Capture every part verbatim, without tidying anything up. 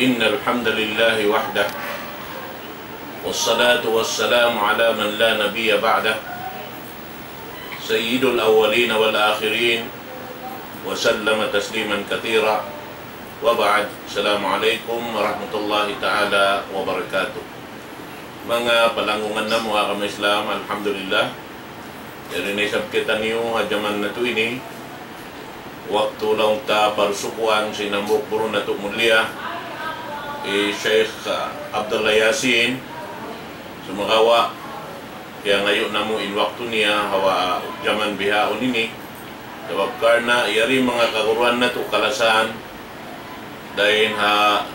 إن الحمد لله وحده، والصلاة والسلام على من لا نبي بعده، سيد الأولين والآخرين، وسلم تسليما كثيرا. وبعد، السلام عليكم ورحمة الله تعالى وبركاته. Manga palanggungan namu' ha agama Islam, alhamdulillah. Yari na isab kitaniyu ha jaman natu' ini, waktu laung ta parsukuan sin hambuuk guru natu' mulia, hi Sheikh, ah, Abdullah Yasin. Sumagawa', kiyangayu' namu' in waktu niya ha jaman bihaun ini. Sabab karna' yari manga kaguruan natu' kalasahan, dayn ha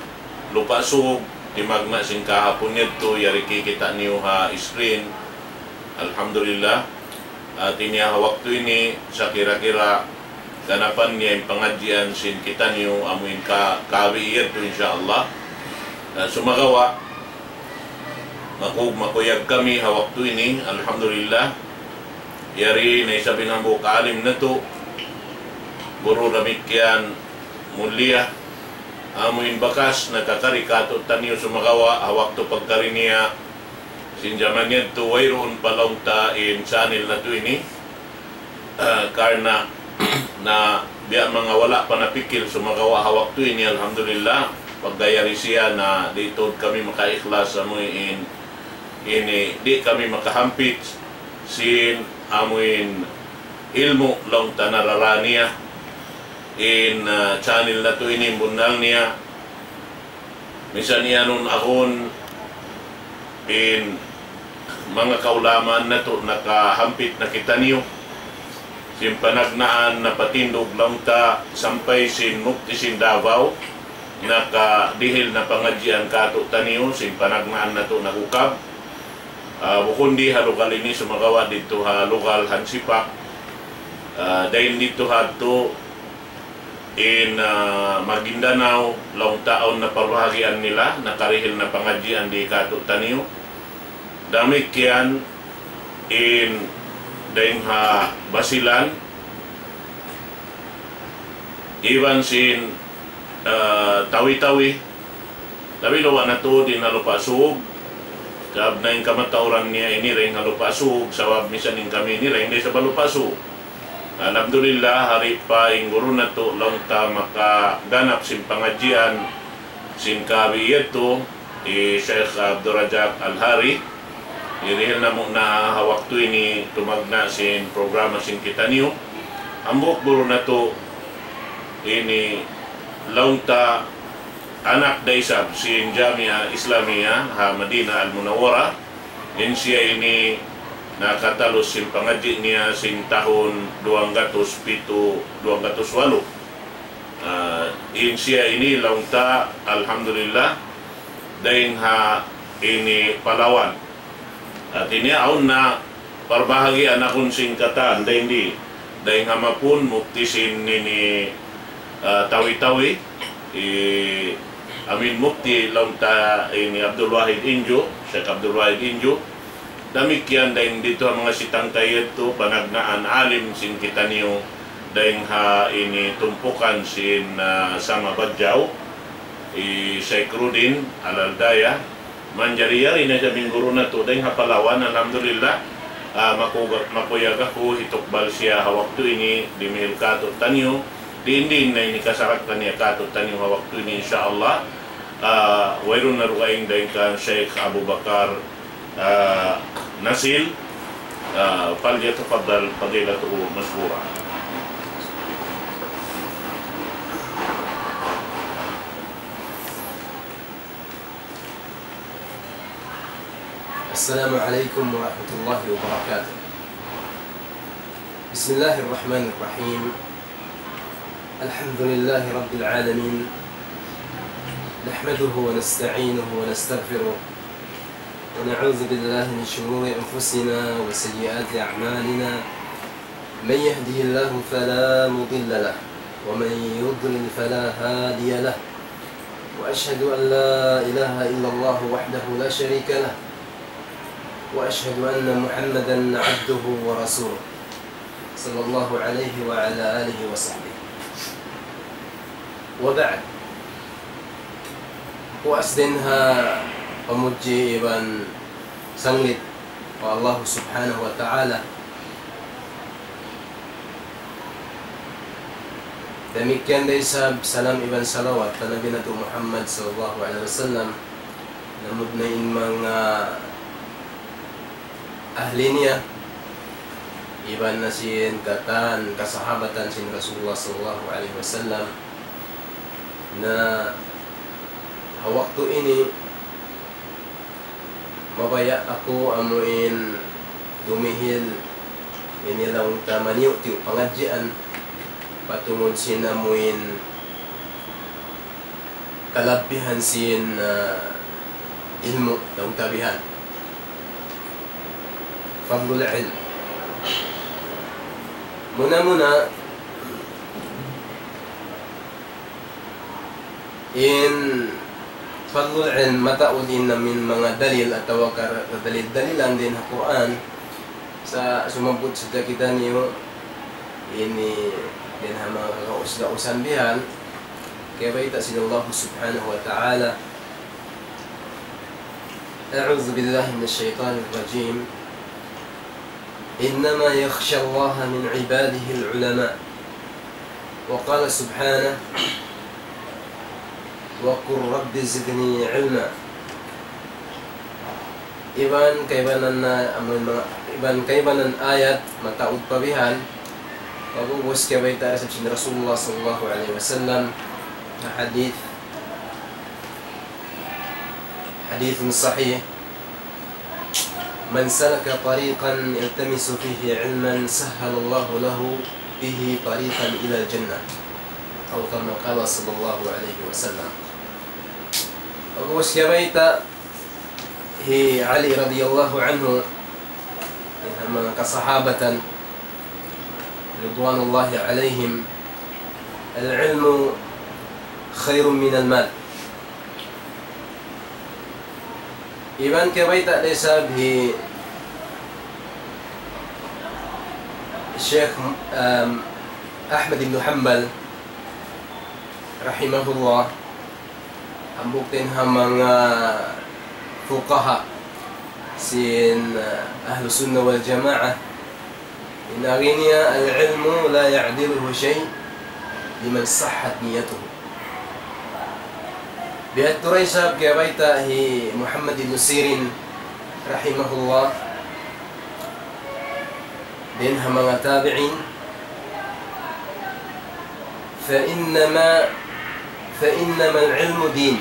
Lupa' Sug, timagna' sin kahapun yadtu, yari kikita' niyu ha screen. Alhamdulillah. Hati niya ha waktu ini, sakira-kira ganapan niya in pangadjian sin kitaniyu, amu in ka-, kabi yadtu, insya Allah. Na sumagawa', makug-, makuyag kami ha waktu ini, alhamdulillah. Yari na isab in hambuuk alim natu', guru damikkiyan mulia, amu in bakas nakakari kātu'niyu sumagawa' ha waktu pagkari niya sin jaman yadtu wayruun pa laung ta in channel natu' ini. Ah, karna' na biya' manga wala' pa napikil sumagawa' ha waktu ini, alhamdulillah, pagga yari siya na di' tuud kami makaikhlas amu in ini, di' kami makahampit sin amu in ilmu' laung ta narara niya. In, ah, channel natu' ini bunnal niya, misan iyanun agun in manga kaulamaan natu' nakahampit na kitaniyu. Sin panagnaan napatindug laung ta sampay sin mufti sin Davao, nakadihil na pangadjian kātu'niyu, sin panagnaan natu' nag-ukab. Ah, bukun di ha lugal ini sumagawa' didtu ha lugal Hansipak. Ah, dayn didtu hadtu in, ah, Maguindanao, laung ta awn na parbahagian nila, nakarihil na pangadjian di kātu'niyu. Damikkiyan in dayn ha Basilan, iban sin, ah, Tawi-Tawi. Tapi lawa' na tuud in ha Lupa' Sug. Sabab na in kamatauran niya ini dayn ha Lupa' Sug, sabab misan in kami ini dayn da isab ha Lupa' Sug. Alhamdulillah, hari pa in guru natu' laung ta makaganap sin pangadjian sin kabi yadtu, hi Sheikh Abdul Razak Al-Hari. Hirihil namu' na ha waktu ini tumagna' sin programa sin kitaniyu. Hambuuk guru natu' ini laung ta anak da isab sin Jamia Islamia ha Madinah Al-Munawwarah. In siya ini nakatalus sin pangadji' niya sin tahun duwanggatus pitu, duwanggatus walu. Ah, in siya ini laung ta, alhamdulillah, dayn ha ini Palawan. Hati niya awn na parbahagian akun sin katan, dayn di, dayn ha Mapun, mufti sin ini, ah, Tawi-Tawi, hi amin mufti laung ta ini Abdul Wahid Inju, Sheikh Abdul Wahid Inju. Damikkiyan dayn didtu ha manga sitangkay yadtu, panagnaan alim sin kitaniyu, dayn ha ini tumpukan sin, ah, Sama Badjaw, hi Sheikh Rudin Al-Aldaya. Manjari yari na siya in guru natu' dayn ha Palawan, alhamdulillah. Ah, maku-, makuyag aku hitukbal siya ha waktu ini, dimihil kātu'niyu, diin-diin na ini kasarak kaniya kātu'niyu ha waktu ini, insya Allah. Ah, wayruun na dugaing dayn kan Sheikh Abu Bakar, ah, Nasil. Ah, فليتفضل فضيلته مشكورا. السلام عليكم ورحمة الله وبركاته. بسم الله الرحمن الرحيم. الحمد لله رب العالمين. نحمده ونستعينه ونستغفره. ونعوذ بالله من شرور أنفسنا وسيئات أعمالنا. من يهده الله فلا مضل له، ومن يضلل فلا هادي له، وأشهد أن لا إله إلا الله وحده لا شريك له، وأشهد أن محمدا عبده ورسوله، صلى الله عليه وعلى آله وصحبه. وبعد، Puas dayn ha pamudji iban sanglit pa Allah Subhanahu wa Ta'ala. Damikkiyan da isab salam iban salawat pa Nabi natu' Muhammad sallallahu alayhi wasallam, lamud na in manga ahli niya, iban na sin katan kasahabatan sin Rasulullah sallallahu alayhi wasallam. Na ha waktu ini, mabaya' aku amuin dumihil ini laung ta maniyu'-tiyu' pangadjian patungud sin amuin kalabbihan sin, ah, ilmu' laung ta bihan. Fadlul ilm. Muna-muna, in fadlul ilm mataud in amuin manga dalil atawa ka dalil-dalilan dayn ha Qur'an. Sa' sumabbut sadja kitaniyu ini dayn ha manga kagaus-gausan bihan. Kaya bayta' sin Allah Subhanahu wa Ta'ala, أعوذ بالله من الشيطان الرجيم. إنما يخشى الله من عباده العلماء. وقال سبحانه: وقل رب زدني علما. Iban kaibanan na, amun manga, iban kaibanan ayat mataud pa bihan. Pag'ubus kabayta' isab sin Rasulullah sallallahu alayhi wasallam, na hadith, hadith sahih: من سلك طريقا يلتمس فيه علما سهل الله له به طريقا إلى الجنة. أو كما قال صلى الله عليه وسلم. Pag'ubus kabayta' hi Ali radiyallahu anhu, in manga kasahabatan, ridwanullahi alayhim, العلم خير من المال. Iban kabayta' da isab hi Sheikh, um, Ahmad ibn Hanbal, rahimahullah, hambuuk dayn ha manga fuqaha sin, uh, Ahlus Sunnah wal Jamaah. In agi niya, العلم لا يعدله شيء لمن صحت نيته. Biya' tuud da isab kabayta' hi Muhammad ibn Sirin, rahimahullah, dayn ha manga tabi'in, فإنما، فإنما العلم دين،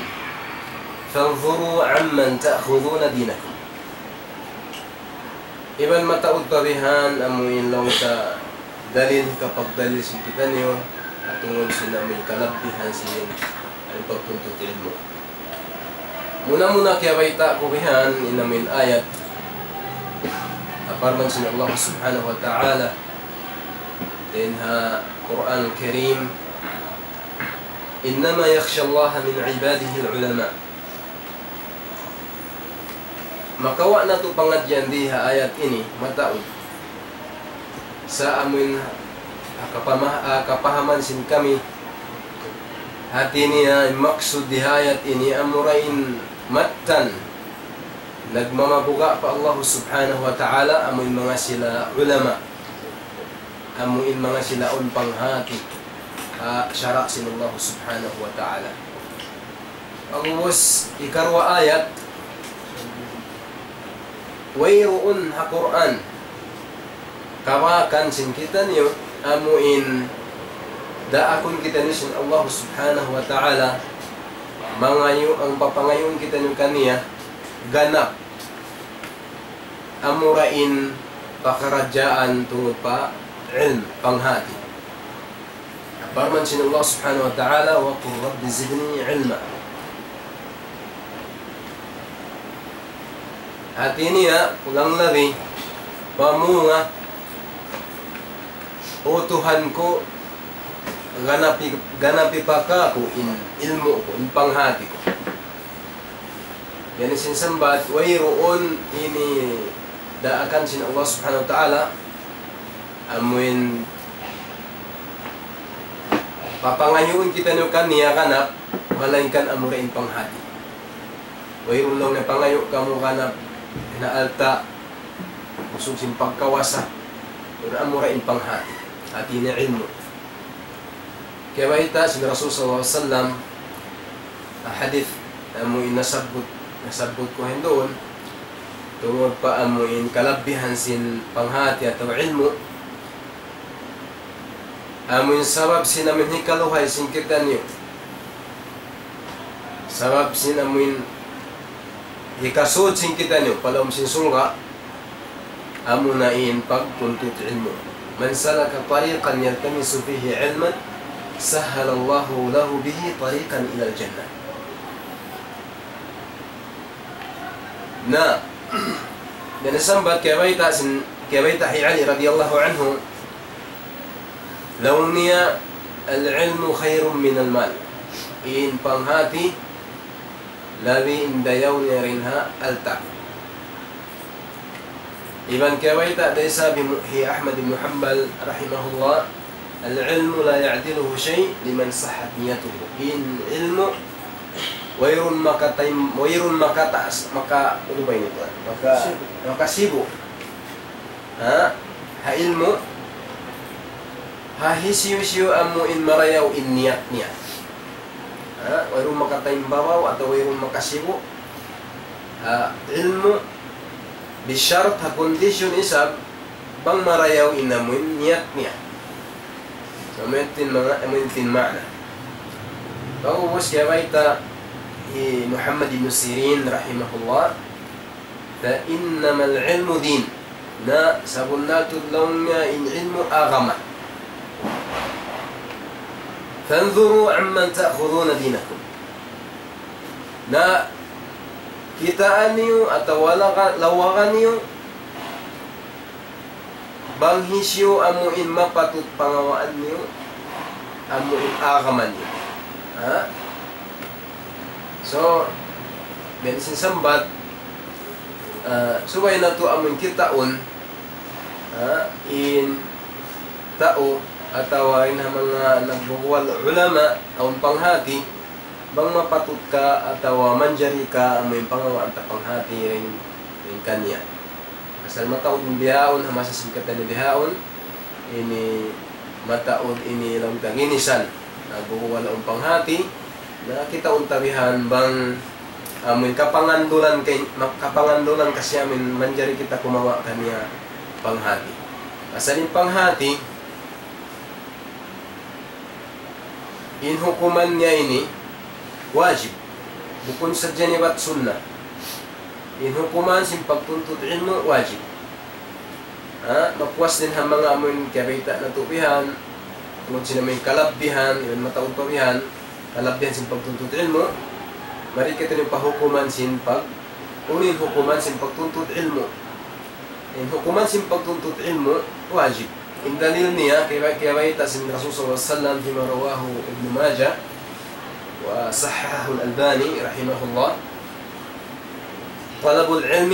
فانظروا عمن تأخذون دينكم. Iban mataud pa bihan amu in laung ta dalil, hikapagdalil sin kitaniyu, ha tungud sin amu in kalabbihan sin pagtuntut ilmu'. Muna-muna kiyabayta' ku bihan in amu in ayat, parman sin Allah Subhanahu wa Ta'ala dayn ha Qur'an Karim, إنما يخشى الله من عباده العلماء. Makawa' natu' pangadjian di ha ayat ini, mataud. Sa' amu in, ah, kapama-, ah, kapahaman sin kami, hati niya, in maksud di ha ayat ini, amura in mattan nagmamabuga' pa Allah Subhanahu wa Ta'ala, amu in manga sila ulama, amu in manga sila awn panghati ha sara' sin Allah Subhanahu wa Ta'ala. Pag'ubus, ikaruwa ayat, wayruun ha Qur'an kabakan sin kitaniyu, amu in daakun kitaniyu sin Allah Subhanahu wa Ta'ala, mangayu', amu in papangayuun kitaniyu kaniya, ganap, amura in pakaradjaan tungud pa ilm, panghati. Parman sin Allah Subhanahu wa Ta'ala, وقل رب زدني علما. Hati niya, kulang labi, pamunga, O Tuhan ku, ganapi, ganapi pa kāku' in ilmu' ku, in panghati ku. Yan in sin sambat, wayruun ini daakan sin Allah Subhanahu wa Ta'ala, amu in papangayuun kitaniyu kaniya ganap, malaingkan amura in panghati. Wayruun laung niya pangayu' kamu ganap na alta', usug sin pagkawasa. Pero amura in panghati, hati niya ilmu'. Kiyabayta' sin Rasul sallallahu alayhi wasallam, ah, hadith, amu in nasabbut, nasabbut ku hinduun, tungud pa amu in kalabbihan sin panghati atawa ilmu', amu in sabab sin amu in hikaluhay sin kitaniyu. Sabab sin amu in hikasud sin kitaniyu pa lawm sin surga', amuna in pagtuntut ilmu'. من سلك طريقا يلتمس فيه علما سهل الله له به طريقا إلى الجنة. Na, dayn ha sambat kiyabayta' sin, kiyabayta' hi Ali radiyallahu anhu, laung niya, العلم خير من المال. In panghati, labi in dayaw niya dayn ha alta'. Iban kiyabayta' da isab hi Ahmad ibn Hanbal rahimahullah, العلم لا يعدله شيء لمن صحت نيته. In ilmu', wayruun makataym-, wayruun makataas, maka, unu ba ini tuwan? Maka, makasibu'. Ha? Ha ilmu', ha hisiyu-siyu amu in marayaw in niyat niya. Ha? Wayruun makataymbabaw atawa wayruun makasibu'. Ha ilmu', bishart, ha kondisyon isab, bang marayaw in amu in niyat niya. So, amu in tin manga-, amu in tin maana. Pag'ubus kiyabayta' hi Muhammad ibn Sirin rahimahullah, فإنما العلم دين. Na sabunnal tuud laung niya in ilmu' agama. فانظروا عمن تأخذون دينكم. Na kitaa niyu atawa laga-, lawaga niyu bang hisiyu amu in mapatut pangawaan niyu, amu in agama niyu. Ha? So, dayn sin sambat, ah, subay natu' amu in kitaun, ha, in tau atawa in ha manga nagbubuwal ulama, awn panghati, bang mapatut ka atawa manjari ka amu in pangawaan ta panghati dayn, dayn kaniya. Asal mataud in bihaun, ha masa sin kitaniyu bihaun, ini mataud ini laung ta ginisan. Nagbubuwal awn panghati, na kitaun ta bihan bang amu in kapangandulan kay, ma-, kapangandulan kasi amu in manjari kita kumawa' kaniya panghati. Asal in panghati, in hukuman niya ini wajib. Bukun sadja ini bat sunnat. In hukuman sin pagtuntut ilmu' wajib. Ha? Mapuas dayn ha manga amu in kiyabayta' natu' bihan, tungud sin amu in kalabbihan, iban mataud pa bihan, kalabbihan sin pagtuntut ilmu', mari kitaniyu pa hukuman sin pag-, unu in hukuman sin pagtuntut ilmu'. In hukuman sin pagtuntut ilmu', wajib. In dalil niya, kiyaba-, kiyabayta' sin Rasul sallallahu alayhi wasallam, فيما رواه ابن ماجه وصححه الألباني رحمه الله، طلب العلم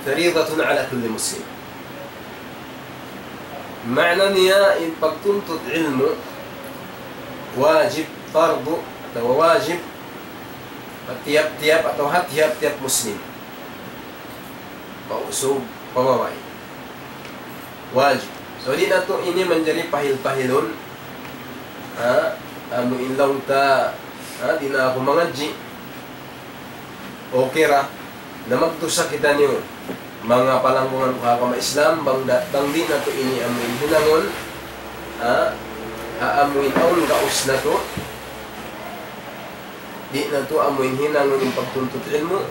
فريضة على كل مسلم. Maana niya, in pagtuntut ilmu', wajib, fardu, atawa wajib, pa tiyap-tiyap atawa ha tiyap-tiyap Muslim. Pa usug, pa babai. Wajib. So, di' natu' ini manjari pahil-pahilun. Ha? Amu in laung ta, ha? Di' na aku mangadji'. Okay ra. Na magdusa kitaniyu. Manga palanggungan ku ha agama Islam, bang da-, bang di' natu' ini amu in hinangun. Ha? Ha amu in awn gaus natu'. Di' natu' amu in hinangun in pagtuntut ilmu',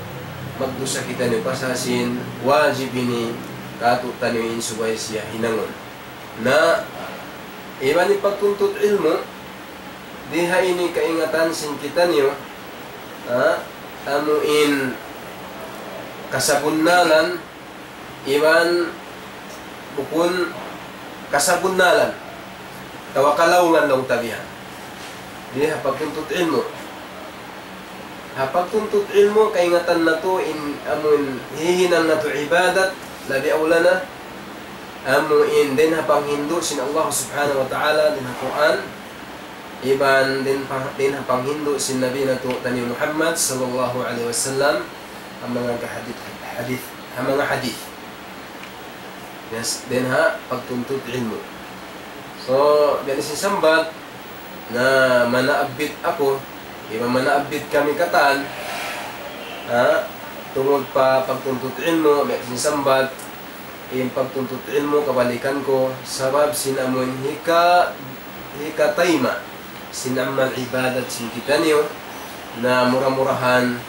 magdusa kitaniyu pasal sin wajib ini kātu'niyu in subay siya hinangun. Na, iban in pagtuntut ilmu', di' ha ini kaingatan sin kitaniyu, ha, amu in kasabunnalan, iban bukun kasabunnalan, atawa kalaungan laung ta bihan. Di' ha pagtuntut ilmu'. Ha pagtuntut ilmu', kaingatan natu' in amun hihinang natu' ibadat, labi awla na, amu in dayn ha panghindu' sin Allah Subhanahu wa Ta'ala dayn ha Qur'an, Iban dayn pa, dayn ha panghindu' sin Nabi natu' taniyu Muhammad sallallahu alayhi wasallam, ha manga kahadith, hadith, ha manga hadith. Yes, dayn ha pagtuntut ilmu'. So, biya' sin sambat, na manaabbit aku, iban manaabbit kami katan, ha, tungud pa pagtuntut ilmu', biya' sin sambat, in pagtuntut ilmu' kabalikan ku, sabab sin amun hika, hikatayma', sin amal ibadat sin kitaniyu, na mura-murahan,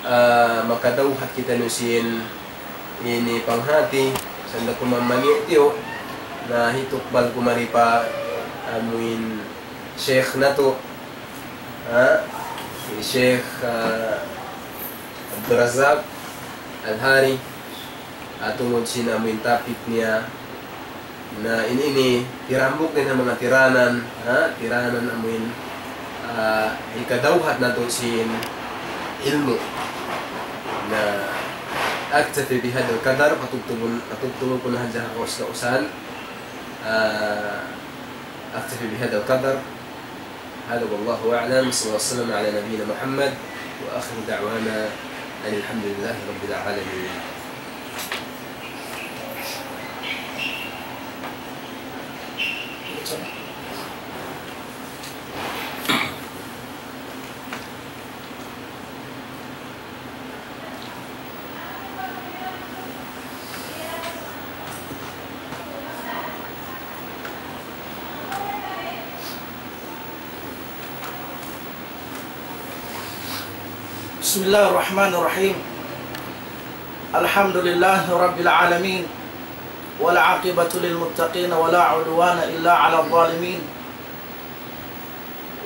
ah, makadawhat kitaniyu sin ini panghati, sanda ku mamaniyu-tiyu, na hitukbal ku mari pa amuin Sheikh natu', ha? Hi Sheikh, ah, Abdul Razak Al-Hari, ha, tungud sin amuin topic niya, na in ini, tirambuk dayn ha manga tiranan, ha? Tiranan amuin, ah, hikadawhat natu' sin ilmu'. Na, أكتفي بهذا القدر, patugtugun, patugtugun ku na hadja ha kaus-kausan. Ah, أكتفي بهذا القدر. هذا والله أعلم. صلى الله وسلم على نبينا محمد. وآخر دعوانا أن الحمد لله رب العالمين. بسم الله الرحمن الرحيم. الحمد لله رب العالمين، والعاقبة للمتقين، ولا عدوان إلا على الظالمين،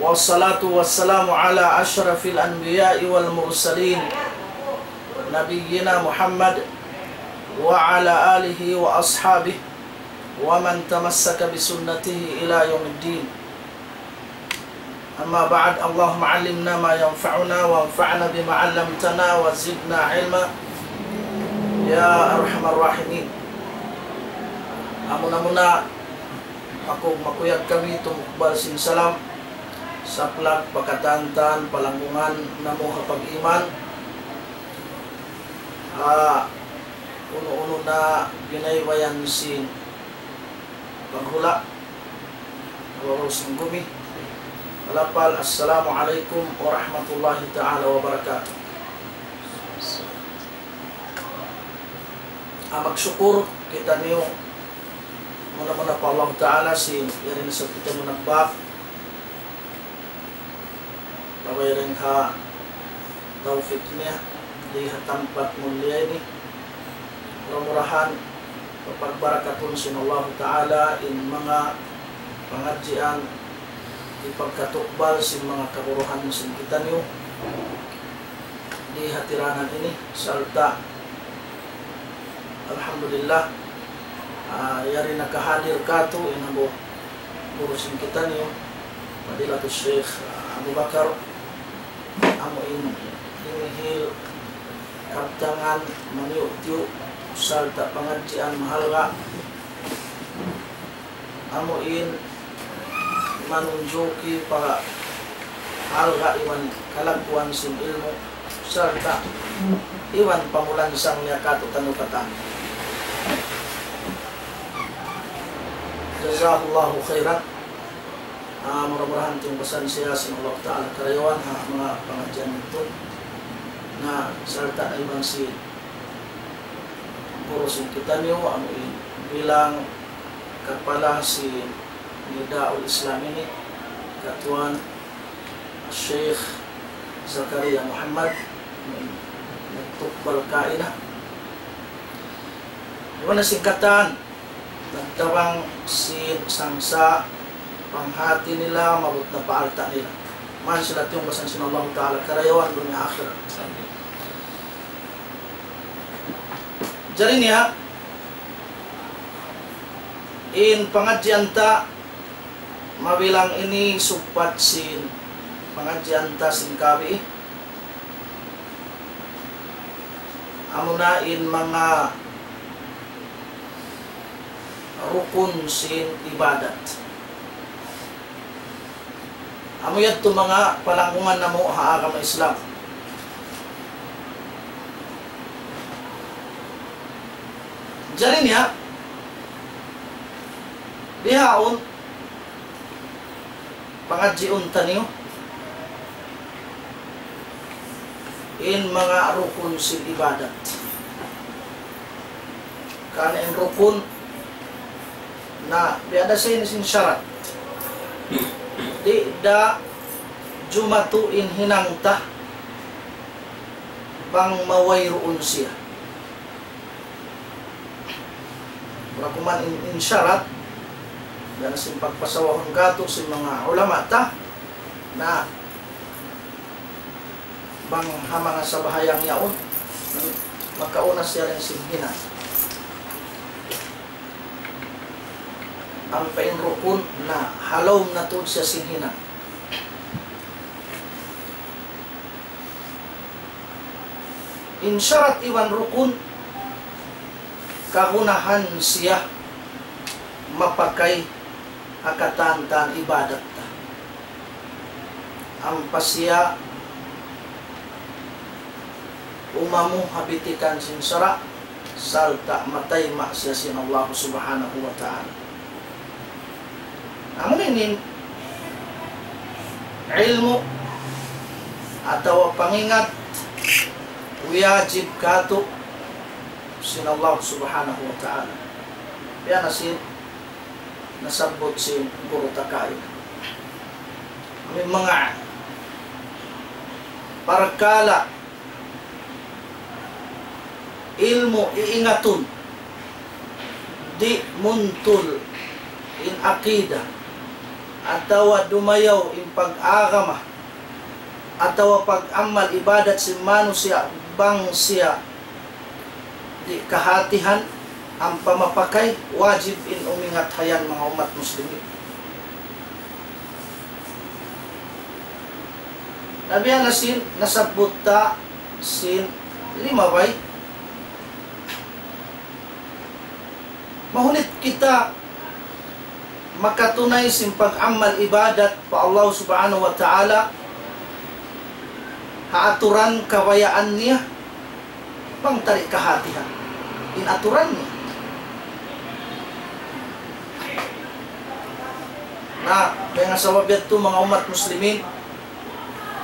والصلاة والسلام على أشرف الأنبياء والمرسلين، نبينا محمد وعلى آله وأصحابه ومن تمسك بسنته إلى يوم الدين. أما بعد، اللهم علمنا ما ينفعنا وانفعنا بما علمتنا وزدنا علما يا أرحم الراحمين. Amuna-muna, aku makuyag kami tumukbal sin salam, saplag pa katan-katan palanggungan namu' ha pag-iman. Ah, unu-unu na binaybayan sin paghula', waw sin gumi. Malapal, Assalamu alaykum warahmatullahi ta'ala wabarakatuh. Ah, magsukur kitaniyu muna-muna pa Allah Ta'ala sin yari na isab kitaniyu nagbak. Labi dayn ha tawfik niya, di ha tampat mulia ini. Mura-murahan, papagbarakatun sin Allahu Ta'ala in manga pangadjian, hipagkatukbal sin manga kaguruhan sin kitaniyu, di ha tiranan ini, sarta' Alhamdulillah, ah, yari nakahadir katu' in hambuuk guru sin kitaniyu, Fadilatul Sheikh, ah, Abu Bakar, amu in hinihil kabtangan maniyu'-tiyu' sarta' pangadjian mahalga', amu in manunjuki pa halga' iban kalagguan sin ilmu', sarta' iban pamulansang niya katu'taniyu katan. Jazahullahu khairan. Ah, mura-murahan tiyungbasan siya sin Allah Ta'ala karayawan ha manga pangadjian natu'. Na, sarta' iban sin guru sin kitaniyu, amu in bilang kapala sin Nidaul Islam ini, katuan Sheikh Zakaria Muhammad, nagtukbal kaina. Iban na sin katan, nagtabang sin sangsa' panghati nila, maabut na pa alta' nila. Mayan sila tiyungbasan sin Allah Ta'ala karayawan dunya akhirat. Jari niya, in pangadjian ta, mabilang ini sugpat sin pangadjian ta sin kabi, amuna in manga rukun sin ibadat. Amu yadtu manga palanggungan namu' ha agama Islam. Jari niya, bihaun, pangadjiun taniyu in manga rukun sin ibadat. Karna' in rukun na biya' da sin, sin sharat. Di' da jumatu in hinang ta bang mawayruun siya. Wala' kuman in, in sharat, dayn sin pagpasawahun katu' sin manga ulama ta, na bang ha manga sabahayang yaun, makauna siya dayn sin hinang. Ampa in rukun na ha lawm na tuud siya sin hinang. In sharat iban rukun, kagunahan siya mapakay ha katan-katan ibadat ta. Ampa siya umamu ha bitikan sin sara', sarta' matayma' siya sin Allah Subhanahu wa Ta'ala. Amu ini in ilmu' atawa pangingat wajib katu' sin Allah Subhanahu wa Ta'ala. Biya' na sin nasabbut sin guru ta kaina. Amu in manga parkala' ilmu' iingatun, di' muntul in akida, atawa dumayaw in pag-agama, atawa pag-amal ibadat sin manusiya' bang siya di' kahatihan ampa mapakay, wajib in umingat ha yan manga ummat muslimin. Na biya' na sin nasabbut ta sin limabay, mahunit kita makatunay sin pag-amal ibadat pa Allah Subhanahu wa Ta'ala ha aturan kabayaan niya, bang ta di' kahatihan in aturan niya. Na, dayn ha sabab yadtu manga ummat muslimin,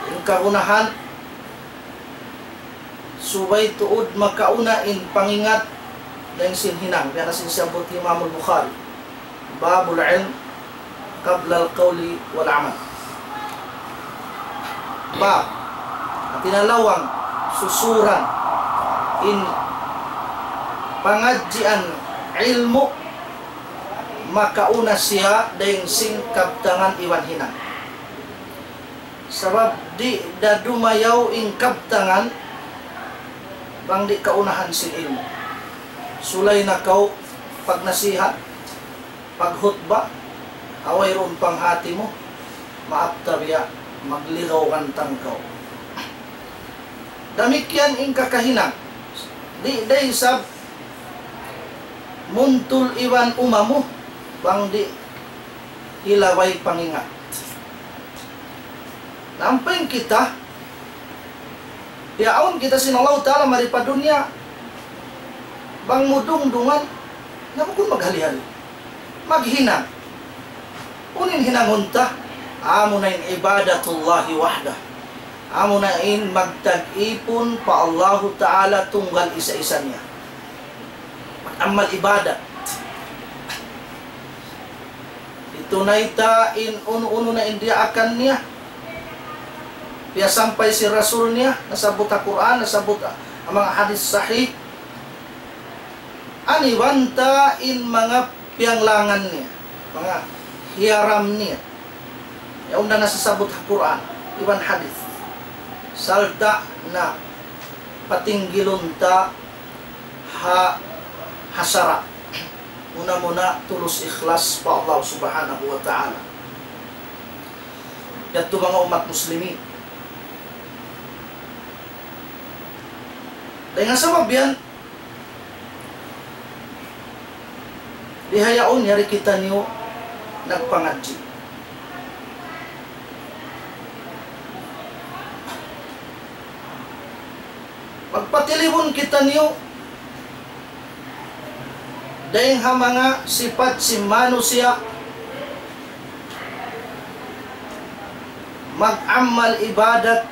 in kagunahan, subay tuud makauna in pangingat dayn sin hinang. Biya' na sin siyabbut Imam al-Bukhari, باب العلم قبل القول والعمل. Bab, hātina lawang, susuran, in pangadjian ilmu' makauna siya dayn sin kabtangan iban hinang. Sabab di' da dumayaw in kabtangan bang di' kaunahan sin ilmu'. Sulay na kaw pagnasihat, paghutba, ha wayruun panghati mu, maap ta biya', magligaw gantang kaw. Damikkiyan in kakahinang. Di' da isab muntul iban umamu bang di' hilaway pangingat. Na ampa in kita, piyaawn kita sin Allahu Ta'ala mari pa dunya, bang mu dungdungan, na bukun maghali-hali. Maghinang. Unu in hinangun ta? Amuna in ibadatullahi wahdah. Amuna in magtag-ipun pa Allahu Ta'ala tunggal isa-isa niya. Mag-amal ibadat. Itunay ta in unu-unu na in diyaakan niya. Piyasampay sin Rasul niya, nasabbut ha Qur'an, nasabbut ha manga hadith sahih. Aniwan ta in manga piyanglangan niya, manga hiyaram niya. Yaun na nasasabbut ha Qur'an, iban hadith. Sarta' na patinggilun ta ha, ha sara'. Muna-muna tulus ikhlas pa Allah Subhanahu wa Ta'ala. Yadtu manga ummat muslimin. Dayn ha sabab yan, bihaun yari kitaniyu nagpangadji'. Patilibun kitaniyu dayn ha manga sipat sin manusiya' mag-amal ibadat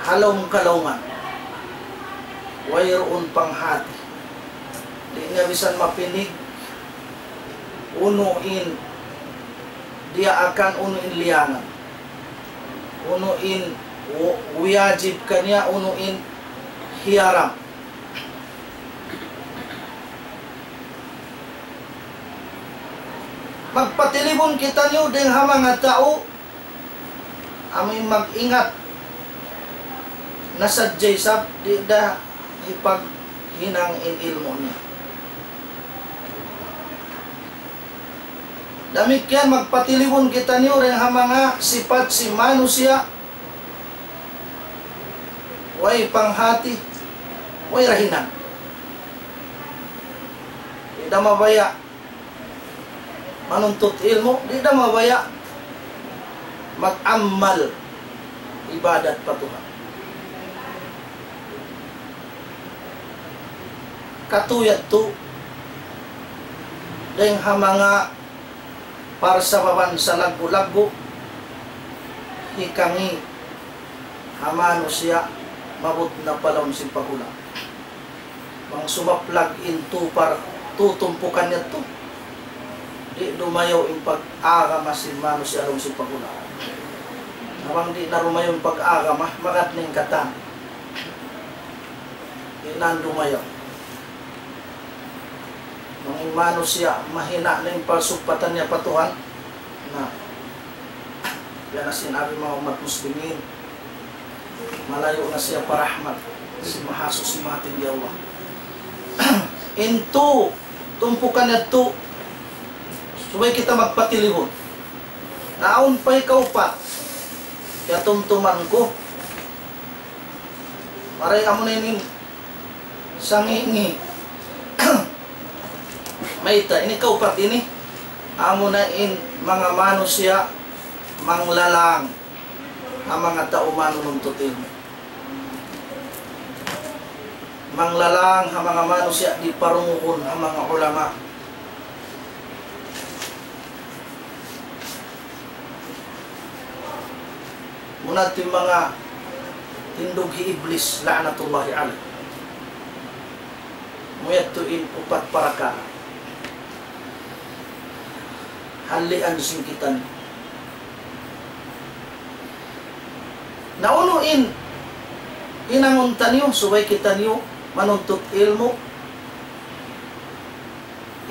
ha lawm kalaungan. Wayruun panghati. Di' niya bisan mapinig unu in diyaakan, unu in liyangan, unu in wu-, wiyajib kaniya, unu in hiyaram. Magpatilibun kitaniyu dayn ha manga tau amu in mag-ingat na sadja isab di' da hipaghinang in ilmu' niya. Damikkiyan magpatilibun kitaniyu dayn ha manga sipat sin manusiya' way panghati, way rahinang. Di' da mabaya' manuntut ilmu', di' da mabaya' mag-amal ibadat pa Tuhan. Katu' yadtu dayn ha manga parsababan salaggu'-laggu' hikangi' ha manusiya' maabut na pa lawm sin paghula'. Bang sumaplag in tu par-, tu tumpukan yadtu, di' dumayaw in pag-agama sin manusiya' ha lawm sin paghula'. Na bang di' na dumayaw in pag-agama, magad na in katan. Di' na dumayaw. Bang in manusiya' mahina' na in pagsugpatan niya pa Tuhan, na, yan na sin ari manga ummat muslimin. Malayu' na siya pa rahmat sin Mahasuchi, Mahatinggi Allah. In tu tumpukan yadtu, subay kita magpatilibun. Na awn pa hikaupat, kiyatumtuman ku. Maray amu na ini, sangi-ngi. Mayta', ini kaupat ini, amu na in manga manusiya' manglalang ha manga tau manununtut ilmu'. Manglalang ha manga manusiya' di' parungugun ha manga ulama. Muna tu manga tindug hi Iblis, la'natullahi alayh. Amu yadtu in upat parakala'. Halian sin kitaniyu. Na unu in hinangun taniyu, subay kitaniyu manuntut ilmu'.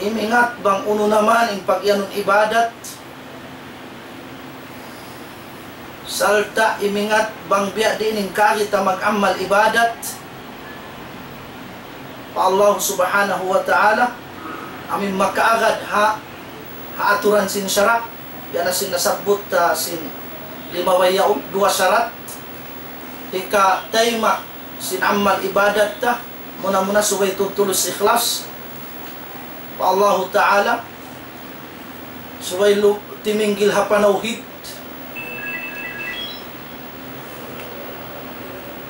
Imingat bang unu na man in pagiyanun ibadat. Sarta' imingat bang biya' diin in kaagi ta mag-amal ibadat pa Allah Subhanahu wa Ta'ala, amu in makaagad ha, ha aturan sin sara', yan na sin nasabbut ta sin limabay yaun, duwa sarat. Hikatayma' sin amal ibadat ta, muna-muna subay tuud tulus ikhlas pa Allahu Ta'ala, subay lu-, timinggil ha panawhid,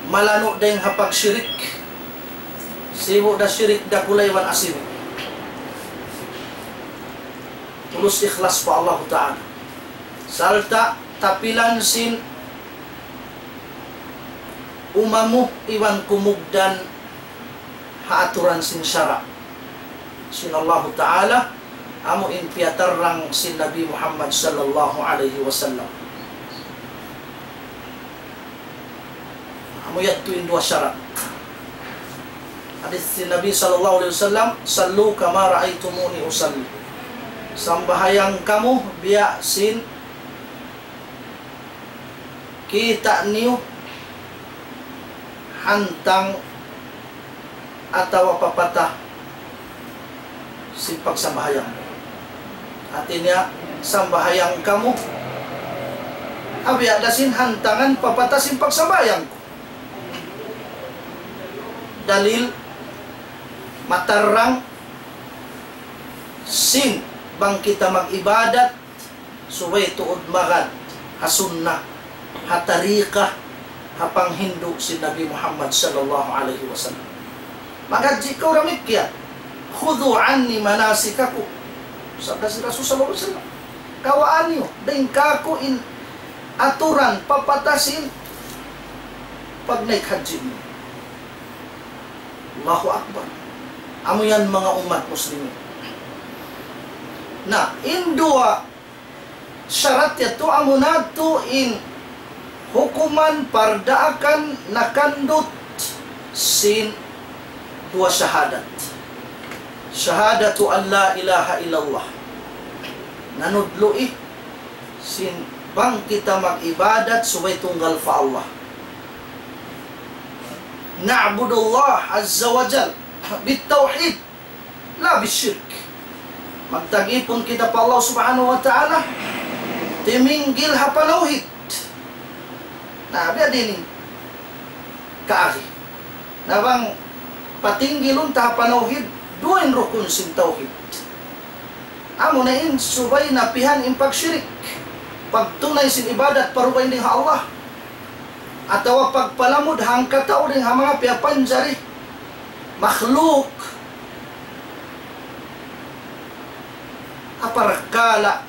malanu' dayn ha pagshirik, sibu' da shirik dakula' iban asibi'. Tulus ikhlas pa Allahu Ta'ala. Sarta' tapilan sin umamu iban kumugdan ha aturan sin sara' sin Allahu Ta'ala, amu in piyatarrang sin Nabi Muhammad sallallahu alayhi wasallam. Amu yadtu in duwa sarat. Hadis sin Nabi sallallahu alayhi wasallam, "صلوا كما رأيتموني أصلي." Sambahayang kamu biya' sin kita' niyu hantang atawa papata sin pagsambahayang. Hati niya, sambahayang kamu ha biya' da sin hantangan papata sin pagsambahayang ku. Dalil matarrang sin bang kita mag-ibadat, subay tuud magad ha sunnah, ha tariqah, ha panghindu' sin Nabi Muhammad sallallahu alayhi wasallam. Maghajji kaw damikkiyan. خذوا عني مناسككم. Sabda sin Rasul sallallahu alayhi wasallam. Kawaa niyu dayn kāku' in aturan papatasin pagnaik hajji niyu. Allahu Akbar. Amu yan manga ummat muslimin. Na, in duwa sharat yadtu amuna tuud in hukuman pardaakan nakandut sin duwa shahadat. شهادة أن لا إله إلا الله. Nanudlu'i sin bang kita mag-ibadat subay tunggal pa Allah. نعبد الله عز وجل بالتوحيد لا بالشرك. Magtag-ipun kita pa Allah Subhanahu wa Ta'ala, timinggil ha panawhid. Na, biya' diin in kaagi. Na bang patinggilun ta ha panawhid, duwa in rukun sin tawhid. Amuna in subay napihan in pagshirik. Pagtunay sin ibadat pa dugaing dayn ha Allah. Atawa pagpalamud hangkatau dayn ha manga piyapanjari makhluk. Apabila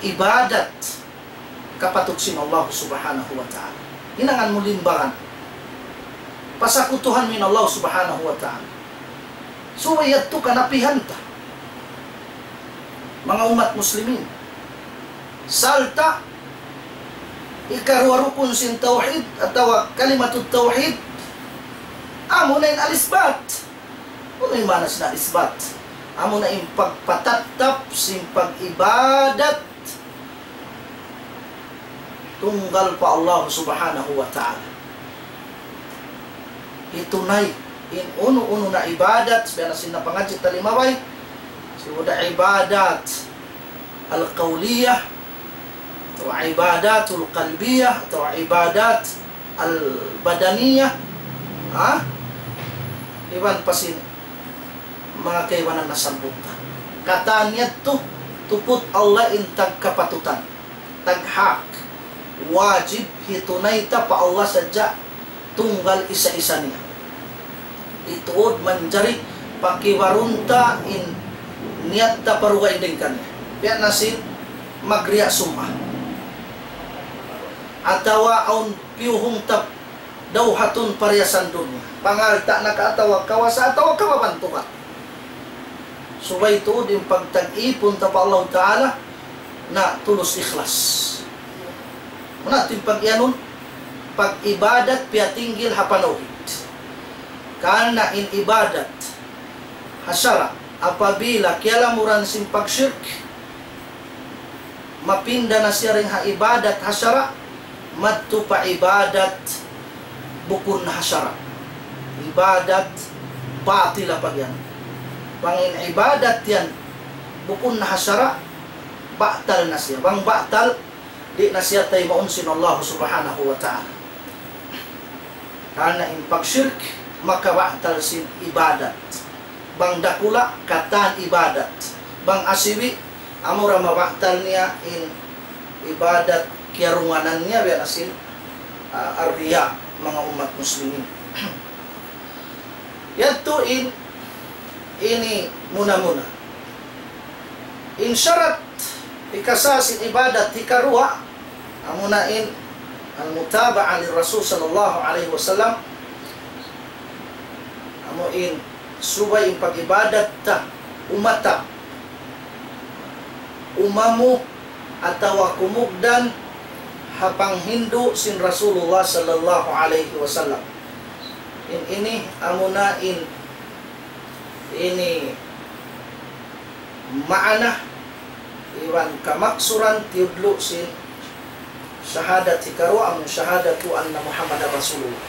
ibadat kapatut sin Allah Subhanahu wa Ta'ala. Hinangan mu limbangan. Pasakutuhan mu in Allah Subhanahu wa Ta'ala. Subay yadtu kanapihan ta. Manga ummat muslimin. Sarta' ikaruwa rukun sin tawhid atawa kalimatut tawhid. Amuna in al-isbat. Unu in maana sin isbat? Amuna in pagpatattap sin pag-ibadat tunggal pa Allah Subhanahu wa Ta'ala. Hitunay in unu-unu na ibadat, biya' na sin napangadji' ta limabay, sin ibadat al-qawliyah, atawa ibadatul qalbiyah, atawa ibadat al-badaniyah, ha? Iban pa sin manga kaibanan nasabbut ta. Katan yadtu, tuput Allah in tagkapatutan, taghak, wajib hitunay ta pa Allah sadja tunggal isa-isa niya. Di' tuud manjari pakibarun ta in niyat ta pa dugaing dayn kaniya. Biya' na sin magriya' summa. Atawa awn piyuhung ta dawhatun pariyasan dunya. Pangalta' na ka atawa kawasa atawa kababantugan. Subay tuud in pagtag-ipun ta pa Allah Ta'ala na tulus ikhlas. Muna in pag-iyanun, pag-ibadat piyatinggil ha panawhid. Karna' in ibadat ha sara', apabila kiyalamuran sin pagshirk, mapinda na siya dayn ha ibadat ha sara', madtu pa ibadat bukun ha sara'. Ibadat batila pag yan. Bang in ibadat yan bukun ha sara', batal na siya. Bang batal, di' na siya taymaun sin Allah Subhanahu wa Ta'ala. Karna' in pagshirk, makabatal sin ibadat. Bang dakula', katan ibadat. Bang asibi', amura mabatal niya in ibadat kiyarunganan niya, biya' na sin, ah, ar-riya, manga ummat muslimin. Yadtu in, ini muna-muna. In sharat hikasa sin ibadat hikaruwa, amuna in al-mutaba'a li Rasul sallallahu alayhi wasallam, amu in subay in pag-ibadat ta umata, umamu atawa kumugdan ha panghindu' sin Rasulullah sallallahu alayhi wasallam. In ini amuna in ini maana iban kamaksuran tiyudlu' sin shahadat hikaruwa, amun shahadatu anna Muhammadan Rasulullah.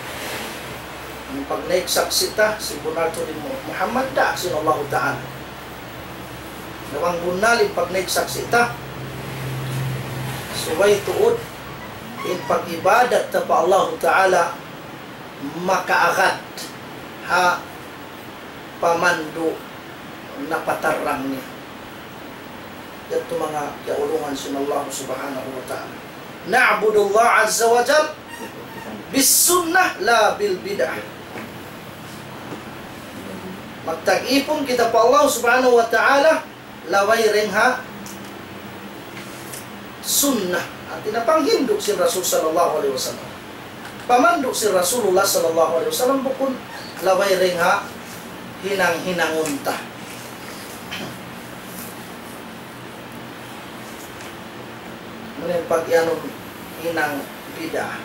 In pagnaik saksi' ta, sin bunnal tuud in Mu-, Muhammad daak sin Allahu Ta'ala. Na bang bunnal in pagnaik saksi' ta, subay tuud in pag-ibadat ta pa Allahu Ta'ala makaagad ha pamandu' napatarrang niya. Yadtu manga kiyaulungan sin Allah Subhanahu wa Ta'ala. نعبد الله عز وجل بالسنة لا بالبدعة. Magtag-ipun kita pa Allah Subhanahu wa Ta'ala, laway dayn ha sunnah. Hāti niya panghindu' sin Rasul sallallahu alayhi wasallam. Pamandu' sin Rasulullah sallallahu alayhi wasallam, bukun laway dayn ha hinang-hinangun ta. Muna in pag-iyanun hinang bid'ah.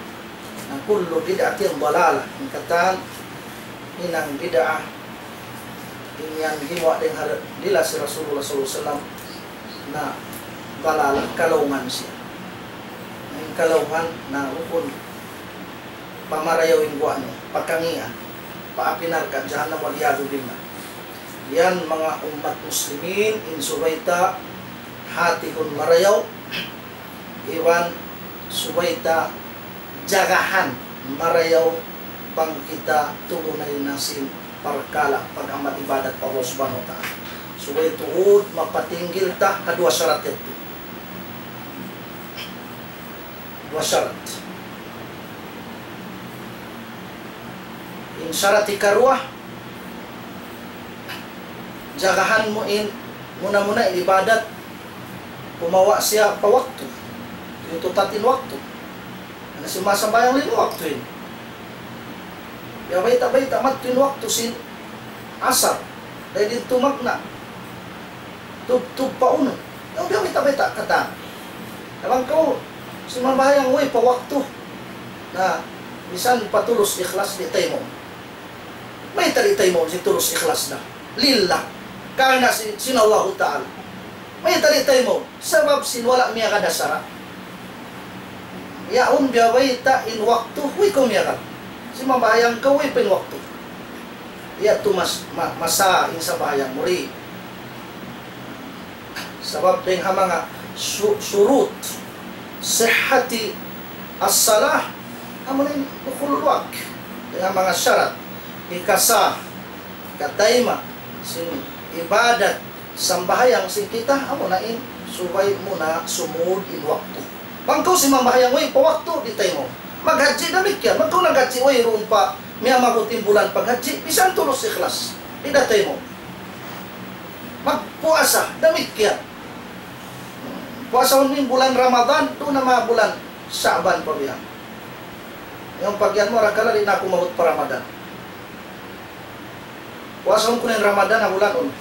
Na كل بدعة ضلالة. In katan hinang bid'ah, in yan gimuwa' dayn ha dila sin Rasulullah sallallahu alayhi wasallam, na dalalah, kalaungan siya. Na in kalaungan, na bukun pa marayaw in guwa' niya, pa kangīan, pa api narka' jahannam, والعياذ بالله. Yan manga ummat muslimin, in subay ta hātihun marayaw, iban subay ta jagahan marayaw bang kita tumunay na sin parkala' pag-amal ibadat pa Allah Subhanahu wa Ta'ala. Subay tuud mapatinggil ta ha duwa sarat yadtu. Duwa sarat. In sarat hikaruwa, jagahan mu in muna-muna in ibadat, kumawa' siya pa waktu. Tiyututat in waktu. Na, simasambahayang lima waktu in. Biya' bayta'-bayta' madtu in waktu sin asar. Dayn diin tumagna'. Tubtub pa unu. Yaun biya' bayta'-bayta' katan. Na bang kaw simambahayang way pa waktu, na misan pa tulus ikhlas di' taymaun. Mayta' di' taymaun sin tulus ikhlas na? Lillah. Karna' sin, sin Allahu Ta'ala. Mayta' di' taymaun? Sabab sin wala' miyagad ha sara'. Yaun biya' bayta' in waktu, way kaw miyagad. Simambahayang kaw, way pa in waktu. Yadtu mas-, ma-, masa in sambahayang mu di'. Sabab dayn ha manga su-, شروط صحة الصلاة, amuna in دخول الوقت. Dayn ha manga sarat hikasah, hikatayma' sin ibadat, sambahayang sin kita, amuna in subay muna sumud in waktu. Bang kaw simambahayang way pa waktu, di' taymaun. Maghajji damikkiyan, bang kaw naghajji wayruun pa miyamagut in bulan paghajji, misan tulus ikhlas, di' da taymaun. Magpuasa, damikkiyan. Puasahun mu in bulan Ramadan, duun na manga bulan Sha'ban pa biya'. Yaun pag-iyan mu, arakala' di' na aku maabut pa Ramadan. Puasahun ku na in Ramadan, ha bulan unu?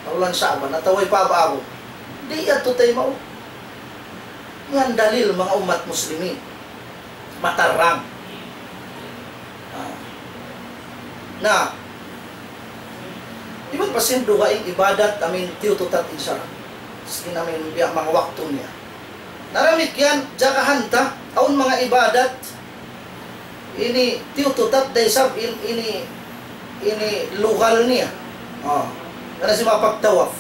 Ha bulan Sha'ban, atawa way pa abu-abu. Di' yadtu taymaun. Yan dalil manga ummat muslimin. Matarrang. Ah. Na, iban pa sin dugaing ibadat amu in tiyututat in sara'. Sin amu in biya' manga waktu niya. Na damikkiyan, jagahan ta, awn manga ibadat, ini tiyututat da isab in, ini, ini lugal niya. Oh, karna' sin manga pagtawaf.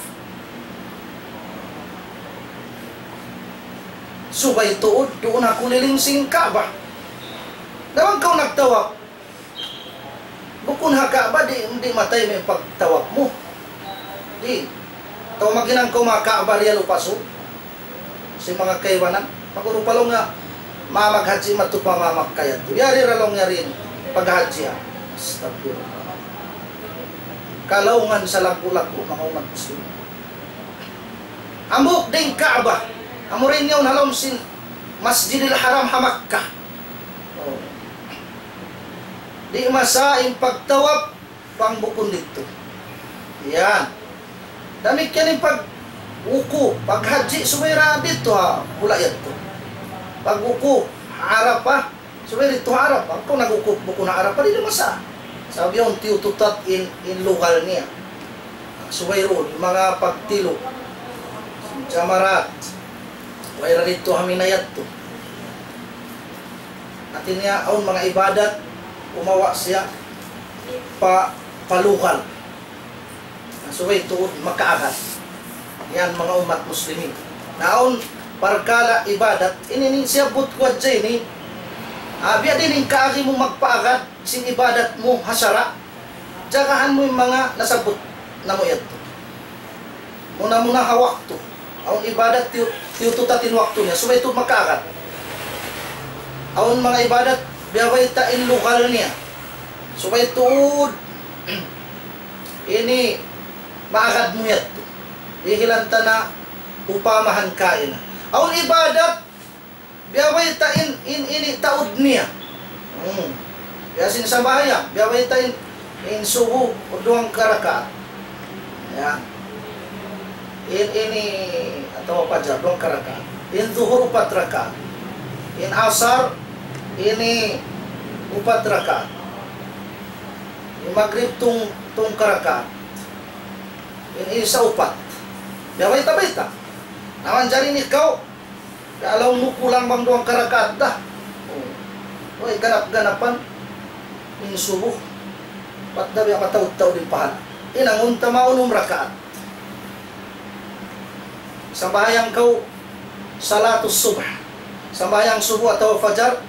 Subay tuud duun ha kuliling sin Ka'bah. Na bang kaw nagtawaf, bukun ha Ka'bah, di', di' matay in pagtawaf mu. Di'. Atawa maghinang kaw manga Ka'bah Riyal Upasu. Sin manga kaibanan. Pag-unu pa laung niya, manga maghajji madtu pa manga Makkah yadtu. Yari ra laung niya in paghajji, ah. Astagfirullah. Kalaungan salaggu'-laggu' manga ummat muslim. Hambuuk da in Ka'bah. Amura in yaun ha lawm sin Masjidil Haram ha Makkah. Oh. Di' masa in pagtawaf bang bukun didtu. Yan. Damikkiyan in pagwuku', paghajji subay ra didtu ha hula' yadtu. Pagwuku', ha Arafah, subay didtu ha Arafah. Bang kaw nagwuku' bukun ha Arafah, di' da masa. Sabab yaun tiyututat in, in lugal niya. Subay duun, manga pagtilu'. Jamarat. Way ra didtu ha Mina yadtu. Hati niya, awn manga ibadat, kumawa' siya pa, pa lugal. Na subay tuud makaagad. Yan manga ummat muslimin. Na awn parkala' ibadat, ini in siyabbut ku hadja ini, ah, biya' diin in kaagi mu magpaagad sin ibadat mu ha sara'. Jagahan mu in manga nasabbut namu' yadtu. Muna-muna ha waktu. Awn ibadat tiyu-, tiyututat in waktu niya, subay tuud makaagad. Awn manga ibadat, Biya' bayta' in lugal niya. Subay tuud ini maagad mu yadtu. Dihilan ta na upamahan kaina. Awn ibadat, biya' bayta' in, in, ini taud niya. Hmm. Biya' sin sambahayang, biya' bayta' in, in subu duwang karakaat. Yan. In, ini, atawa fajar, duwang karakaat. In zuhur, upat rakaat. In asar, ini, upat rakaat. In magrib, tung, tung karakaat. In isa, upat. Biya' bayta'-bayta'. Na manjari in ikaw, kalaung mu kulang bang duwang karakaat da. Oh. Way, ganap-ganapan in subu. Bat da biya' mataud-taud in pahala. Hinangun ta ma unum rakaat. Sambahayang kaw salatus subh. Sambahayang subu atawa fajar,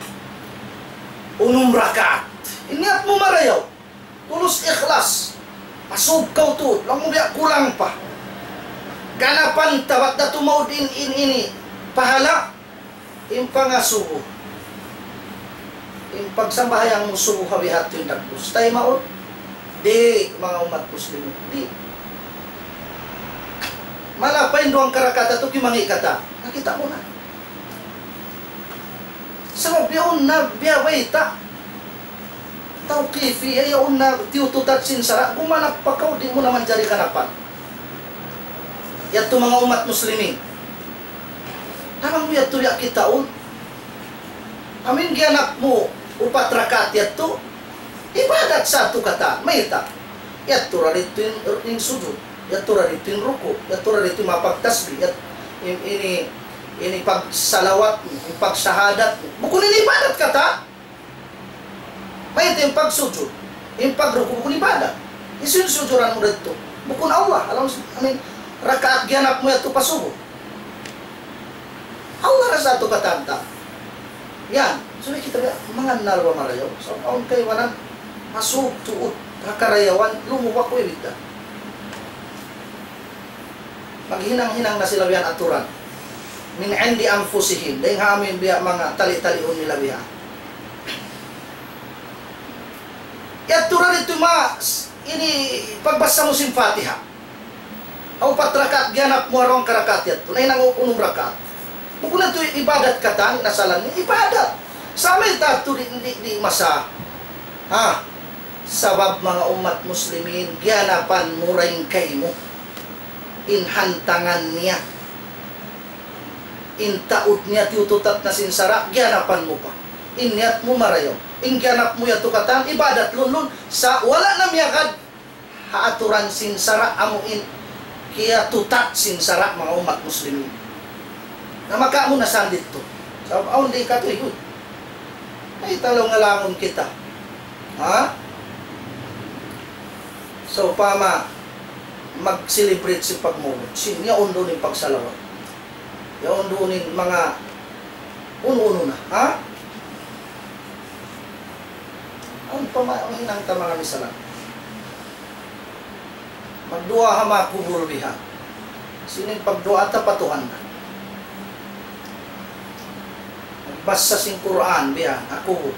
unum rakaat. In niyat mu marayaw. Tulus ikhlas. Masub kaw tuud. Laung mu biya' kulang pa. Ganapan ta bat da tumaud in, in, ini. Pahala. In pangasubu. In pagsambahayang mu subu ha biha' tu in dagbus. Tay maud. Di', manga ummat muslimin. Di'. Malapay in duwang karakaat tu kimangi' kata. Nakita' mu na. Sabab yaun na biya' bayta'. Tawqifi, ya, yaun na tiyututat sin sara', gumanap pa kaw, di' mu na manjari ganapan. Yadtu manga ummat muslimin. Amu in yadtu ya kitaun. Amu in giyanap mu upat rakaat yadtu, ibadat sa tu katan, mayta'. Yadtu ra ditu in, in sujud, yadtu ra ditu in ruku', yadtu ra ditu in mapagtasbih, yat-, in, ini, ini pagsalawat mu, in pagsahadat mu. Bukun in ibadat katan. Mayta' in pagsujud, in pagruku' bukun ibadat. Hisiyu in sujuran mu didtu? Bukun Allah. Alam, amin, rakaat giyanap mu yadtu pa subu. Allah ra sa tu katan ta. Yan. Subay kita biya' mangannal ba marayaw. So, awn kaibanan, masuk tuud, ha karayawan, lumuwa ku ibida. Maghinang-hinang na sila biya' aturan. Min indi anfusihim. Dayn ha amu in biya' manga tali-taliun nila biya'. Yadtu ra ditu ma, ini pagbasa mu sin Fatiha. Aw upat rakaat giyanap mu aruang karakaat yadtu. Nahinang unum rakaat. Bukun na tu ibadat katan, nasalan ni ibadat. Sa' mayta' tu di', di', di' masa. Ha? Sabab manga ummat muslimin, giyanapan mu ra in kaymu. In hantangan niya. In taud niya tiyututat na sin sara', giyanapan mu pa. In niyat mu marayaw. In giyanap mu yadtu katan, ibadat lunlun, sa' wala' na miyagad ha aturan sin sara' amu in kiyatutat sin sara' manga ummat muslimin. Na maka mu na sandit tu. Sabab awn di' katuyuan. Ay, talaw nga langun kita. Ha? Sawpama, mag-celebrate sin pagmulud. Sin, yaun duun in pagsalawat. Yaun duun in manga unu-unu na. Ha? Awn pa ma-, hinang ta manga misalan. Magduwaa ha manga kubul biha'. Sin in pagduwaa ta pa Tuhan na. Magbasa sin Qur'an biha' ha kubul.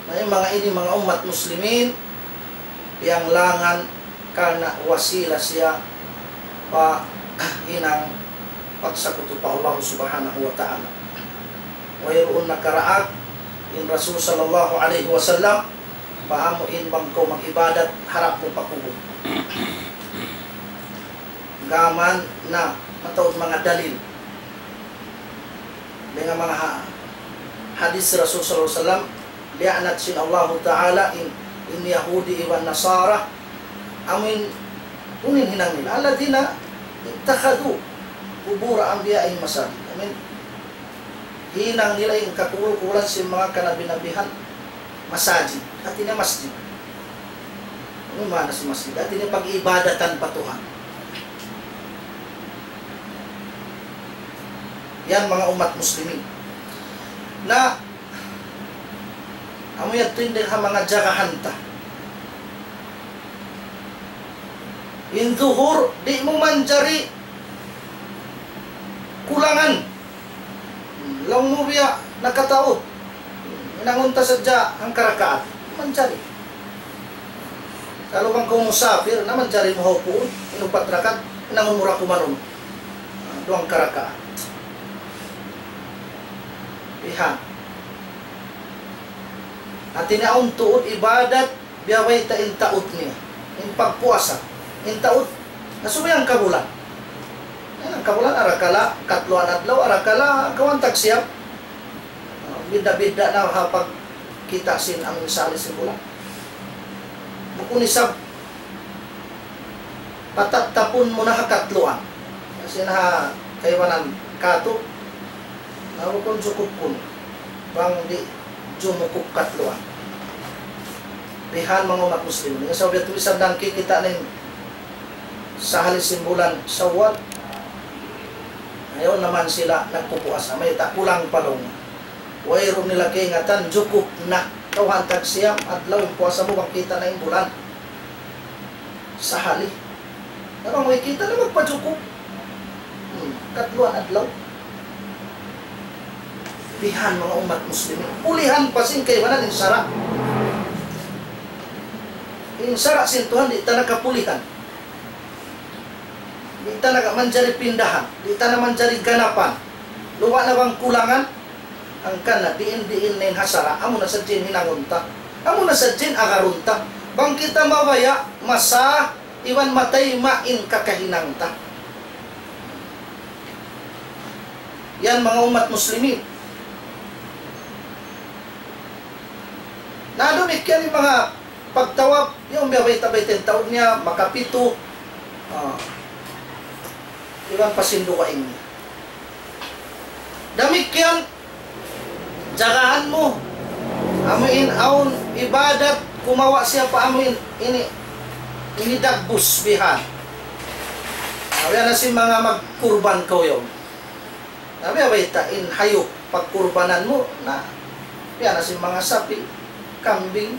Na in manga ini, manga ummat muslimin, piyanglangan karna' wasila siya pa hinang pagsakutu pa Allah Subhanahu wa Ta'ala. Wayruun nakaraag in Rasul sallallahu alayhi wasallam, pa amu in bang kaw mag-ibadat harap mu pa kubul. Gām na mataud manga dalil. Dayn ha manga ha-, hadis Rasul sallallahu alayhi wasallam, liyaanat sin Allahu Ta'ala in, in Yahudi iban Nasara, amu in, unu in hinang nila. الذين اتخذوا قبور أنبيائهم مساجد. Amu in, hinang nila in kakubul-kubulan sin manga kanabi-nabihan masajid. Hāti niya masjid. Unu in maana sin masjid? Hāti niya pag-iibadatan pa Tuhan. Yan manga ummat muslimin. Na, amu yadtu in dayn ha manga jagahan ta. In zuhur, di' mu manjari kulangan. mu biya' nakataud. Hinangun ta sadja hangka rakaat. Manjari. Kalu bang kaw musafir, na manjari mu ha upuun, in upat rakaat, hinangun mu ra kumanun. Duwang ka rakaat. Bihan. Hati niya awn tuud ibadat, biya' bayta' in taud niya. In pagpuasa. In taud, na subay hangka bulan. Yan, hangka bulan, arakala', katluan adlaw, arakala', kawhaan tagsiyam. Ah, bidda'-bidda' na ha pagkita' sin amun sahali sin bulan. Bukun isab, patattapun mu na ha katluan. Kasi na ha kaibanan katu', na bukun jukup kun. Bang di' jumukup katluan. Bihan manga ummat muslimin. Sabab yadtu bisan da kikita' na in sahali sin bulan Shawwal. Ayaw naman sila nagpupuasa. Mayta', kulang pa laung. Wayruun nila kaingatan, jukup na. Kawhaan tagsiyam adlaw in puasa mu bang kita' na in bulan. Sahali. Na bang way kita' na, magpajukup. Hmm, katluan adlaw. Bihan manga ummat muslimin. Pulihan pa sin kaibanan in sara'. In sara' sin Tuhan di' ta na kapulihan. Di' ta na manjari pindahan. Di' ta na manjari ganapan. Luba' na bang kulangan, hangkan na diin-diin na in ha sara', amu na sadja in hinangun ta. Amu na sadja in agarun ta. Bang kita mabaya', masa, iban matayma' in kakahinang ta. Yan manga ummat muslimin. Na damikkiyan in manga pagtawaf, yan biya' bayta'-bayta' in taud niya, makapitu. Ah. Iban pa sin dugaing niya. Damikkiyan, jagahan mu. Amu in awn ibadat, kumawa' siya pa amu in, ini, ini dagbus bihan. Biya' na sin manga magkurban kaw yaun. Na biya' bayta' in hayup pagkurbanan mu, na biya' na sin manga sapi', kambing,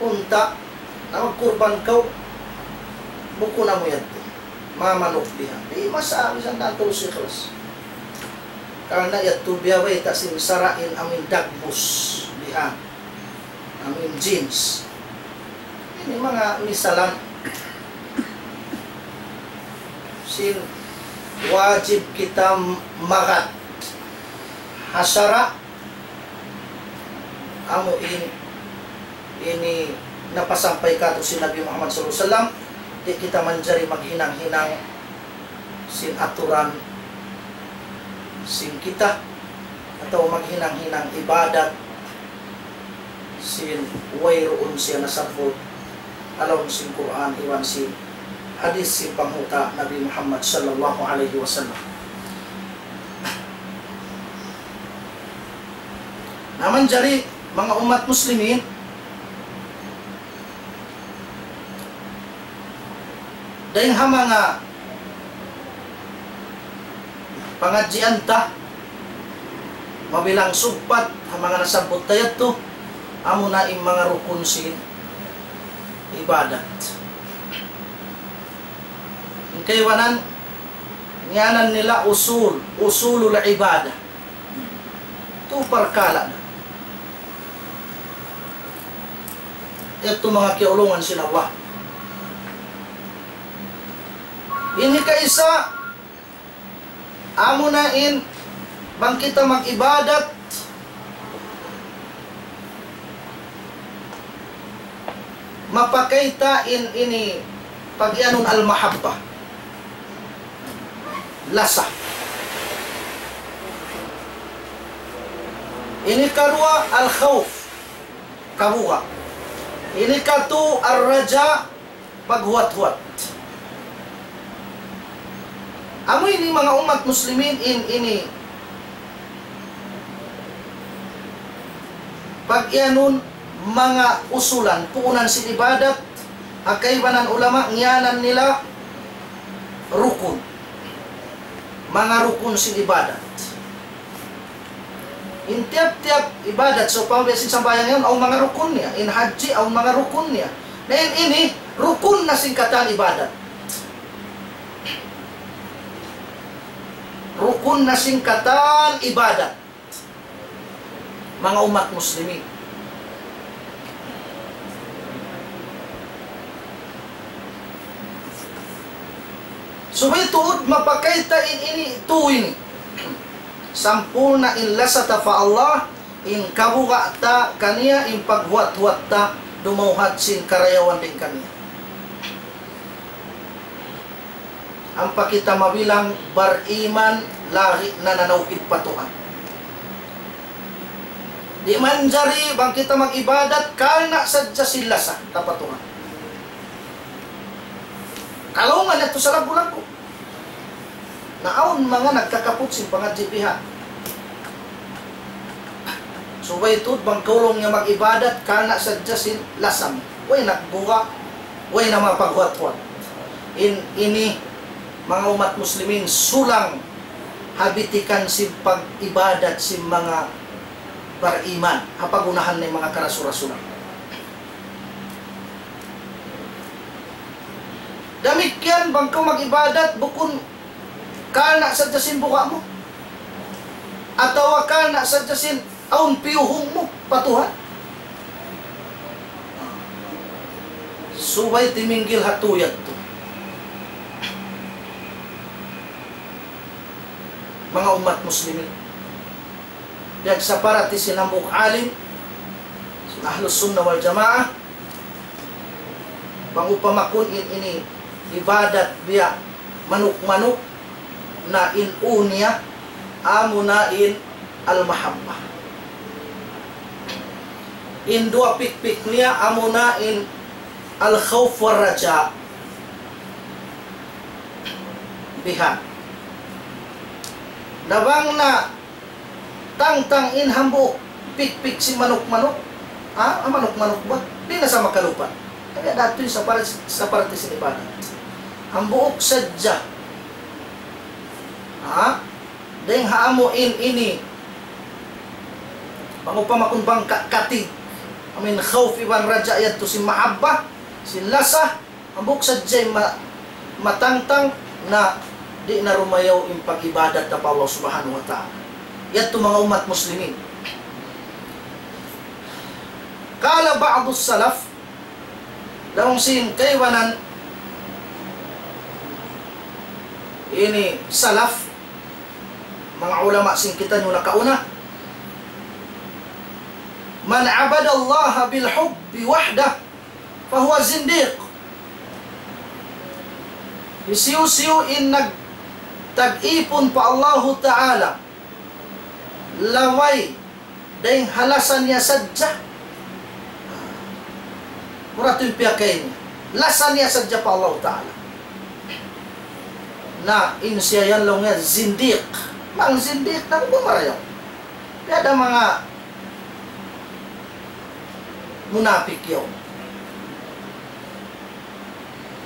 unta', na magkurban kaw, bukun amu yadtu. Manga manuk bihan. Di' masa, misan na tulus ikhlas. Karna' yadtu biya' bayta' sin sara' in amu in dagbus bihan. Amu in jeans. Ini manga misalan sin wajib kita magad ha sara'. Amu in, ini napasampay kātu' sin Nabi Muhammad sallallahu alayhi wasallam, di' kita manjari maghinang-hinang sin aturan sin kita, atawa maghinang-hinang ibadat sin wayruun siya nasabbut ha lawm sin Qur'an iban sin hadith sin panghuta' Nabi Muhammad sallallahu alayhi wasallam. Na manjari manga ummat muslimin, dayn ha manga pangadjian ta, mabilang sugpat ha manga nasabbut ta yadtu, amuna in manga rukun sin ibadat. In kaibanan, ngiyanan nila usul, usulul ibadah. Tu parkala' na. Yadtu manga kiyaulungan sin Allah. Ini kaisa, amuna in bang kita mag-ibadat, mapakay ta in ini pag-iyanun al-mahabbah. Lasa. Ini karuwa al-khawf. Kabuga'. Ini katu ar-raja, paghuwat-huwat. Amu ini manga ummat muslimin in ini pag-iyanun manga usulan, puunan sin ibadat, ha kaibanan ulama, ngiyanan nila rukun. Manga rukun sin ibadat. In tiyap-tiyap ibadat, sawpama biya' sin sambahayang yaun, awn manga rukun niya. In hajji, awn manga rukun niya. Na in ini, rukun na sin katan ibadat. Rukun na sin katan ibadat. Manga ummat muslimin, subay tuud mapakay ta in ini, tu ini. Sampurna' in lasa ta pa Allah, in kabuga' ta kaniya, in paghuwat-huwat ta, dumawhat sin karayawan dayn kaniya. Ampa kita mabilang bariman, lagi' nananawhid pa Tuhan. Di' manjari bang kita mag-ibadat karna' sadja sin lasa ta pa Tuhan. Kalaungan yadtu salaggu'-laggu'. Na awn manga nagkakaput sin pangadji' biha'. Subay tuud bang kaw laung niya mag-ibadat karna' sadja sin lasa mu. Way nagbuga', way na mapaghuwat-huwat. In ini, manga ummat muslimin, sulang ha bitikan sin pag-ibadat sin manga bariman, ha pag-unahan na in manga karasul-rasulan. Damikkiyan bang kaw mag-ibadat bukun karna' sadja sin buga' mu, atawa karna' sadja sin awn piyuhung mu pa Tuhan. Subay timinggil ha tu yadtu. Manga ummat muslimin, piyagsaparati sin hambuuk alim sin Ahlus Sunnah wal Jamaah, bang upama kun in ini ibadat biya' manuk-manuk, na in ū niya amuna in al-mahabbah. In duwa pikpik niya amuna in al-khawf wal raja'. Biha'. Na bang na tangtang in hambuuk pikpik sin manuk-manuk. Ha? Ah, manuk-manuk ba? Di' na sa makalupa. Kaya datu in sapar-, saparti sin ibadat. Hambuuk sadja. Ha? Dayng ha amu in ini. Bang upama kun bang ka-, katig. Amu in khawf iban raja' yadtu sin mahabbah, sin lasa. Hambuuk sadja in ma-, matangtang na di' na rumayaw in pag-ibadat ta pa Allah Subhanahu wa Ta'ala. Yadtu manga ummat muslimin. قال بعض السلف, laung sin kaibanan ini salaf, manga ulama sin kitaniyu nakauna, من عبد الله بالحب وحده فهو زنديق. Hisiyu-siyu in nagtag-ipun pa Allahu Ta'ala, laway dayng ha lasa niya sadja. Mura tuud in piyakay niya. Lasa niya sadja pa Allahu Ta'ala. Na in siya yan laung niya zindiq. Bang zindiq na, bang marayaw. Kaya da manga munapik yaun.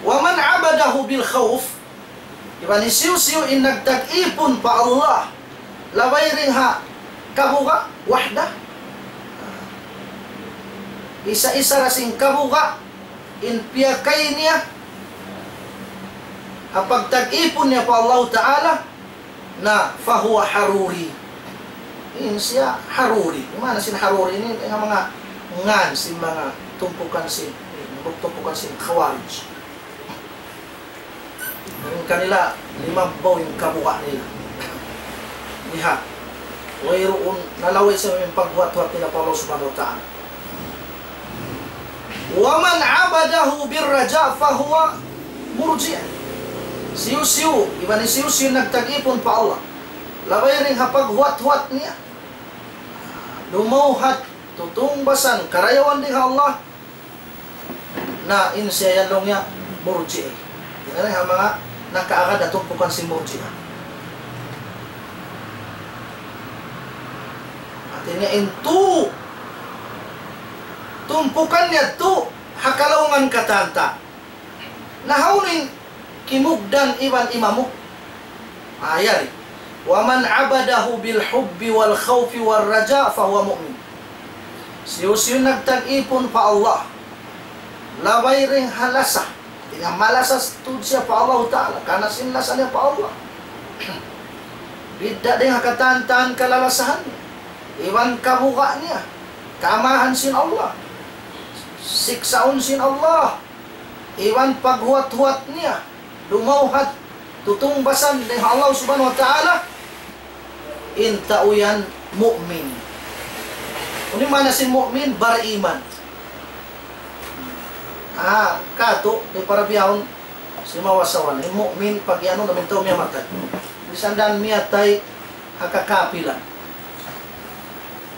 ومن عبده بالخوف, iban hisiyu-siyu in nagtag-ipun pa Allah, laway dayng ha kabuga', wahda. Isa-isa da sin kabuga', in piyakay niya, ha pagtag-ipun niya pa Allah Ta'ala, na فهو حروري. In siya Haruri. In maana sin Haruri ini, in manga ngan sin manga tumpukan sin, tumpukan sin Khawarij. In kanila, limabbaw in kabuga' nila. Lihat. Wayruun, nalaway sa in paghuwat-huwat nila pa Allah Subhanahu wa Ta'ala. ومن عبده بالرجاء فهو مرجئة. Hisiyu-siyu, iban hisiyu-siyu nagtag-ipun pa Allah, laway dayng ha paghuwat-huwat niya, dumawhat, tutungbasan, karayawan dayng ha Allah, na in siya yan laung niya Murji'ah. Yan na in manga nakaagad ha tumpukan sin Murji'ah. Hati niya in tu, tumpukan niya tu, ha kalaungan katan ta. Na hawnu in kimugdan iban imamu? Ah, yari. ومن عبده بالحب والخوف والرجاء فهو مؤمن. Hisiyu-siyu nagtag-ipun pa Allah, laway dayng ha lasa, hati niya malasa tuud siya pa Allah Ta'ala, karna' sin lasa niya pa Allah. Bidda' dayng ha katan-katan kalalasahan niya. iban kabuga' niya, kaamahan sin Allah, siksaun sin Allah, iban paghuwat-huwat niya, dumawhat, tutungbasan dayn ha Allah Subhanahu wa Ta'ala, in tau yan mu'min. Unu in maana sin mu'min? Bariman. Ah, katu', di' para bihaun, simawa-sawa na. In mu'min, pag-anu na in tau miyatay. Misan da miyatay ha kakapilan,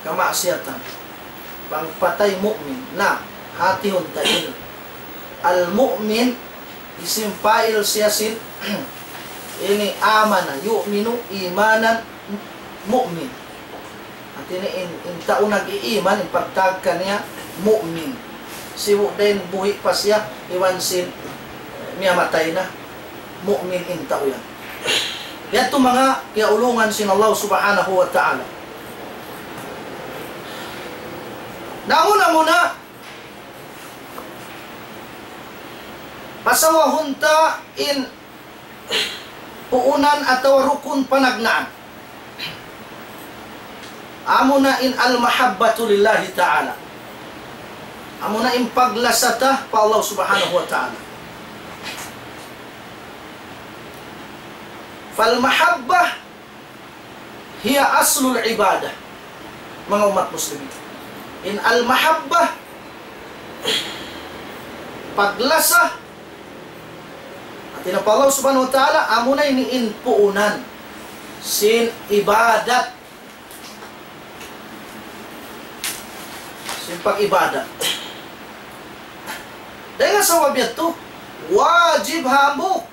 kamaksiyatan. Bang patay mu'min. Na, hatihun ta ini. Al-mu'min, isim fa'il siya sin, ini amana, yu'minu imanan mu'min. Hati niya in, in tau nag-iiman, in pagtawag kaniya mu'min. Sibu' da in buhi' pa siya, iban sin, eh, miyatay na, mu'min in tau yan. Yadtu manga kiyaulungan sin Allah Subhanahu wa Ta'ala. Na muna-muna, pasawahun ta in puunan atawa rukun panagnaan. Amuna in al-mahabbatu lillahi ta'ala. Amuna in paglasa ta pa Allah Subhanahu wa Ta'ala. فالمحبة هي أصل العبادة. Manga ummat muslimin, in al-mahabbah, paglasa, hati niya pa Allah Subhanahu wa Ta'ala, amuna ini in puunan sin ibadat, sin pag-ibadat. Dayn ha sabab yadtu, wajib hambuuk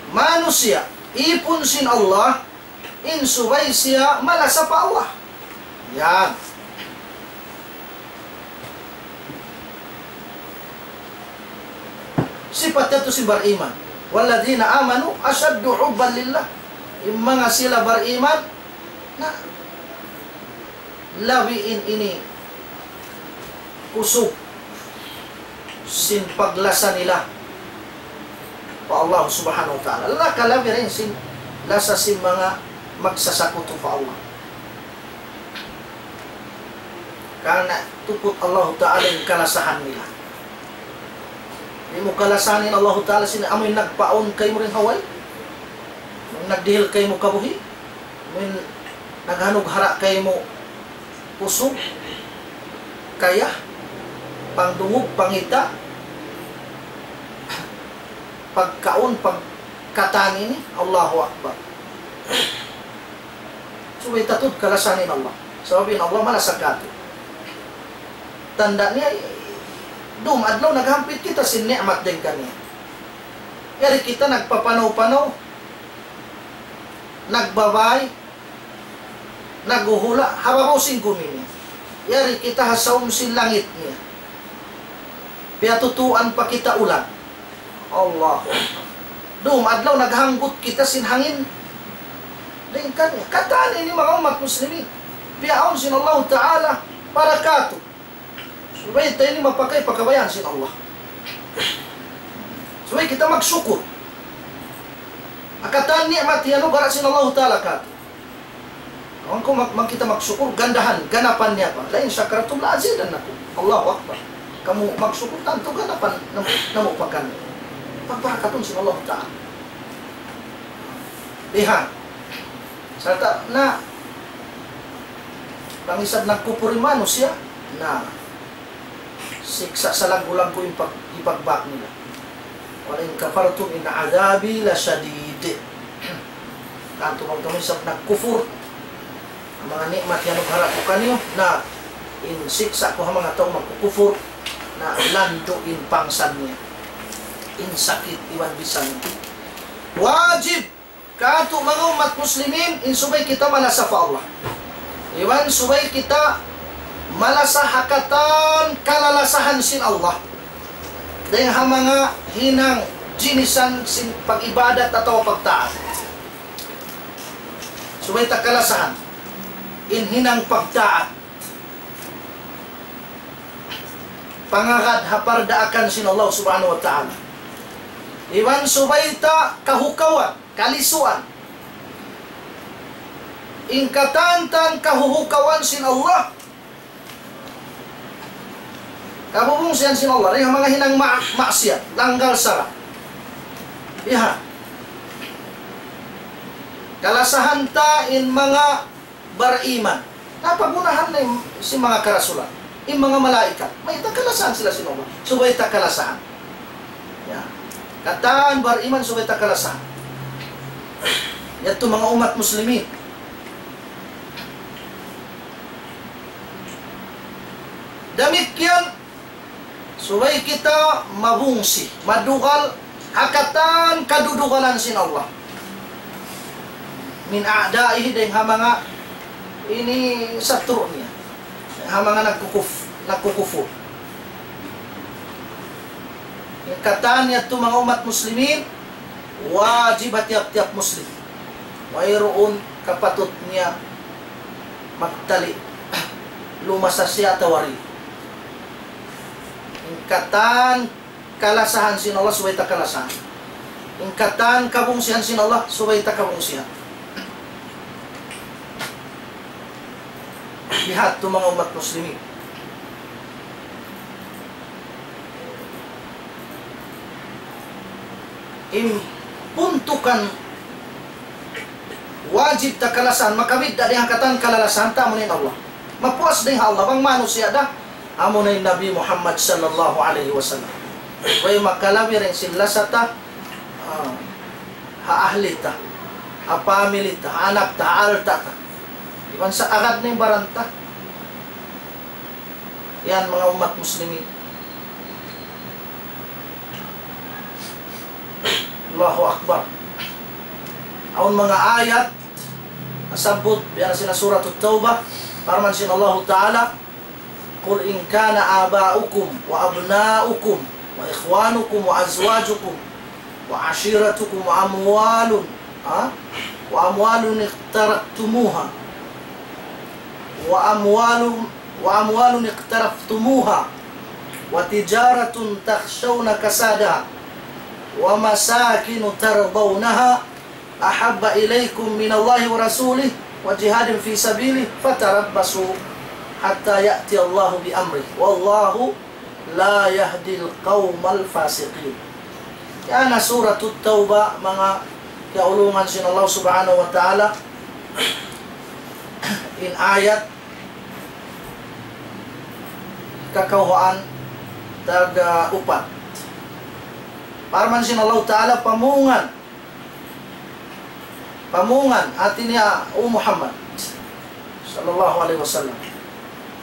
manusiya', ipun sin Allah, in subay siya malasa pa Allah. Yan. Sipat yadtu sin bariman. والذين آمنوا أشد حبا لله. In manga sila bariman, na labi in ini kusug sin paglasa nila pa Allah Subhanahu wa Ta'ala. Nakalabi dayn sin lasa sin manga magsasakutu pa Allah. Karna' tuput Allah Ta'ala in kalasahan nila. Di' mu kalasahan in Allah Ta'ala sin amu in nagpaawn kaymu dayn ha way, amu in nagdihil kaymu kabuhi', amu in naghanughara' kaymu kusug, kaya, pangdungug, pangita', pagkaun, pagkatan ini, Allahu Akbar. Subay ta tuud kalasahan in Allah. Sabab in Allah malasa katu'. Tanda' niya, dum adlaw naghampit kita sin ni'mat dayn kaniya. Yari kita nagpapanaw-panaw, nagbabay, naghuhula', ha babaw sin gumi niya. Yari kita ha saum sin langit niya. Piyatutuan pa kita ulan. Allahu Akbar. Dum adlaw naghanggut kita sin hangin. Dayn kaniya. Katan ini manga ummat muslimin. Piyaawn sin Allahu Ta'ala para katu'. Subay ta ini mapakay pa kabayaan sin Allah. Subay kita magsukur. Ha katan ni'mat iyanugara' sin Allahu Ta'ala katu'. Awn ku mag-, mag-, kita magsukur, gandahan, ganapan niya pa. لئن شكرتم لأزيدنكم. Allahu Akbar. Kamu magsukur, tantu ganapan namu', namu' pa kaniyu. Pagbarakatun sin Allah Ta'ala. Bihan. Sarta' na, bang isab nagkupur in manusiya', na siksa' salaggu'-laggu' in pag-, ipagbak nila. ولئن كفرتم إن عذابي لشديد. Tantu bang kamu isab nagkufur ha manga ni'mat iyanugara' ku kaniyu, na in siksa' ku ha manga tau magkukufur, na landu' in pangsan niya. In sakit iban bisan niya. Wajib katu' manga ummat muslimin, in subay kita malasa pa Allah. Iban subay kita malasa ha katan kalalasahan sin Allah. Dayn ha manga hinang jinisan sin pag-ibadat atawa pagtaat. Subay ta kalasahan in hinang pagtaat. Pangagad ha pardaakan sin Allah Subhanahu wa Ta'ala. Iban subay ta kahukawan, kalisuan. In katan-katan kahuhukawan sin Allah, kabubungsihan sin Allah, dayn ha manga hinang ma-, maksiyat, langgal sara'. Biha'. Kalasahan ta in manga bariman. Na pagunahan na in, sin manga karasulan, in manga malaikat. Mayta' kalasahan sila sin Allah? Subay ta kalasahan. Ya. Katan bariman subay ta kalasahan. Yadtu manga ummat muslimin. Damikkiyan, subay kita mabungsi, madugal ha katan kadudugalan sin Allah. من أعدائه, dayn ha manga ini satru' niya. Ha manga nagkukuf-, nagkukufur. In katan yadtu manga ummat muslimin, wajib ha tiyap-tiyap muslim. Wayruun kapatut niya magtali, lumasa siya atawa di'. In katan kalasahan sin Allah subay ta kalasahan. In katan kabungsihan sin Allah subay ta kabungsihan. Biha' yadtu manga ummat muslimin. In puntukan wajib ta kalasahan, makabidda' dayn ha katan kalalasahan ta, amuna in Allah. Mapuas dayn ha Allah bang manusiya' da, amuna in Nabi Muhammad sallallahu alayhi wasallam. Way makalabi dayn sin lasa ta, ah, ha ahli ta, ha family ta, ha anak ta, ha alta' ta. Iban sa agad na in baran ta. Yan manga ummat muslimin. Allahu Akbar. Awn manga ayat nasabbut, biya' na sin Suratut Tawbah, parman sin Allahu Ta'ala, قل إن كان آباؤكم وأبناؤكم وإخوانكم وأزواجكم وعشيرتكم وأموال، ها؟ وأموال اقترفتموها، وأموال، وأموال اقترفتموها وتجارة تخشون كسادها ومساكن ترضونها أحب إليكم من الله ورسوله وجهاد في سبيله فتربصوا حتى يأتي الله بأمره والله لا يهدي القوم الفاسقين. Yan na Suratut Tawbah, manga kiyaulungan sin Allah Subhanahu wa Ta'ala, in ayat kakawhaan tag-upat. Parman sin Allah Ta'ala, pamungan Pamungan, hati niya, O Muhammad, sallallahu alayhi wasallam.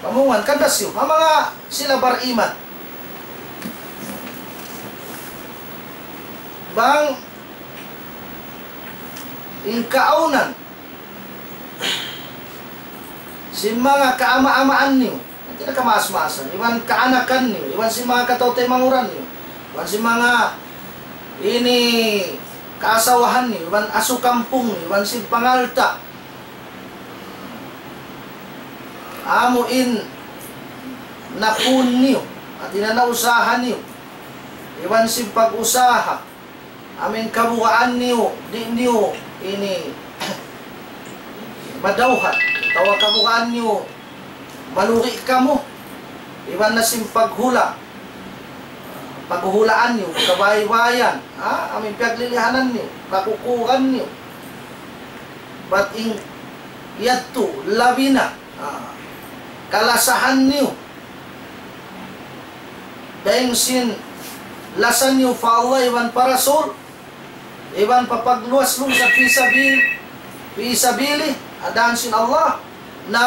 Pamungan, kandasiyu, ha manga sila bariman. Bang in kaawnan sin manga kaama'-amaan niyu, hati niya kamaas-maasan, iban kaanakan niyu, iban sin manga kataw-taymanghuran niyu, iban sin manga ini kaasawahan niyu, iban asu kampung niyu, iban sin pangalta'. Amu in napun niyu, hati niya nausaha niyu, iban sin pag-usaha. Amu in kabugaan niyu, di' niyu ini madawhat. Atawa kabugaan niyu, malugi' kamu. Iban na sin paghula'. Paghulaan niyu, kabaybayan. Ha? Amu in piyaglilihanan niyu, kakukuran niyu. Bat in yadtu, labi na. Ha? Kalasahan niyu. Dayn sin lasa niyu pa Allah iban pa Rasul, iban pa pagluwas-luwas fi sabil, fi sabili, ha dan sin Allah, na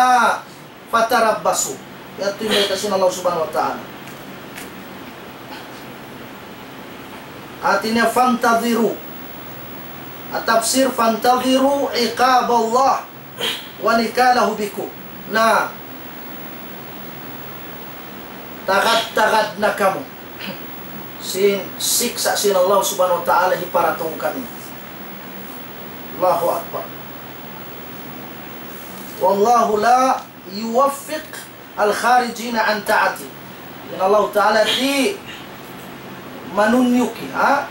fatarabbasu. Yadtu in bayta' sin Allah Subhanahu wa Ta'ala. Hati niya fantadhiru. At-tafsir, fantadhiru iqaballah wa nakalahu bikum. Na tagad-tagad na kamu sin siksa' sin Allah Subhanahu wa Ta'ala hiparatung kaniyu. Allahu Akbar. والله لا يوفق الخارجين عن طاعته. In Allah Ta'ala di' manunyuki, ha?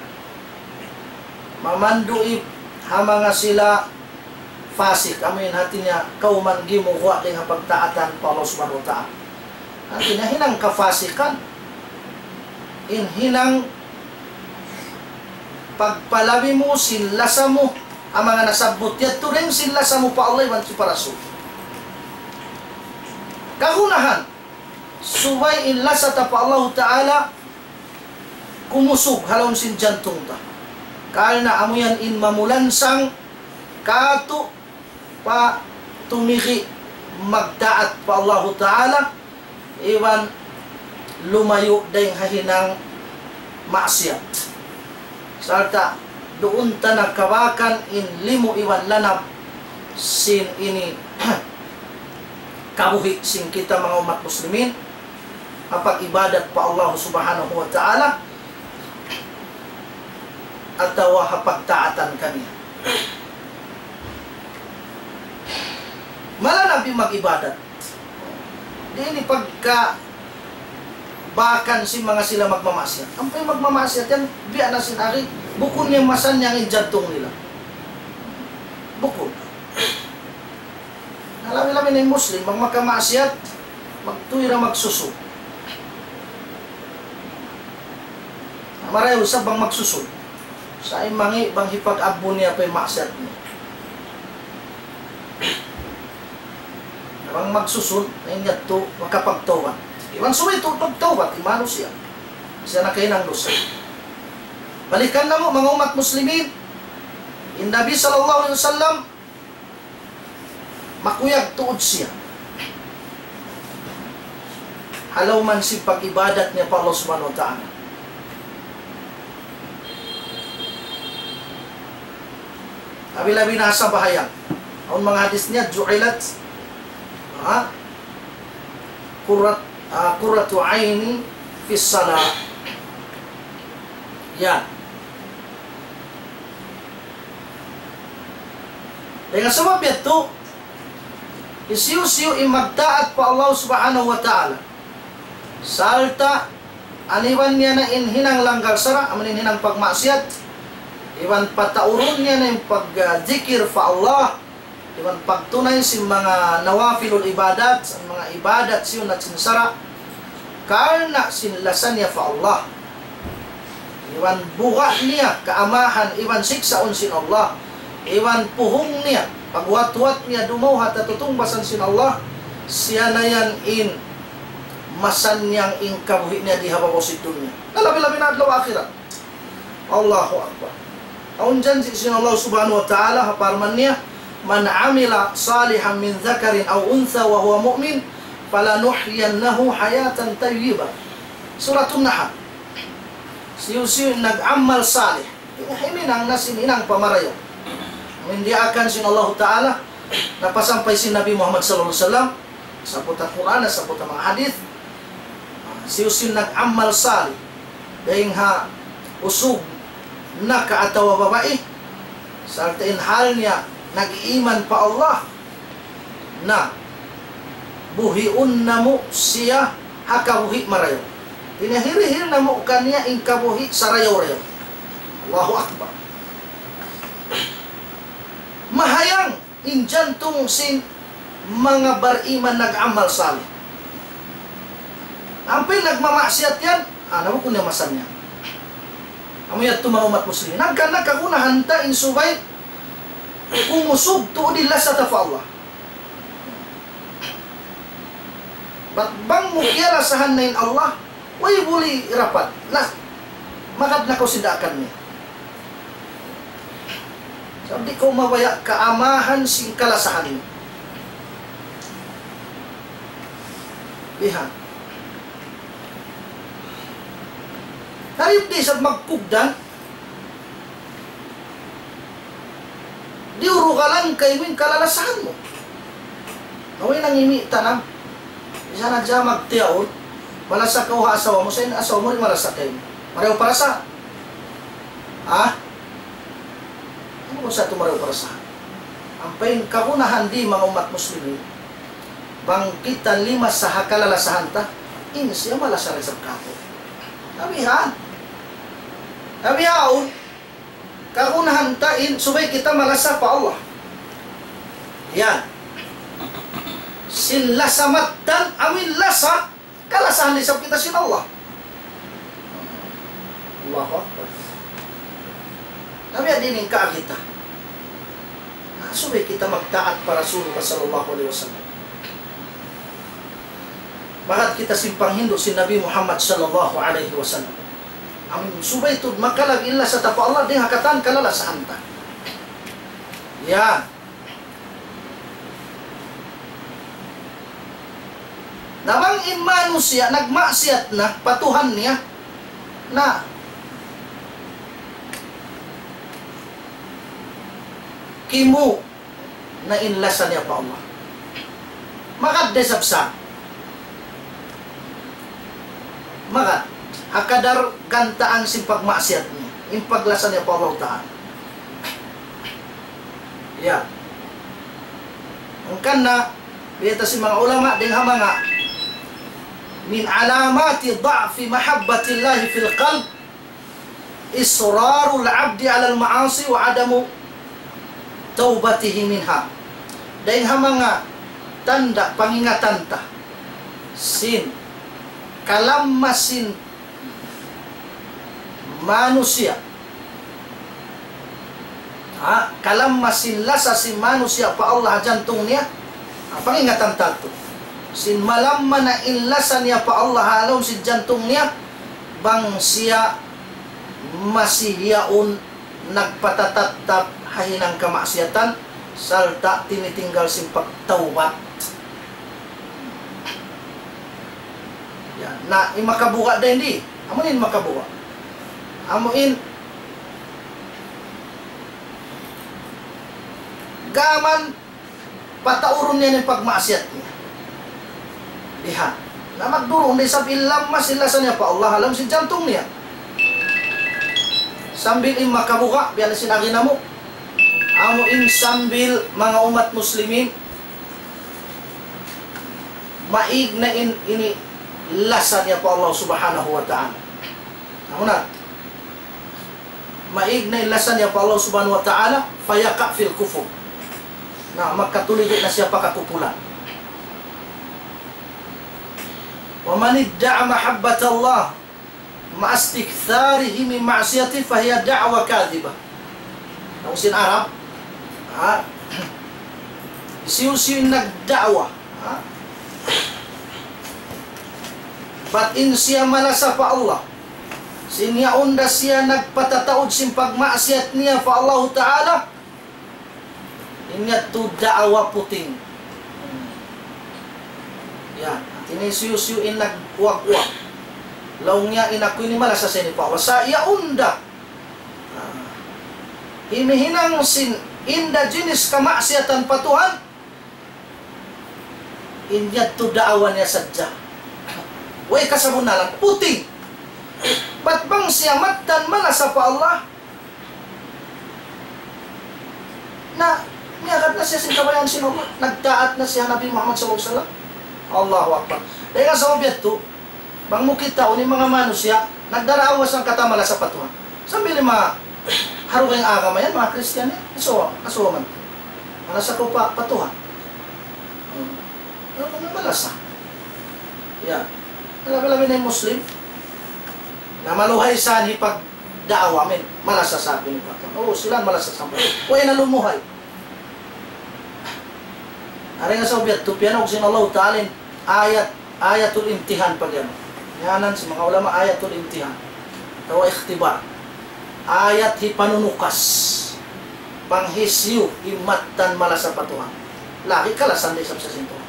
Mamandu'i ha manga sila Fasik, amu in hati niya kawman gimuwa' dayn ha pagtaatan pa Allah Subhanahu wa Ta'ala. Hati niya hinang kafasikan, in hinang pagpalabi mu sin lasa mu, amu in nasabbut yadtu dayn sin lasa mu pa Allah iban sin pa Rasul. Kagunahan, subay in lasa ta pa Allahu Ta'ala kumusug ha lawm sin jantung ta. Karna' amu yan in mamulansang katu' pa tumigi' magtaat pa Allahu Ta'ala, iban lumayu' dayn ha hinang maksiyat. Sarta' duun ta na kabakan in limu iban lanab sin ini kabuhi' sin kita manga ummat muslimin, ha pag-ibadat pa Allah Subhanahu wa Ta'ala, atawa ha pagtaatan kaniya. Mala na bi mag-ibadat. Di' ini pagka bakan sin manga sila magmamaksiyat. Ampa in magmamaksiyat yan, biya' na sin ari, bukun niya masannyang in jantung nila. Bukun. Na labi-labi na in Muslim, bang makamaksiyat, magtuy ra magsusun. Marayaw isab bang magsusun. Sa' in mangi' bang hipag-abbu niya pa in maksiyat niya. Bang magsusun, na in yadtu makapagtawbat. Iban subay tuud magtawbat in manusiya'. Siya nakahinang dusa. Balikan namu', manga ummat muslimin, in Nabi sallallahu alayhi wasallam, makuyag tuud siya ha lawm sin pag-ibadat niya pa Allah Subhanahu wa Ta'ala. Labi-labi na ha sambahayang. Awn manga hadith niya, جعلت, ha? قرة, ah, قرة عيني في الصلاة. Yan. Dayn ha sabab yadtu, hisiyu-siyu in magtaat pa Allah Subhanahu wa Ta'ala, sarta' aniban niya na in hinang langgal sara', amu in hinang pagmaksiyat, iban pataurun niya na in pagdikir pa Allah, iban pagtunay sin manga nawafilul ibadat, sin manga ibadat siyunat sin sara', karna' sin lasa niya pa Allah. Iban buga' niya kaamahan iban siksaun sin Allah. Iban puhung niya, pagwat-wat niya dumawhat ha tutungbasan sin Allah, siya na yan in masannyang in kabuhi' niya di ha babaw sin dunya. Na labi-labi na adlaw akhirat. Allahu Akbar. Awn janji' sin Allah Subhanahu wa Ta'ala, ha parman niya, من عمل صالحا من ذكر أو أنثى وهو مؤمن فلنحيينه حياة طيبة. Suratun Nahl. Siyu-siyu nag-amal salih, himinang na sin hinang pa marayaw. Amu in diyaakan sin Allahu Ta'ala, napasampay sin Nabi Muhammad sallallahu alayhi wasallam, sabbut ha Qur'an, sabbut ha manga hadith, siyu-siyu nag-amal salih, dayn ha usug naka atawa babai, sarta' in hal niya nag-iman pa Allah, na buhiun namu' siya ha kabuhi' marayaw. Pinahirihil namu' kaniya in kabuhi' sarayaw-rayaw. Allahu Akbar. Mahayang in jantung sin manga bariman nag-amal salih. Ampa in nagmamaksiyat yan, ah, na bukun niya masannyang. Amu yadtu manga ummat muslimin. Hangkan na kagunahan ta in subay kumusug tuud in lasa ta pa Allah. Bat bang mu kiyalasahan na in Allah, way buli rapat. Na, magad na kaw sin daakan niya. Sabab di' kaw mabaya' kaamahan sin kalasahan niya. Bihan. Tarib di' isab magkugdan, diyurugalan kaymu in kalalasahan mu. Awn nangimi' tanam. Misan na hadja magtiyaun, malasa kaw ha asawa mu, sa' in asawa mu di' malasa kaymu. Marayaw parasa. Ha? Unu sa' tuud marayaw parasa? Ampa in kagunahan di' manga ummat muslimin, bang kita limasa ha kalalasahan ta, in siya malasa da isab kātu'. Tabihan. Tabihaun. Kagunahan ta in subay kita malasa pa Allah. Yan. Sin lasa mattan, amuin lasa, kalasahan isab kita sin Allah. Allahu Akbar. Na biya' diin in kaagi ta. Na subay kita magtaat pa Rasulullah sallallahu alayhi wasallam. Magad kita sin panghindu' sin Nabi Muhammad sallallahu alayhi wasallam. Amun subay tuud makalag in lasa ta pa Allah, dayn ha katan kalalasahan ta. Yan. Na bang in manusiya' nagmaksiyat na pa Tuhan niya, na kimu na in lasa niya pa Allah. Magad da isab sa. Magad. Ha kadar gantaan sin pagmaksiyat niya. In paglasa niya pa Allah Ta'ala. Ya. Hangkan na, biyayta' sin manga ulama, dayn ha manga من علامات ضعف محبة الله في القلب إصرار العبد على المعاصي وعدم توبته منها. Dayn ha manga tanda' pangingatan ta sin kalamma sin manusiya'. Ha, kalamma sin lasa sin manusiya' pa Allah ha jantung niya. Ha, pangingatan ta tuud. Sin malamma na in lasa niya pa Allah ha lawm sin jantung niya, bang siya masi yaun nagpatatattap ha hinang kamaksiyatan, sarta' tinitinggal sin pagtawbat. Ya, na in makabuga' da ini. Amu in makabuga'. Amu in gaman pataurun niya in pagmaksiyat niya. Diha. Na magdurung da isab in lamma sin lasa niya pa Allah ha lawm sin jantung niya. Sambil in makabuga', biya' na sin agi namu'. Amu in sambil manga ummat muslimin, maig na in ini lasa niya pa Allah Subhanahu wa Ta'ala. Amu na. Maig na in lasa niya pa Allah Subhanahu wa Ta'ala, فيقع في الكفر. Na, makatulid na siya pa kakupulan. ومن ادعى محبة الله مع استكثاره من معصيته فهي دعوى كاذبة. Laung sin Arab, ha? Hisiyu-siyu in nagda'wa, ha? Bat in siya malasa pa Allah, sin yaun da siya nagpatataud sin pagmaksiyat niya pa Allahu Ta'ala, in yadtu da'wa puting. Yan. Hati niya hisiyu-siyu in nag-uwag-uwag. Laung niya in aku ini malasa sa ini pa Allah. Sa' yaun da. Ah. Himihinang sin inda jinis kamaksiyatan pa Tuhan. In yadtu da'wa niya sadja. Way kasabunnalan. Puting. Bat bang siya mattan malasa pa Allah, na, miyagad na siya sin kabayaan sin Allah. Nagtaat na siya Nabi Muhammad sallallahu alayhi wasallam. Allahu Akbar. Dayn ha sabab yadtu, bang mu kitaun in manga manusiya', nagdaraawwa sangkata malasa pa Tuhan. Sambil in manga ha dugaing agama yan, manga Kristiyan yan. Asuwa, asuwa man. Malasa kaw pa, pa Tuhan. Hmm. Ano, malasa. Yan. Labi-labi na in Muslim. Na maluhay sa hipag da'wa, amin. Malasa sa pinipakan. Oo, sila malasa sa pag-, way na lumuhay. Ari nga sa ubiyat tu, piyanawag sin Allahu Ta'ala in ayat, ayatul imtihan pag yan. Yanan sin manga ulama, ayatul imtihan. Atawa ikhtibar. Ayat hipanunukas. Panghisiyu in mattan malasa pa Tuhan. Lagi' kalasahan da isab sa sin Tuhan.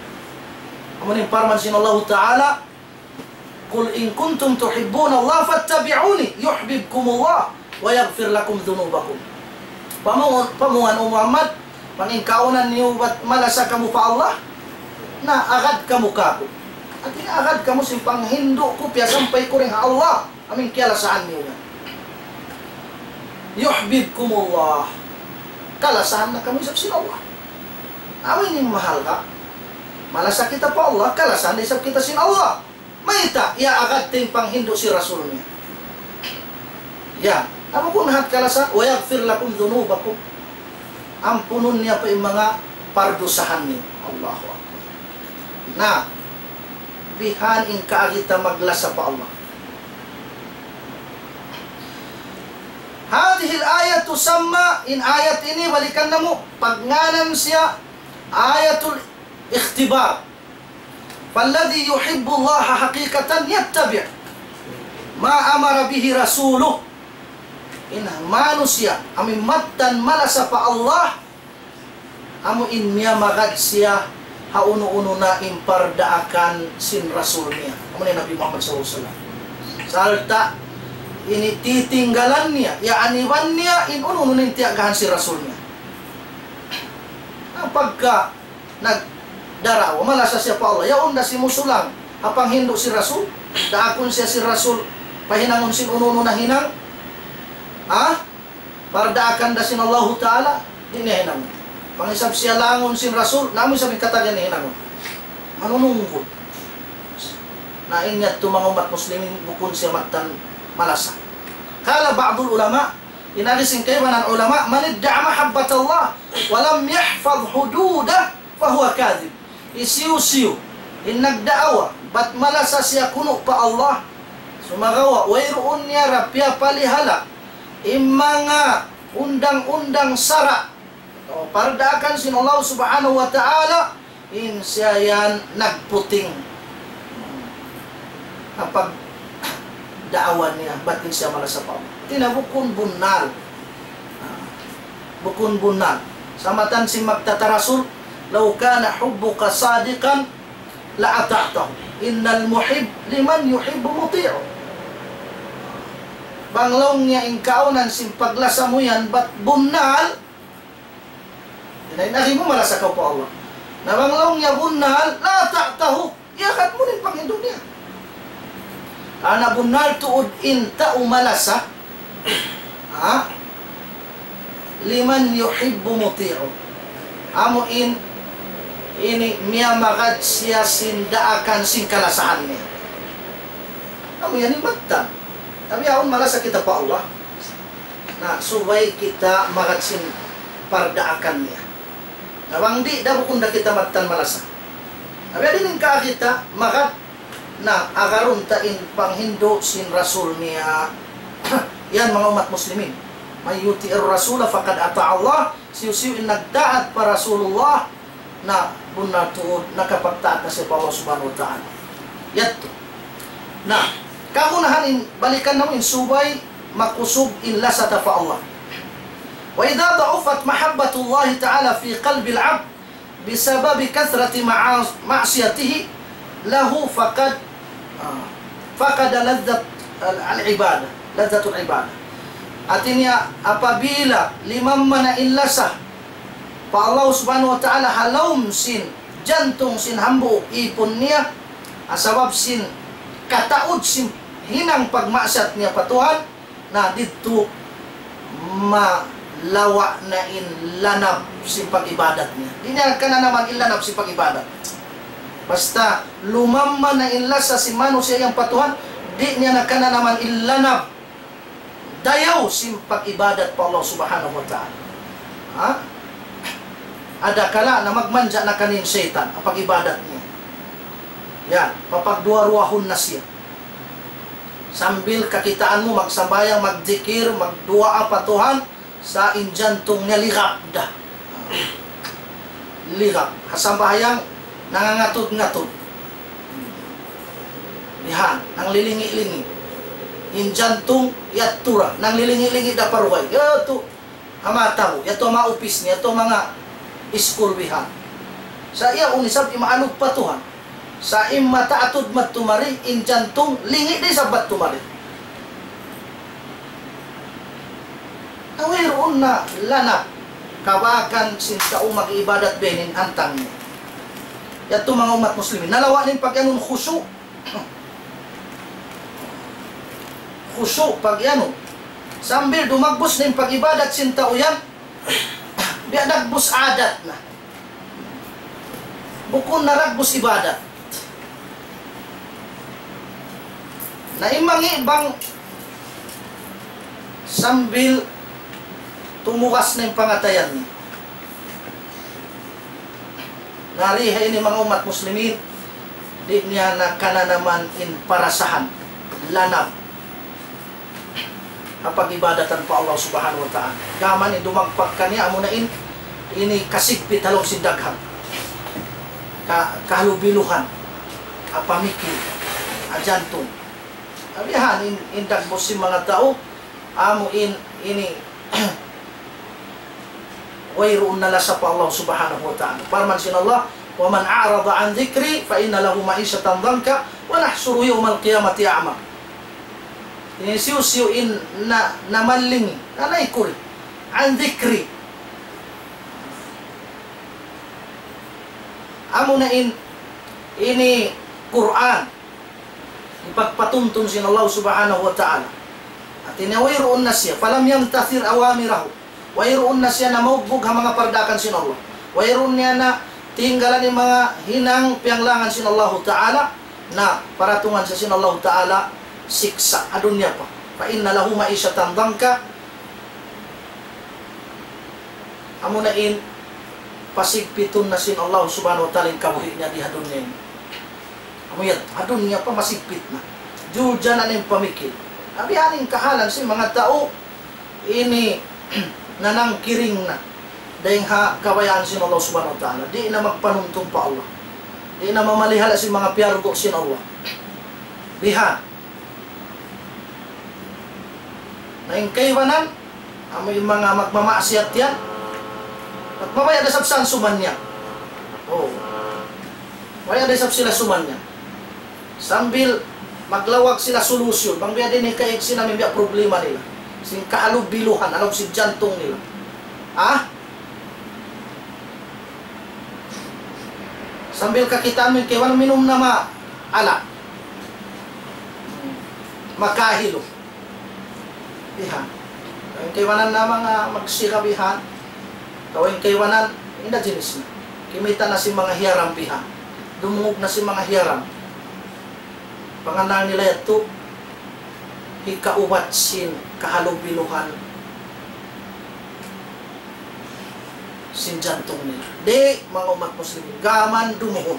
Amu in parman sin Allahu Ta'ala, قل إن كنتم تحبون الله فاتبعوني يحببكم الله ويغفر لكم ذنوبكم. Pamungan, pamungan, O Muhammad, bang in kaawnan niyu bat malasa kamu pa Allah, na agad kamu kāku'. Hati niya agad kamu sin panghindu' ku, piyasampay ku dayn ha Allah, amu in kiyalasahan niyu yan. يحببكم الله. Kalasahan na kamu isab sin Allah. Amu ini in mahalga'. Malasa kita pa Allah, kalasahan na isab kita sin Allah. Mayta', iyaagad ta in panghindu' sin Rasul niya. Ya, amu kunu' hat kalasahan, ويغفر لكم ذنوبكم. Ampunun niya pa in manga pardusahan niyu. Allahu Akbar. Na, bihan in kaagi ta maglasa pa Allah. هذه الآية تسمى, in ayat ini balikan namu', pagngānan siya ayatul ikhtibar. فالذي يحب الله حقيقة يتبع ما أمر به رسوله. In manusiya' amu in mattan malasa pa Allah, amu in miyamagad siya ha unu-unu na in pardaakan sin Rasul niya, amu na in Nabi Muhammad sallallahu alayhi wasallam. Sarta' ini titinggalan niya, yaaniban niya in unu-unu na in tiyagahan sin Rasul niya. Na pagka nagdarawa, malasa siya pa Allah, yaun da simusulang ha panghindu' sin Rasul, daakun siya sin Rasul, pahinangun sin unu-unu na hinang, ha? Pardaakan da sin Allahu Ta'ala, di' niya hinangun. Pangisab siya langun sin Rasul, na amu isab in katan niya hinangun. Manunungkud. Na in yadtu manga ummat muslimin bukun siya mattan malasa. قال بعض العلماء, in agi sin kaibanan ulama, من ادعى محبة الله ولم يحفظ حدوده فهو كاذب. Hisiyu-siyu in nagdaawa bat malasa siya kunu' pa Allah, sumagawa' wayruun niya da piyapalihala in manga undang-undang sara' atawa pardaakan sin Allah Subhanahu wa Ta'ala, in siya yan nagputing ha pagdaawa niya, bat in siya malasa pa Allah. Hāti niya bukun bunnal. Bukun bunnal. Samatan sin magtatarasul, لو كان حبك صادقا لأطعته إن المحب لمن يحب مطيع. Bang laung niya in kaawnan sin paglasa mu yan bat bunnal, na in agi mu malasa kaw pa Allah. Na bang laung niya bunnal, لأطعته, iyagad mu in panghindu' niya. Karna' bunnal tuud in tau malasa, ha? لمن يحب مطيع. Amu in, ini miyamagad siya sin daakan sin kalasahan niya. Amu yan in mattan. Tapi awn malasa kita pa Allah. Na, subay kita magad sin pardaakan niya. Na bang di', da bukun da kita mattan malasa. Tapi adi in kaagi ta magad na agarun ta in panghindu' sin Rasul niya. Yan manga ummat muslimin. من يطع الرسول فقد أطاع الله. Hisiyu-siyu in nagtaat pa Rasulullah, na bunnal tuud nakapagtaat na siya pa Allah Subhanahu wa Ta'ala. Yadtu. Na, kagunahan in, balikan namu' in subay makusug in lasa ta pa Allah. وإذا ضعفت محبة الله تعالى في قلب العبد بسبب كثرة معاص-، معصيته له فقد، ah, فقد لذة العبادة، لذة العبادة. Hāti niya, apabila limamma na in lasa pa Allah Subhanahu wa Ta'ala ha lawm sin jantung sin hambuuk īpun niya, ha sabab sin kataud sin hinang pagmaksiyat niya pa Tuhan, na didtu malawa' na in lanab sin pag-ibadat niya. Di' niya kananaman in lanab sin pag-ibadat. Basta lumamma na in lasa sin manusiya' yan pa Tuhan, di' niya na kananaman in lanab dayaw sin pag-ibadat pa Allah Subhanahu wa Ta'ala. Ha? Adakala na magmanja na kaniya in saytan, in pag-ibadat niya. Yan, papagduwa-ruwahun na siya. Sambil kakitaan mu, magsambahayang, magdikir, magduwaa pa Tuhan, sa' in jantung niya ligap da. Ligap. Ha sambahayang, nangangatud-ngatud. Yan, nanglilingi'-lingi'. In jantung, yadtu ra, nanglilingi'-lingi' da pa dugaing. Yadtu, ha mata mu, yadtu ha manga upis niya, yadtu ha manga iskul bihan. Sa' yaun isab imaalug pa Tuhan. Sa' in mata atud madtu mari, in jantung, lingi' da isab madtu mari. Na wayruun na lanab, kabakan sin tau mag-ibadat biya' ini in hantang niya. Yadtu manga ummat muslimin. Nalawa' na in pag-iyanun khushu'. Khushu' pag-iyanun. Sambil dumagbus na in pag-ibadat sin tau yan, biya' dagbus adat na. Bukun na dagbus ibadat. Na in mangi' bang sambil tumugas na in pangatayan niya. Na di ha ini manga ummat muslimin, di' niya na kananaman in parasahan, lanab, ha pag-ibadatan pa Allah Subhanahu wa Ta'ala. Gām in dumagpak kaniya, amuna in, ini kasigpit ha lawm sin daghang. Ka-, kahalubiluhan, ha pamikil, ha jantung. Sabihan in, in dagbus sin manga tau, amu in, ini, wayruun na lasa pa Allah Subhanahu wa Ta'ala. Parman sin Allah, ومن أعرض عن ذكري فإن له معيشة ضنكا ونحشره يوم القيامة أعمى. Ini hisiyu-siyu in na, namaling, nanay kuri, عن ذكري. Amuna in, ini Qur'an. Hipagpatuntun sin Allah Subhanahu wa Ta'ala. Hāti niya wayruun na siya, فلم يمتثل أوامره. Wayruun na siya namaugbug ha manga pardakan sin Allah. Wayruun niya na tinggalan in manga hinang piyanglangan sin Allah Ta'ala, na paratungan siya sin Allah Ta'ala siksa' ha dunya pa. فإن له معيشة ضنكا. Amuna in, pasigpitun na sin Allah Subhanahu wa Ta'ala in kabuhi' niya di ha dunya ini. Amu yan, ha dunya pa masigpit na. Julja na in pamikil. Sabihan in kahalan sin manga tau ini nanangkiring na dayn ha kabayaan sin Allah Subhanahu wa Ta'ala. Di' na magpanuntun pa Allah. Di' na mamalihala sin manga piyardu' sin Allah. Biha. Na in kaibanan, amu in manga magmamaksiyat yan, mabaya' da isab sila sumannyan. Oh. Mabaya' da isab sila sumannyan. Sambil maglawag sila solution, bang biya' diin in kaigsi namu' in biya' problema nila. Sin kahalubiluhan, ha lawm sin jantung nila. Ha? Sambil kakitaan mu in kaibanan minum na ma-, alak. Makahilu. Bihan. In kaibanan na manga magsira bihan. Atawa in kaibanan, inda jinis na. Kimita' na sin manga hiyaram bihan. Dumungug na sin manga hiyaram. Pangannal nila yadtu, hikaubat sin kahalubiluhan sin jantung nila. Di', manga ummat muslimin, gām dumuhun.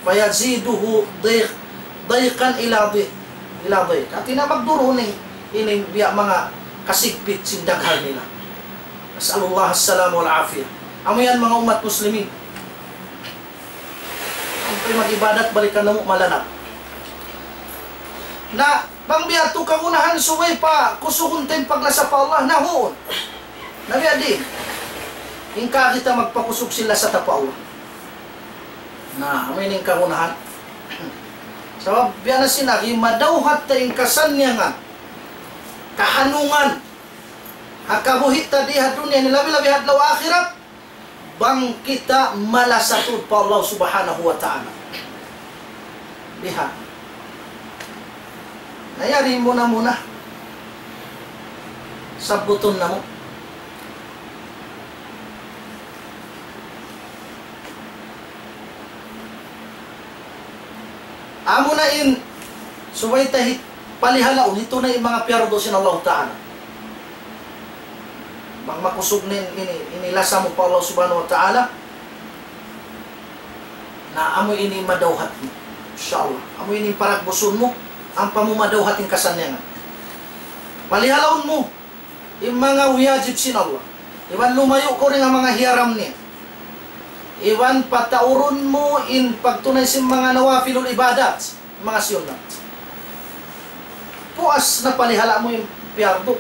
فيزيده ضيق-، ضيقا إلى ضيق، إلى ضيق. Hāti niya magduruhun in, in biya' manga kasigpit sin daghal nila. نسأل الله السلامة والعافية. Amu yan, manga ummat muslimin. Amu in mag-ibadat, balikan namu' malanab. Na, bang biya' tu kagunahan subay pa kusugun ta in paglasa pa Allah, na huun. Na biya' diin. In kaagi ta magpakusug sin lasa ta pa Allah. Na, amu ini in kagunahan. Sabab, biya' na sin agi, madawhat ta in kasannyangan, kahanungan, ha kabuhi' ta di ha dunya ini, labi-labi ha adlaw akhirat, bang kita malasa tuud pa Allah Subhanahu wa Ta'ala. Biha. Na yari muna-muna. Sabbutun namu'. Amu na in subay ta hi-, palihalaun, hitunay in manga piyardu sin Allah Ta'ala. Bang makusug na in, ini, ini lasa mu pa Allah Subhanahu wa Ta'ala, na amu ini madawhat mu. Insya Allah. Amu ini paragbusun mu, ampa mu madawhat in kasannyangan. Palihalaun mu in manga wiyajib sin Allah. Iban lumayu' kaw dayn ha manga hiyaram niya. Iban pataurun mu in pagtunay sin manga nawafilul ibadat, manga sunnat. Puas na palihala' mu in piyardu.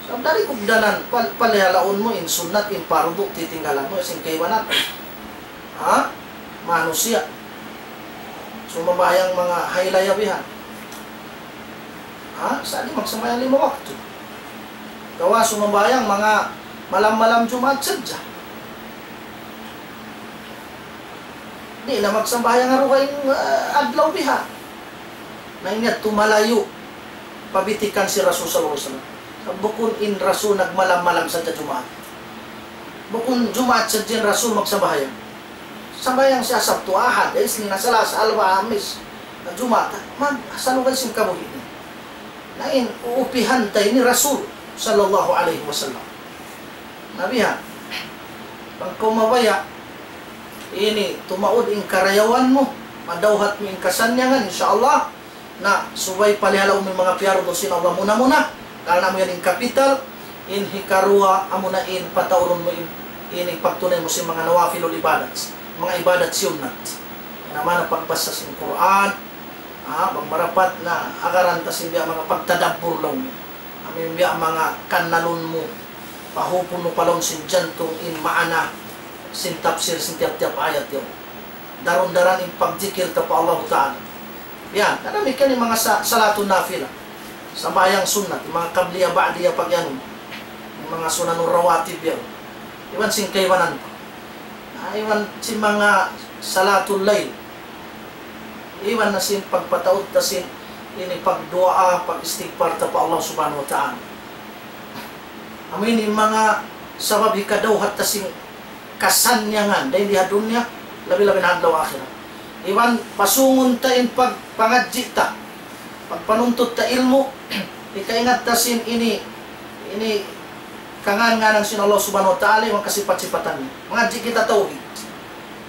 Sabab dari kugdanan, pal-, palihalaun mu in sunnat, in pardu, titinggalan mu, sin kaibanan. Ha? Manusiya'. Sumambahayang manga haylaya bihan. Ha? Sa' di' magsambahayang lima waktu. Atawa sumambahayang manga malam-malam Jumaat sadja. Di' na magsambahayang ha dugaing, ah, adlaw bihan. Na in yadtu malayu' pa bitikan sin Rasul sallallahu alayhi wasallam. Sa' bukun in Rasul nagmalam-malam sadja Jumaat. Bukun Jumaat sadja in Rasul magsambahayang. Sambahayang siya Sabtu, Ahad, Isnin, Salasa, Arba', Hamis, Jumaat. Mag-, sa' lugay sin kabuhi' niya. Na in uupihan ta ini Rasul sallallahu alayhi wasallam. Na bihan, bang kaw mabaya', Ini, tumaud in karayawan mu, madawhat mu in kasannyangan, insya Allah. Na, subay palihala' mu in manga piyardu sin Allah muna-muna, karna' amu yan in kapital, in hikaruwa, amuna in pataurun mu in, ini pagtunay mu sin manga nawafilul ibadat, manga ibadat sunnat. Na, mana pagbasa sin Qur'an, ah, bang marapat na agaran ta sin biya' manga pagtadabbur laung. Amu in biya' manga kannalun mu, pahupun mu pa lawm sin jantung in maana sin tafsir sin tiyap-tiyap ayat yaun. Daran-daran in pagjikil ta pa Allahu Ta'ala. Yan, damikkiyan in manga sa-, salatun nafila. Sambahayang sunnat, in manga qabliya, ba'diya, pag-anu. In manga sunanur rawatib yan. Iban sin kaibanan pa. Na, iban sin manga salatul layl. Iban na sin pagpataud ta sin ini pagduwaa, pag-istighfar ta pa Allah Subhanahu wa Ta'ala. Amu ini in manga sabab hikadawhat ta sin kasannyangan, dayn di ha dunya, labi-labi na ha adlaw akhirat. Iban pasungun ta in pag-, pangadji' ta, pagpanuntut ta ilmu', hikaingat ta sin ini, ini kangan-nganan sin Allah Subhanahu wa Ta'ala, iban kasipat-sipatan niya. Mangadji' kita tawhid.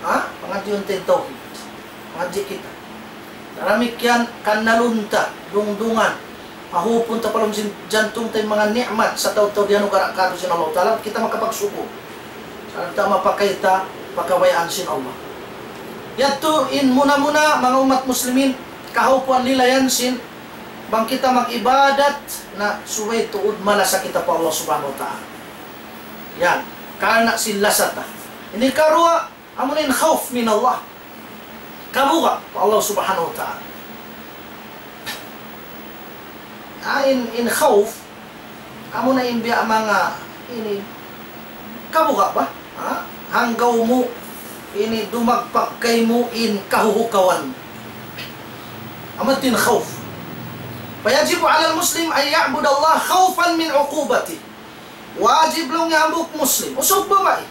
Ha? Pangadjiun ta in tawhid. Mangadji' kita. Damikkiyan, kannalun ta, dungdungan. Pahupun ta pa lawm sin jantung ta in manga ni'mat sataud-taud diyanugara' kātu' sin Allah Ta'ala, kita makapagsukur. Sarta' mapakay ta pa kabayaan sin Allah. Yadtu in muna-muna, manga ummat muslimin, kahaupuan nila yan sin bang kita mag-ibadat, na subay tuud malasa kita pa Allah Subhanahu wa Ta'ala. Yan. Karna' sin lasa ta. Ini karuwa, amuna in khawf min Allah. Kabuga' pa Allah Subhanahu wa Ta'ala. Ah, in, in khawf, amuna in biya' manga, ini, kabuga' ba? Ha? Hanggaw mu, ini, dumagpak kaymu in kahuhukawan. Amu in khawf. فيجب على المسلم أن يعبد الله خوفا من عقوبته. Wajib laung niya hambuuk Muslim, usug babai,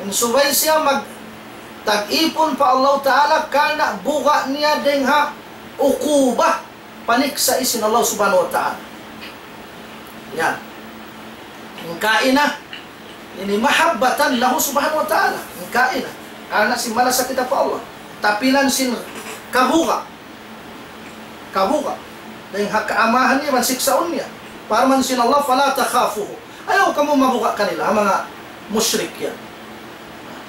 in subay siya magtag-ipun pa Allah Ta'ala karna' buga' niya dayng ha ukuba, paniksa' sin Allah Subhanahu wa Ta'ala. Yan. In kaina, ini mahabbatan lahu Subhanahu wa Ta'ala. In kaina. Karna' sin malasa kita pa Allah. Tapilan sin kabuga'. Kabuga'. Dayng ha kaamahan niya, iban siksaun niya. Parman sin Allah, فلا تخافوه. Ayaw kamu mabuga' kanila, ha manga mushrik yan.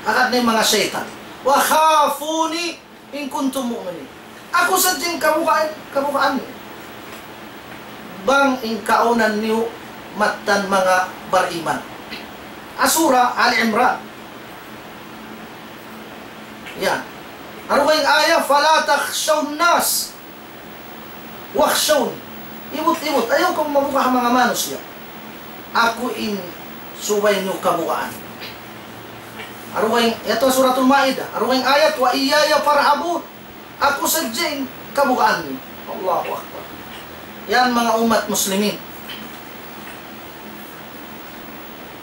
Agad na in manga saytan. وخافون إن كنتم مؤمنين. Aku sadja in kabugaan, kabugaan niyu. Bang in kaunan niyu mattan manga bariman. Ha Surah Ali Imran. Yan. Amu in ayat, فلا تخشوا الناس واخشوني. Ibut-ibut, ayaw kamu mabuga' ha manga manusiya'. Aku in subay niyu kabugaan. Amu in, yadtu Suratul Maidah, amu in ayat, وإياي فارهبون. Aku sadja in kabugaan niyu. Allahu Akbar. Yan manga ummat muslimin.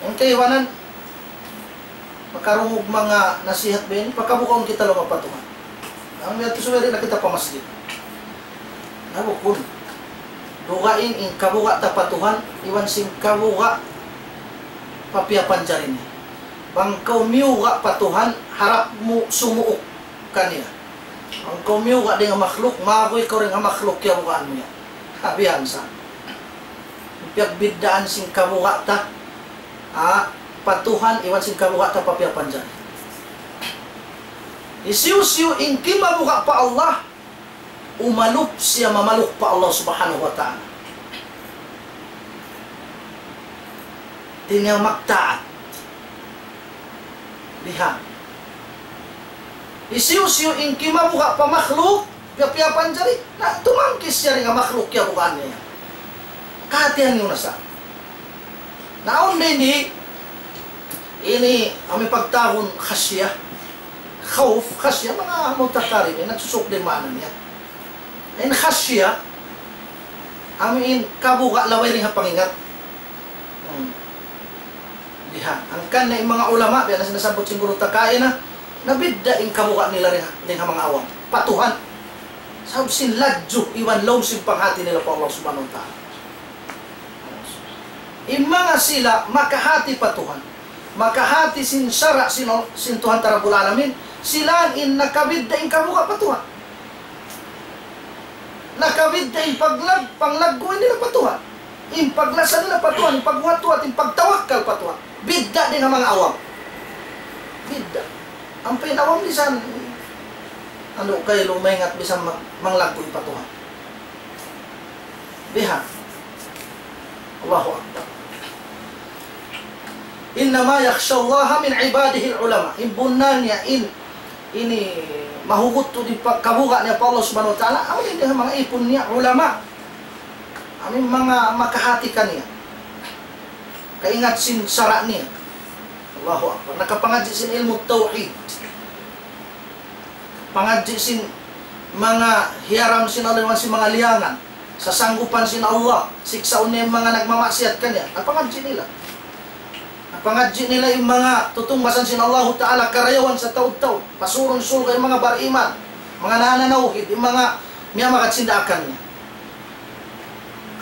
In kaibanan, makarungug manga nasihat biya' ini, pakabugaun kita laung pa Tuhan. Amu yadtu subay di' na kita pa masjid. Na bukun. Dugaing in kabuga' ta pa Tuhan, iban sin kabuga' pa piyapanjari niya. Bang kaw miyuga' pa Tuhan, harap mu sumuuk kaniya. Bang kaw miyuga' dayn ha makhluk, maguy kaw dayn ha makhluk, kiyabugaan mu yan. Habiyan sa. Piyagbiddaan sin kabuga' ta, ha, pa Tuhan, iban sin kabuga' ta pa piyapanjari. Hisiyu-siyu in kimabuga' pa Allah, umalup siya mamaluk pa Allah Subhanahu wa Ta'ala. Di' niya magtaat. Bihan. Hisiyu-siyu in kimabuga' pa makhluk, piyapanjari, na tumangkis siya dayn ha makhluk kiyabugaan niya. Kahatihan niyu na sa. Na awn da ini, ini, amu in pagtawagun khasya. Khawf, khasya, manga mutaqarrib, nagsusuk dayn maana niya. In khasya, amu in kabuga' laung dayn ha pangingat. Hmm. Bihan. Hangkan na in manga ulama, biya' na sin nasabbut sin guru ta kaina, nabidda' in kabuga' nila dayn ha, dayn ha manga awam. Pa Tuhan. Sabab sin ladju, iban lawm sin panghati nila pa Allah Subhanahu wa Ta'ala. In manga sila makahati pa Tuhan. makahati sin sara' sin, sin Tuhan Rabbul Alamin, sila in nakabidda' in kabuga' pa Tuhan. Nakabidda' in paglag-, panglaggu' nila pa Tuhan. In paglasa nila pa Tuhan, in paghuwat-huwat, in pagtawakkal pa Tuhan. Bidda' dayn ha manga awam. Bidda'. Ampa in awam misan, unu kay lumayngat misan mag-, manglaggu' pa Tuhan. Biha'. Allahu Akbar. إنما يخشى الله من عباده العلماء. In bunnal niya in, ini mahugut tuud in pagkabuga' niya pa Allah Subhanahu wa Ta'ala, amu in dayn ha manga ipun niya ulama. Amu in manga makahati kaniya. Kaingat sin sara' niya. Allahu Akbar. Nakapangadji' sin ilmu' tawhid. Pangadji' sin manga hiyaram sin Allah iban sin manga liyangan. Sasanggupan sin Allah, siksaun niya in manga nagmamaksiyat kaniya. Nakapangadji' nila. Nakapangadji' nila in manga tutungbasan sin Allahu Ta'ala karayawan sataud-taud. Pasurun surga' in manga bariman. Manga nananawhid, in manga miyamagad sin daakan niya.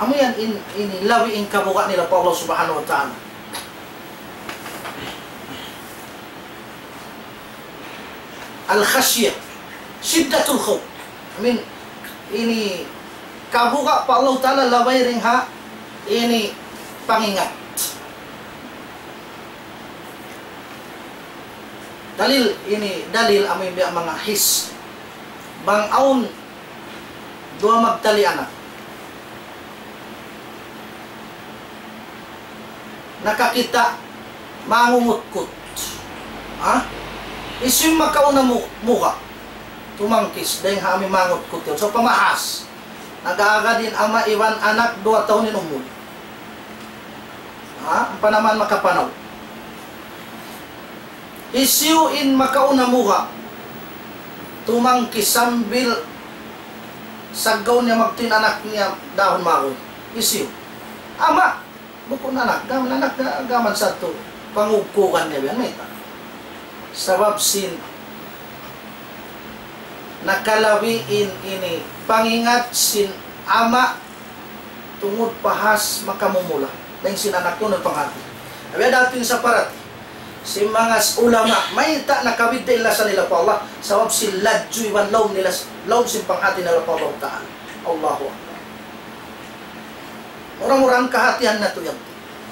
Amu yan in, ini labi in kabuga' nila pa Allah Subhanahu wa Ta'ala. Al-khashyah, shiddatul khawf. I mean, ini kabuga' pa Allah Ta'ala labi dayn ha ini pangingat. Dalil ini, dalil amu in biya' manga his. Bang awn duwa magtali anak. Nakakita' mangungutkut. Ha? Hisiyu in makauna mu-, muga'. Tumangkis, dayn ha amu in mangutkut yan. So, pamahas. Nag-aagad in ama' iban anak duwa tahun in umul. Ha? Ampa naman makapanaw. Hisiyu in makauna muga'. Tumangkis sambil saggaw niya magtuy in anak niya dahun maguy. Hisiyu? Ama'. Bukun anak, gam-, anak ga-, gaman sadtu pangugkugan niya biya' mayta'. Sabab sin nakalabi in ini pangingat sin ama' tungud pahas makamumula. Dayn sin anak kunu' panghati. Abi ada atin sa parati. Sin manga s-, ulama, mayta' nakabidda' in lasa nila pa Allah, sabab sin ladju iban lawm nila s-, lawm sin panghati nila pa Allah Ta'ala. Allahu Akbar. Mura-murahan kahatihan natu' yan.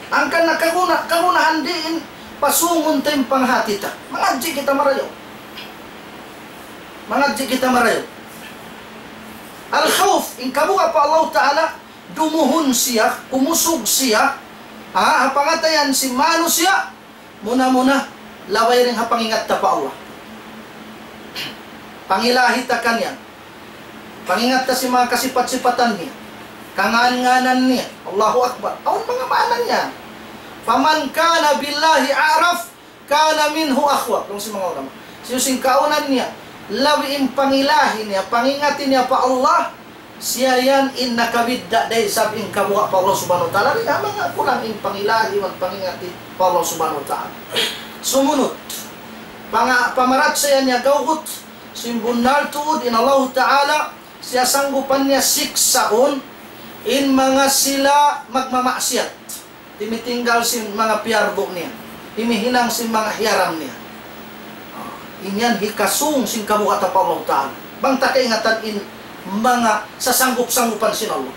Hangkan na kaguna-, kagunahan diin pasungun ta in panghati ta. Mangadji' kita marayaw. Mangadji' kita marayaw. Al-khawf, in kabuga' pa Allah Ta'ala, dumuhun siya, kumusug siya, ha, ha pangatayan sin manusiya', muna-muna, labi dayn ha pangingat ta pa Allah. Pangilahi ta kaniya. Pangingat ta sin manga kasipat-sipatan niya. Kangan-nganan niya. Allahu Akbar. Awn manga maana niya. فمن كان بالله أعرف كان منه أخوف. Laung sin manga ulama. Hisiyu in kaawnan niya labi in pangilahi niya, pangingati niya pa Allah, siya yan in nakabidda' da isab in kabuga' pa Allah Subhanahu wa Ta'ala. Di' ha manga kulang in pangilahi iban pangingati pa Allah Subhanahu wa Ta'ala. Sumunud, panga-, pamarachaya niya gawgut, sin bunnal tuud in Allah Ta'ala, siya sanggupan niya siksaun in manga sila magmamaksiyat. Timitinggal sin manga piyardu niya. Timihinang sin manga hiyaram niya. Ah, in yan hikasung sin kabuga' ta pa Allah Ta'ala. Bang ta kaingatan in manga sasanggup-sanggupan sin Allah.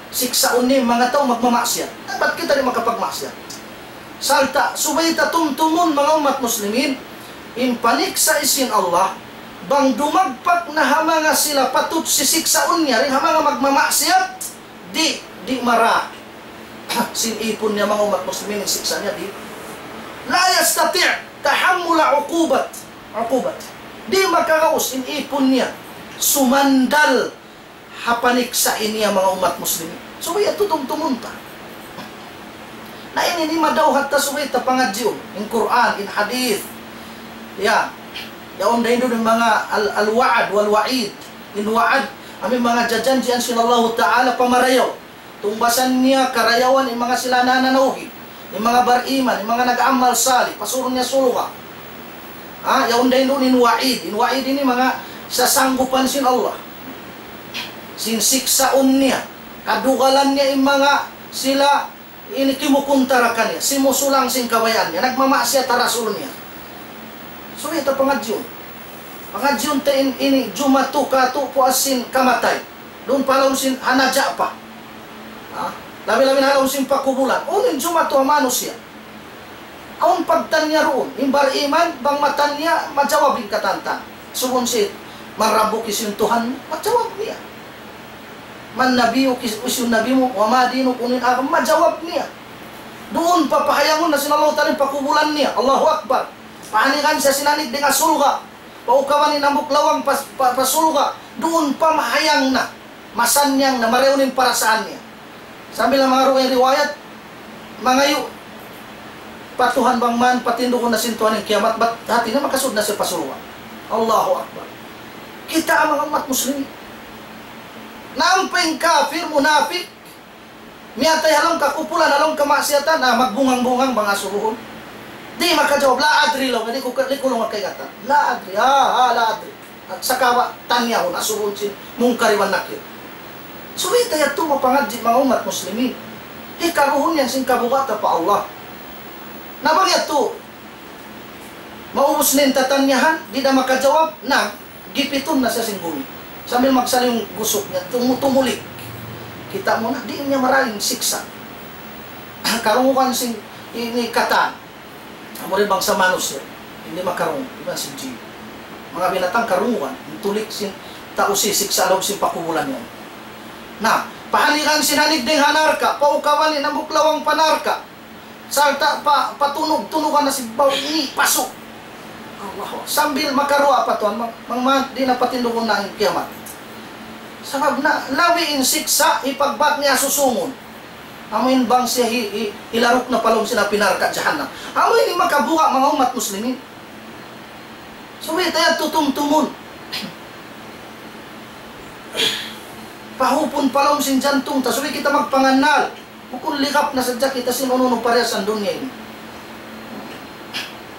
Siksaun niya in manga tau magmamaksiyat. Dapat kita di' makapagmaksiyat. Sarta' subay ta tumtumun manga ummat muslimin, in paniksa' sin Allah, bang dumagpak na ha manga sila patut sisiksaun niya, dayn ha manga magmamaksiyat, di', di' mara sin ipun niya manga ummat muslimin in siksa' niya, di'. لا يستطيع تحمل عقوبة، عقوبة. Di' makagaus in ipun niya sumandal ha paniksa' niya manga ummat muslimin. Subay yadtu tumtumun ta. Na ini in madawhat ta subay ta pangadjiun. In Qur'an, in hadith. Ya. Yaun da isab in manga al-, al-wa'd wal-wa'id. In wa'd, amu in manga jajanjian sin Allahu Ta'ala pa marayaw. Tungbasan niya karayawan in manga sila nananawhid, in manga bariman, in manga nag-amal salih, pasurun niya surga'. Ha, yaun da isab in wa'id. In wa'id ini manga sasanggupan sin Allah. Sin siksaun niya, kadugalan niya in manga sila Ini kimukuntara kaniya, simusulang sin kabayaan niya, nagmamaksiyat ha Rasul niya. Subay ta pangadjiun. Pangadjiun ta in, ini jumatu katu' puas sin kamatay. Duun pa ha lawm sin ha naja pa. Ha? Labi-labi na ha lawm sin pakubulan. Unu in jumatu ha manusiya'? Awn pagtanya duun, in bariman, bang matanya, majawab in katantan. Subun siya, "Man Rabbuki?" Hisiyu in Tuhan mu? Majawab niya. "Man Nabiyyuki?" Hisiyu in Nabi mu? "Wa ma dinuki?" Unu in agama? Majawab niya. Duun pa pahayangun na sin Allahu Ta'ala in pakubulan niya. Allahu Akbar. Pahanikan siya sin anig dayn ha surga'. Paukaban in hambuuk lawang pa, pa, pa surga'. Duun pa mahayang na. Masannyang na, marayaw na in parasaan niya. Sambil na manga dugaing riwayat, mangayu' pa Tuhan bang man patindugun na sin Tuhan in kiyamat, bat hati niya makasud na siya pa surga'. Allahu Akbar. Kita' manga ummat muslimin. Na ampa in kafir, munapik, miyatay ha lawm kakupulan, ha lawm kamaksiyatan, ah, magbungang-bungang bang asubuhun. Di' makajawab, "La adri," laung, "di' ku, di' ku laung kaingatan." "La adri, ha, ha, la adri." Sagawa' tanyahun, asubuhun sin Munkar iban Nakir. Subay ta yadtu mapangadji' manga ummat muslimin. Hikaruhun yan sin kabuga' ta pa Allah. Na bang yadtu, maubus na in tatanyahan, di' da makajawab, na, gipitun na siya sin gumi. Sambil magsaliyung gusuk niya, tumu-, tumulik. Kita' mu na, di' niya marayaw in siksa'. Karungugan sin ini katan. Amu in bangsa manusiya', di' makarungu, iban sin jin. Manga binatang karungugan, in tulik sin tau sisiksa' ha lawm sin pakubulan yan. Na, pahanikan sin anig dayn ha narka', paukaban in hambuuk lawang pa narka'. Sarta' pa, patunug-tunugan na sin baw ini, pasu'. Allahu Akbar. Sambil makaruwa pa Tuhan, mang, mang, mang, di' na patindugun na in kiyamat. Sabab na, labi in siksa', hipagbak niya susungun. Amu in bang siya hi, hi, hilaruk na pa lawm sin api narka' jahannam. Amu ini makabuga' manga ummat muslimin. Subay ta yadtu tumtumun. Pahupun pa lawm sin jantung ta, subay kita magpangannal. Bukun ligap na sadja kita sin unu-unu parihasan dunya ini.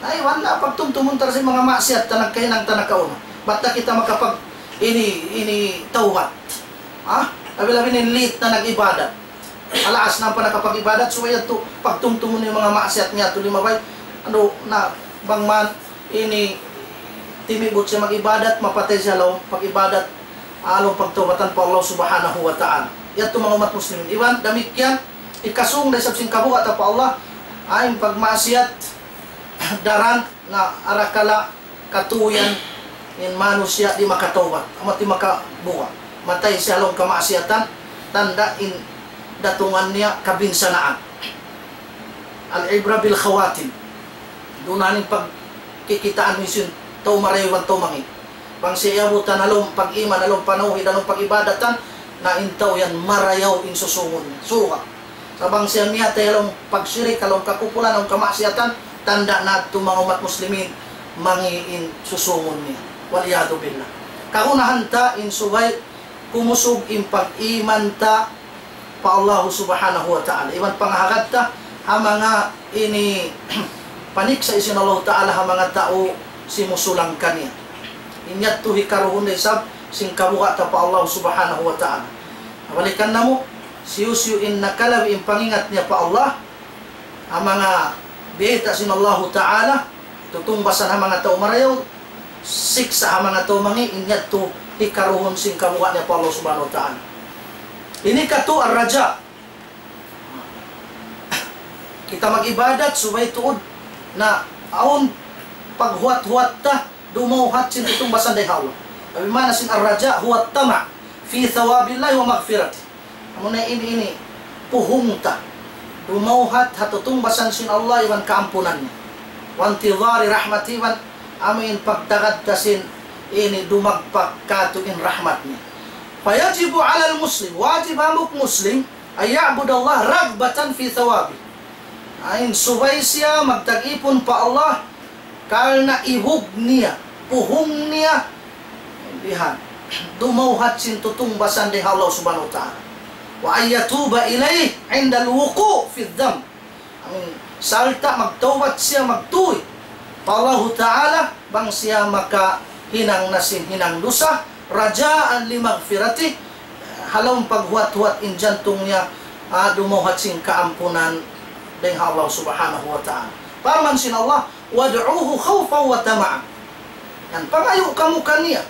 Ay, wala', pagtumtumun ta sin manga maksiyat ta nagkahinang ta nakauna. Bat ta kita makapag ini, ini tawbat. Ha? Labi-labi na in late na nag-ibadat. Alaas na pa nakapag-ibadat, subay yadtu pagtumtumun in manga maksiyat niya tu limabay. Anu na, bang man ini timibut siya mag-ibadat, mapatay siya ha lawm pag-ibadat, ha lawm pagtawbatan pa Allah Subhanahu wa Ta'ala. Yadtu manga ummat muslimin. Iban damikkiyan, hikasung da isab sin kabuga' ta pa Allah, awn pagmaksiyat daran na arakala' katuyan in manusiya' di' makatawbat, amu di' makabuga'. Matay siya ha lawm kamaksiyatan, tanda' in datungan niya kabinsanaan. Al-ibra bil khawatim. Duun na in pagkikitaan mu sin tau marayaw iban tau mangi'. Bang siya iyabutan ha lawm pag-iman, ha lawm panawhid, ha lawm pag-ibadatan, na in tau yan marayaw in susungun niya. Surga'. Sa' bang siya miyatay ha lawm pagshirik, ha lawm kakupulan, ha lawm kamaksiyatan, tanda' na yadtu manga ummat muslimin, mangi' in susungun niya. Wal iyadhu billah. Kagunahan ta in subay kumusug in pag-iman ta pa Allah Subhanahu wa Ta'ala. Iban pangahagad ta ha manga ini paniksa' sin Allah Ta'ala ha manga tau simusulang kaniya. In yadtu hikaruhun da isab sin kabuga' ta pa Allah Subhanahu wa Ta'ala. Balikan namu', hisiyu-siyu in nakalabi in pangingat niya pa Allah, ha manga biyayta' sin Allahu Ta'ala, tutungbasan ha manga tau marayaw, siksa' ha manga tau mangi', in yadtu hikaruhun sin kabuga' niya pa Allah Subhanahu wa Ta'ala. Ini katu' ar-raja. Kita mag-ibadat, subay tuud na awn paghuwat-huwat ta, dumawhat sin tutungbasan dayn ha Allah. Tapi maana sin ar-raja huwa at-tama' fi thawabillahi wa maghfiratih. Amuna ini, ini, puhung ta. Dumawhat ha tutungbasan sin Allah iban kaampunan niya. Wa intidhari rahmatih iban amu in pagtagad ta sin ini dumagpak katu' in rahmat niya. Fayajibu alal muslim, wajib ha hambuuk muslim, an ya'budallaha raghbatan fi thawabih. Ain subay siya magtag-ipun pa Allah karna' ibug niya, puhung niya, bihan, dumawhat sin tutungbasan dayn ha Allah Subhanahu wa Ta'ala. Wa an yatuba ilayhi indal wuqu' fidh dhanb. Amin. Sarta' magtawbat siya, magtuy pa Allahu Ta'ala, bang siya makahinang na sin hinang dusa, rajaan li maghfiratih, ha lawm paghuwat-huwat in jantung niya, ah, dumawhat sin kaampunan dayn ha Allah Subhanahu wa Ta'ala. Parman sin Allah, "Wad'uhu khawfan wa tama'an." Yan, pangayu' kamu kaniya.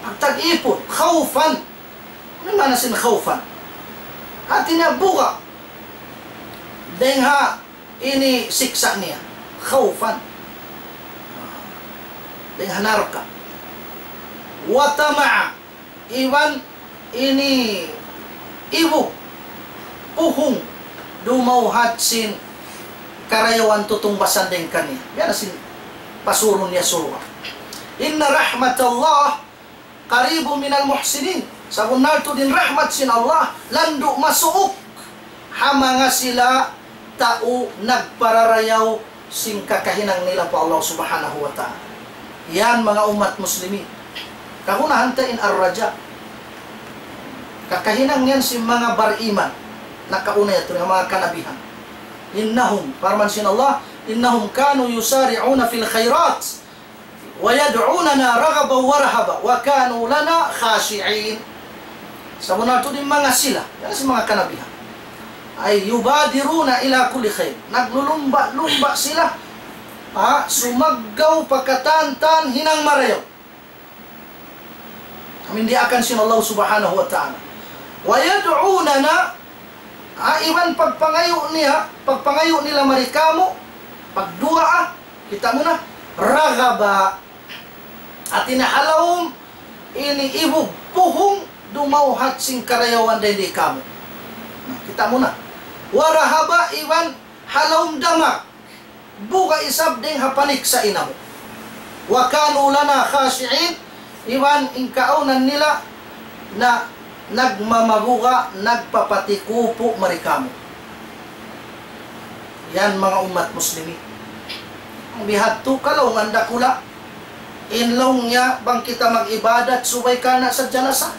Pagtag-ipun, khawfan. Unu in maana sin khawfan? Hati niya buga' dayn ha ini siksa' niya. Khawfan. Dayn ha narka'. Wa tama'a. Iban ini ibu puhung dumawhat sin karayawan tutungbasan dayn kaniya. Biya' na sin pasurun niya surga'. Inna rahmatallah qaribun minal muhsinin. Sabunnal tuud in rahmat sin Allah, landu' masuuk ha manga sila tau nagpararayaw sin kakahinang nila pa Allah Subhanahu wa Ta'ala. Yan manga ummat muslimin. Kagunahan ta in ar-raja. Kakahinang yan sin manga bariman. Nakauna yadtu in manga kanabihan. Innahum, parman sin Allah, innahum kanu yusari'una fil khairat. ويدعوننا رغبا ورهبا وكانوا لنا خاشعين. Sabunnal tuud in manga sila, yan sin manga kanabihan. أي يبادرون إلى كل خير. Naglulumba'-lumba' sila, ha, sumaggaw pa katan-katan hinang marayaw. Amu in diyaakan sin Allah Subhanahu wa Ta'ala. ويدعوننا, ha, iban pagpangayu' niya, pagpangayu' nila mari kamu, pagduwaa, kita' mu na, رغبا. Hati niya ha lawm ini ibu puhung dumawhat sin karayawan dayn di kamu. Na, kita' mu na. ورهبا, iban ha lawm damak. Buga' isab dayn ha paniksa' namu'. وكانوا لنا خاشعين, iban in kaawnan nila na nagmamabuga', nagpapatikupu' mari kamu. Yan manga ummat muslimin. Bihadtu kalaungan dakula'. In laung niya bang kita mag-ibadat subay karna' sadja lasa.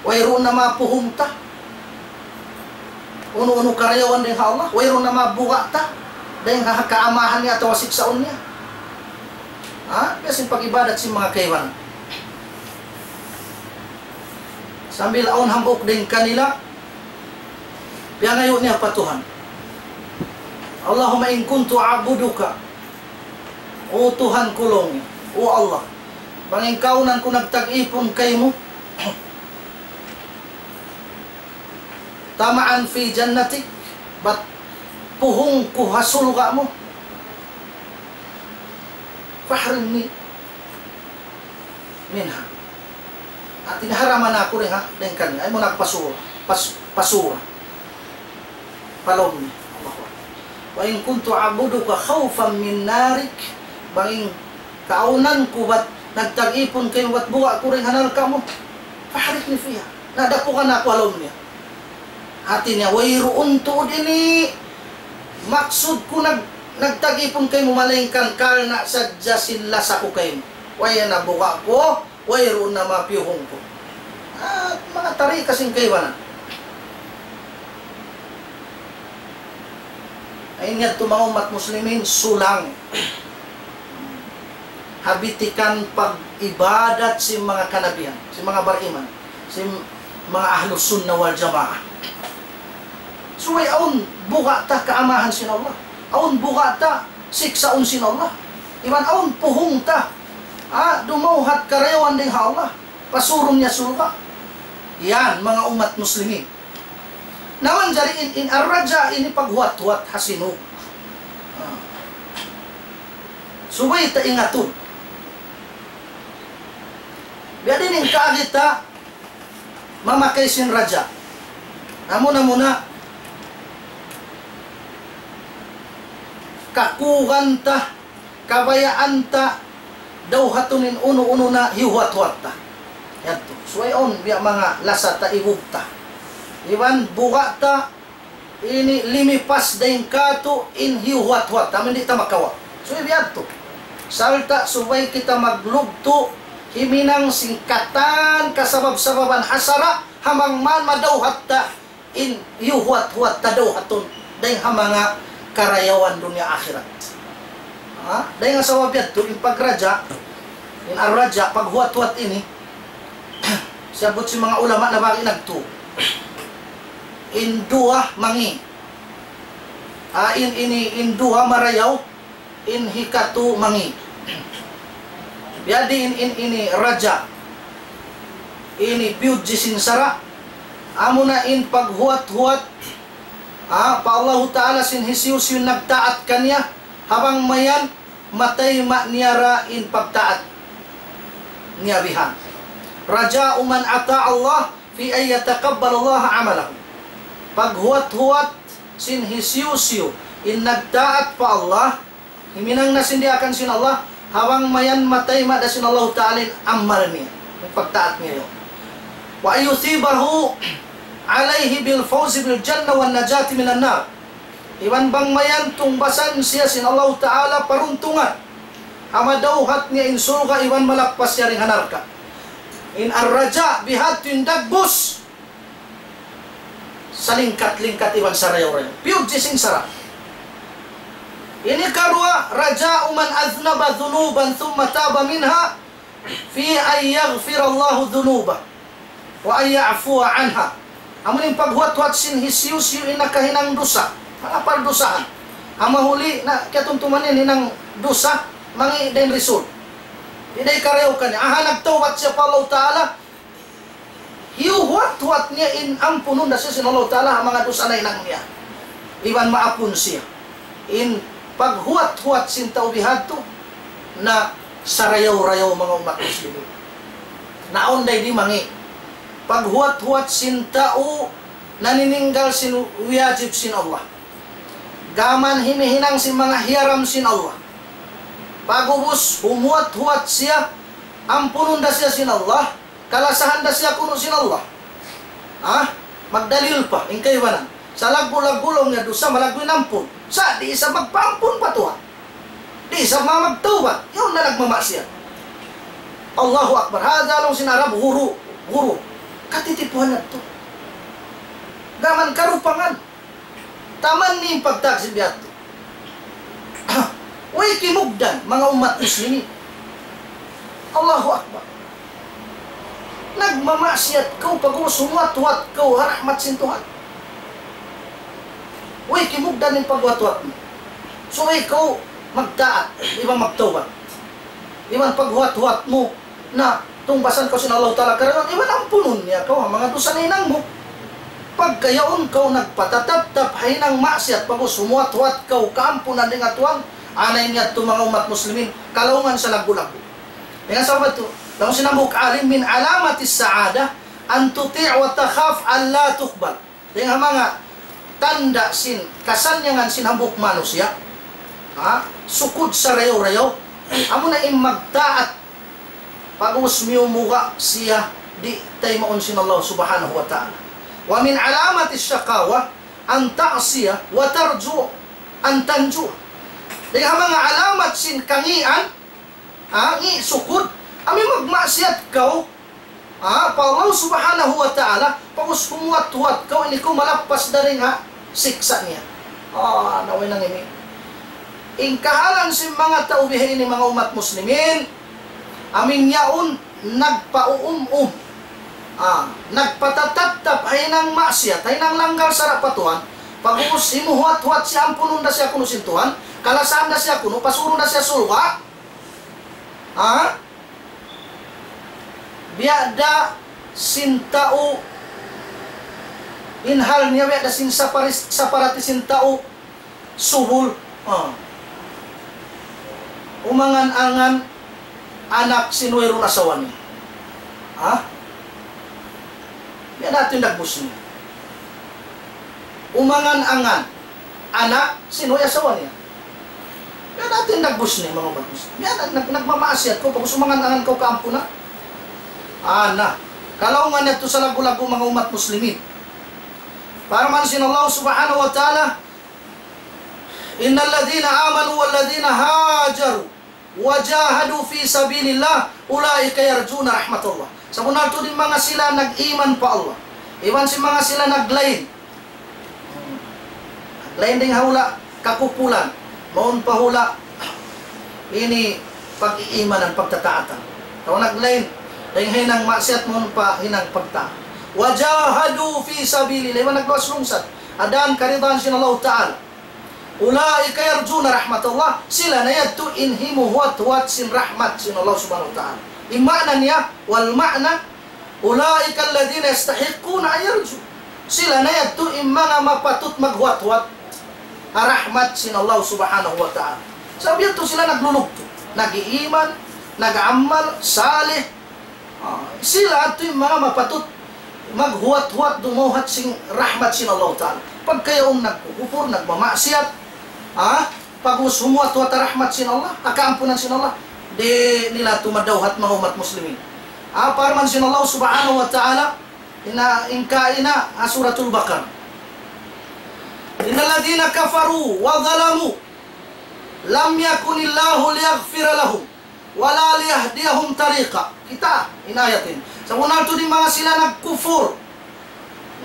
Wayruun na mapuhung ta. Unu-unu karayawan dayn ha Allah, wayruun na mabuga' ta dayn ha kaamahan niya atawa siksaun niya. Ha? Biya' sin pag-ibadat sin manga kaibanan. Sambil awn hambuuk dayn kanila, piyangayu' niya pa Tuhan. اللهم إن كنت أعبدك. O Tuhan ku laung niya, O Allah, bang in kaawnan ku nagtag-ipun kaymu, طمعا في جنتك, bat puhung ku ha surga' mu, فأحرمني منها. Hati niya haraman aku dayn ha, dayn kaniya. Ayaw mu na aku pasura, pas-, pasura pa lawm niya. Allahu Akbar. وإن كنت أعبدك خوفا من نارك, bang in kaawnan ku bat nagtag-ipun kaymu bat buga' ku dayn ha narka' mu, فأحرقني فيها. Na dapugan aku ha lawm niya. Hati niya, wayruun tuud ini maksud ku nag-, nagtag-ipun kaymu malaingkan karna' sadja sin lasa ku kaymu. Way na buga' ku, wayruun na mapiyuhung ku. Ah, manga tarika sin kaibanan. Ay, in yadtu manga ummat muslimin, sulang ha bitikan pag-ibadat sin manga kanabihan, sin manga bariman, sin manga ahlus sunnah wal jamaah. Subay awn buga' ta kaamahan sin Allah. Awn buga' ta siksaun sin Allah. Iban awn puhung ta, ah, dumawhat karayawan dayn ha Allah. Pasurun niya surga'. Yan, manga ummat muslimin. Na manjari in, in ar-raja ini paghuwat-huwat ha sinug. Ah. Subay ta ingatun. Biya' diin in kaagi ta mamakay sin raja. Amuna-muna, kakugan ta, kabayaan ta, dawhatun in unu-unu na hiyuhuwat-huwat ta. Yadtu. Subay awn biya' manga lasa ta, ibug ta. Iban buga' ta, ini limipas dayn kātu' in hiyuhuwat-huwat ta, amu in di' ta makawa'. Subay biya' yadtu. Sarta' subay kita maglugtu', himinang sin katan kasabab-sababan ha sara', ha bang man madawhat ta, in hiyuhuwat-huwat ta dawhatun, dayn ha manga karayawan dunya akhirat. Ha? Dayn ha sabab yadtu, in pagraja, in ar-raja, paghuwat-huwat ini, siyabbut sin manga ulama na bagi' nagtu. in duwa mangi'. Ah, in ini, in duwa marayaw, in hikatu mangi'. Biyadiin in ini raja. Ini piyudji sin sara'. Amuna in paghuwat-huwat, ah, pa Allahu Ta'ala sin hisiyu-siyu nagtaat kaniya, ha bang mayan matayma' niya ra in pagtaat niya bihan. رجاء من أطاع الله في أن يتقبل الله عمله. Paghuwat-huwat sin hisiyu-siyu in nagtaat pa Allah, himinang na sin diyaak sin Allah, ha bang mayan matayma' da sin Allahu Ta'ala in amal niya, in pagtaat niya yaun. وأن يثيبه عليه بالفوز بالجنة والنجاة من النار. Iban bang mayan tungbasan siya sin Allahu Ta'ala paruntungan, ha madawhat niya in surga' iban malappas siya dayn ha narka'. In ar-raja' bihadtu in dagbus, salingkat-lingkat iban sarayaw-rayaw. Piyudji sin sara'. Ini karuwa, رجاء من أذنب ذنوبا ثم تاب منها في أن يغفر الله ذنوبه وأن يعفو عنها. Amu in paghuwat-huwat sin hisiyu-siyu in nakahinang dusa, manga pardusahan. Amu huli na katumtuman niya hinang dusa, mangi' da in result. Di' da hikarayaw kaniya. Aha, nagtawbat siya pa Allah Ta'ala, hiyuhuwat-huwat niya in ampunun da siya sin Allah Ta'ala ha manga dusa nahinang niya. Iban maapun siya. In paghuwat-huwat sin tau bihadtu na sarayaw-rayaw, manga ummat muslimin. Na awn da di' mangi'. Paghuwat-huwat sin tau nanininggal sin wiyajib sin Allah. Gām himihinang sin manga hiyaram sin Allah. Pag'ubus humuwat-huwat siya, ampunun da siya sin Allah, kalasahan da siya kunu' sin Allah. Ha? Magdalil pa in kaibanan. Salaggu'-laggu' laung niya dusa, malaggu' in ampun. Sa' di' isab magpaampun pa Tuhan. Di' isab ma-, magtawbat. Yaun na nagmamaksiyat. Allahu Akbar. Hadha laung sin Arab, ghurur. Ghurur. Katitipuhan yadtu. Gām karupangan. Taman in pagtaksib yadtu. Way kimugdan, manga ummat muslimin. Allahu Akbar. Nagmamaksiyat kaw, pag'ubus humuwat-huwat kaw ha rahmat sin Tuhan. Way kimugdan in paghuwat-huwat mu. Subay kaw magtaat, iban magtawbat. Iban paghuwat-huwat mu, na tungbasan kaw sin Allah Ta'ala karayawan, iban ampunun niya kaw ha manga dusa nahinang mu. Pagga yaun kaw nagpatatattap ha hinang maksiyat, pag'ubus humuwat-huwat kaw kaampunan dayn ha Tuhan, ana ini yadtu manga ummat muslimin, kalaungan salaggu'-laggu'. Dayn ha sabab yadtu, laung sin hambuuk alim, من علامة السعادة أن تطيع وتخاف ألا تقبل. Dayn ha manga tanda' sin kasannyangan sin hambuuk manusiya', ha, sukud sarayaw-rayaw, amuna in magtaat, pag'ubus miyumuga' siya di' taymaun sin Allah Subhanahu wa Ta'ala. ومن علامة الشقاوة أن تعصي وترجو أن تنجو. Dayn ha manga alamat sin kangian, ha, ngi' sukud, amu in magmaksiyat kaw, ha, pa Allah Subhanahu wa Ta'ala, pag'ubus humuwat-huwat kaw, ini kaw malappas dayn ha siksa' niya. Ah, na way nang ini. In kahalan sin manga tau bihaini, manga ummat muslimin, amu in yaun nagpauum-um. Ah, nagpatatattap ha hinang maksiyat, ha hinang langgal sara' pa Tuhan. Pag'ubus himuhuwat-huwat siya, ampunun da siya kunu' sin Tuhan, kalasahan da siya kunu', pasurun da siya surga'. Ha? Biya' da sin tau, in hal niya biya' da sin saparis-, saparati sin tau subul. Ha. Umangan-angan anak sin wayruun asawa niya. Ha? Biya' da yadtu in dagbus niya. Umangan-angan anak sin way asawa niya. Biya' da yadtu in dagbus niya, manga ummat muslimin. Biya' da, nag-, nagmamaksiyat kaw, pag'ubus umangan-angan kaw kaampunan. Ana, kalaungan yadtu salaggu'-laggu', manga ummat muslimin. Parman sin Allah Subhanahu wa Ta'ala, إن الذين آمنوا والذين هاجروا وجاهدوا في سبيل الله أولئك يرجون رحمة الله. Sabunnal tuud in manga sila nag-iman pa Allah, iban sin manga sila naglain. Naglain dayn ha hula' kakupulan, mawn pa hula' ini pag-iimanan, pagtataatan. Atawa naglain dayn ha hinang maksiyat, mawn pa hinang pagtaat. وجاهدوا في سبيل الله, iban nagluwas lungsad ha dān karidaan sin Allah Ta'ala. أولئك يرجون رحمة الله, sila na yadtu in himuhuwat-huwat sin rahmat sin Allah Subhanahu wa Ta'ala. In maana niya, والمعنى أولئك الذين يستحقون أن يرجوا. Sila na yadtu in manga mapatut maghuwat-huwat ha rahmat sin Allah Subhanahu wa Ta'ala. Sabab yadtu sila naglulugtu, nag-iiman, nag-amal salih. Ah, sila yadtu in manga mapatut maghuwat-huwat dumawhat sin rahmat sin Allah Ta'ala. Pagka yaun nagkukupur, nagmamaksiyat, ah, pag'ubus humuwat-huwat ha rahmat sin Allah, ha kaampunan sin Allah, di' nila tumadawhat, manga ummat muslimin. Ah, parman sin Allah Subhanahu wa Ta'ala, ina, in kaina, ha Suratul Baqarah. إن الذين كفروا وظلموا لم يكن الله ليغفر لهم ولا ليهديهم طريقا. Kita', in ayat ini. Sabunnal tuud in manga sila nagkufur,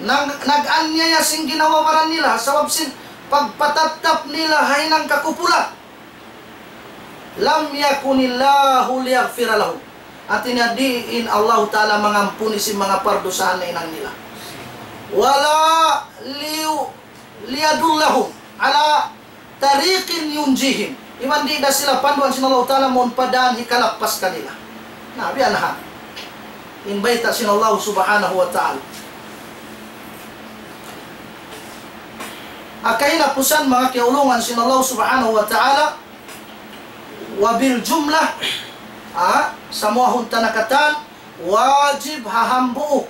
nag-, nag-aniyaya sin ginhawa-baran nila, sabab sin pagpatattap nila ha hinang kakupulan. لم يكن الله ليغفر لهم. Hāti niya di' in Allah Ta'ala mangampuni sin manga pardusahan nahinang nila. ولا لي-، ليدلهم على طريق ينجيهم. Iban di' da sila panduan sin Allah Ta'ala mawn pa dān hikalappas kanila. Na, biya' na ha. In bayta' sin Allah Subhanahu wa Ta'ala. Ha kahinapusan, manga kiyaulungan sin Allah Subhanahu wa Ta'ala, وبالجملة, ah, samuahun ta na katan, wajib ha hambuuk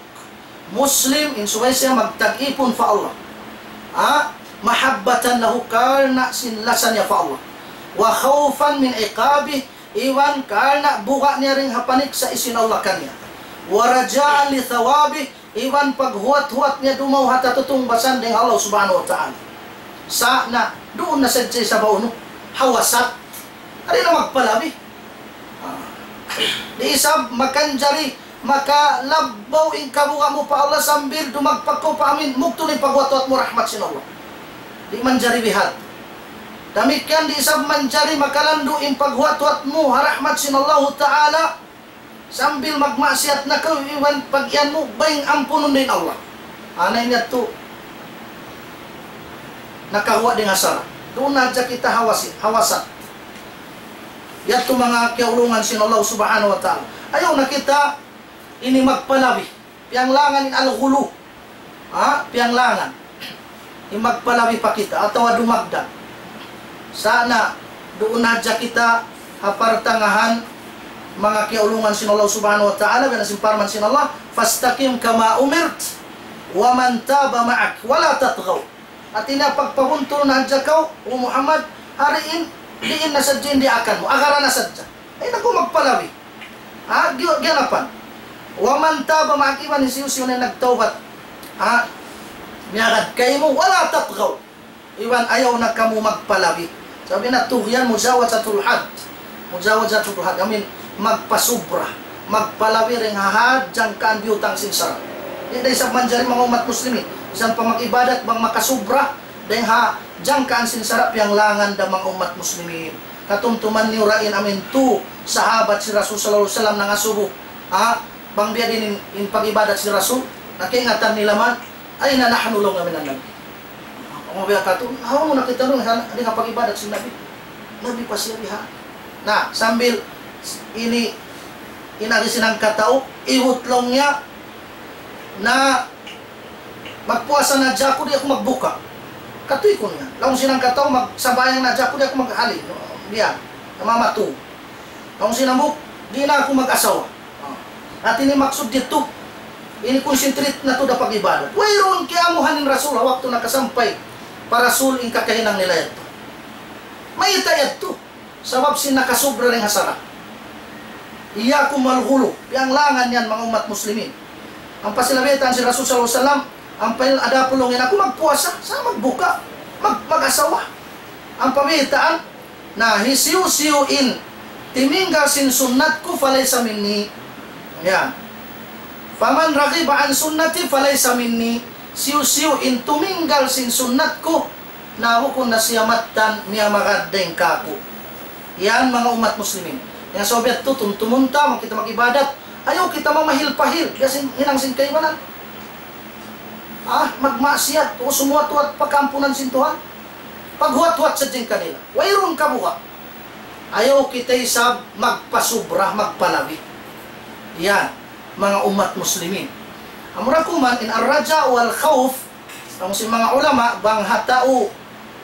Muslim in subay siya magtag-ipun pa Allah. Ah, محبة له, karna' sin lasa niya pa Allah. وخوفا من عقابه, iban karna' buga' niya dayn ha paniksa' sin Allah kaniya. ورجاء لثوابه, iban paghuwat-huwat niya dumawhat ha tutungbasan dayn ha Allah Subhanahu wa Ta'ala. Sa' na, duun na sadja isab ha unu, ha wasat. Di' na magpalabi. Ah. Di' isab makanjari, makalabbaw in kabuga' mu pa Allah sambil dumagpak kaw pa amin, mugtul in paghuwat-huwat mu rahmat sin Allah. Di' manjari bihan. Damikkiyan di' isab manjari makalandu' in paghuwat-huwat mu ha rahmat sin Allahu Ta'ala, sambil magmaksiyat na kaw iban pag-iyan mu, bang ampunun da in Allah. Ana ini yadtu nakaguwa' dayn ha sara'. Duun na hadja kita ha wasi-, ha wasat. Yadtu manga kiyaulungan sin Allah Subhanahu wa Ta'ala. Ayaw na kita ini magpalabi. Piyanglangan in al-ghulu. Ha? Piyanglangan. In magpalabi pa kita atawa dumagdag. Sa' na, duun na hadja kita ha partangahan, manga kiyaulungan sin Allah Subhanahu wa Ta'ala, biya' na sin parman sin Allah, فاستقم كما أمرت ومن تاب معك ولا تطغوا. Hāti niya pagpabuntul na hadja kaw, O Muhammad, ha diin, diin na sadja in diyaakan mu, agaran na sadja. Ayaw na kaw magpalabi. Ha, gi-, giyanapan. ومن تاب معك, iban hisiyu-siyu na nagtawbat. Ha, miyagad kaymu, ولا تطغوا. Iban ayaw na kamu magpalabi. Sabab in tughyan, mujawazatul had. Mujawazatul had. Amuin magpasubra. Magpalabi dayn ha had jangkaan biyutang sin sara'. Di' da isab manjari manga ummat muslimin. Misan pa mag-ibadat bang makasubra dayn ha jangkaan sin sara', piyanglangan da manga ummat muslimin. Katumtuman niyu ra in amuin tu sahabat sin Rasul sallallahu alayhi wasallam nangasubu. Ha? Bang biya' diin in, in pag-ibadat sin Rasul, na kaingatan nila man, أين نحن, laung nila, من النبي. Bang biya' katu', hawnu na kita laung, ha, di' na pag-ibadat sin Nabi. Nabi pa siya biha. Na, sambil ini, in agi sin hangkatau, iwut laung niya, na magpuasa na hadja aku, di' aku magbuka. Katuy ku niya. Laung sin hangkatau, magsambahayang na hadja aku, di' aku maghali. Biya', namamatu. Laung sin hambuuk, di' na aku mag-asawa. Ah. Hāti niya maksud didtu, ini concentrate na tuud ha pag-ibadat. Wayruun kiyamuhan in Rasul, waktu nakasampay pa Rasul in kakahinang nila yadtu. Mayta' yadtu? Sabab sin nakasubra dayn ha sara'. إياكم والغلو. Piyanglangan yan, manga ummat muslimin. Ampa sila baytaan sin Rasul sallallahu alayhi wasallam, ampa in adapun laung niya, aku magpuasa, sa' magbuka, mag-, mag-asawa. Ampa baytaan, na hisiyu-siyu in timinggal sin sunnat ku, فليس مني. Yan. فمن رغب عن سنتي فليس مني. Hisiyu-siyu in tuminggal sin sunnat ku, na bukun na siya mattan miyamagad dayn kāku'. Yan, manga ummat muslimin. Hangkan sabab yadtu, tumtumun ta, bang kita mag-ibadat, ayaw kita mamahil-pahil, biya' sin hinang sin kaibanan. ah, magmaksiyat, o sumuwat-wat pa kaampunan sin Tuhan. Paghuwat-huwat sadja in kanila. Wayruun kabuga'. Ayaw kita isab magpasubra, magpalabi. Yan, manga ummat muslimin. Amura kuman in ar-raja wal khawf, laung sin manga ulama, bang ha tau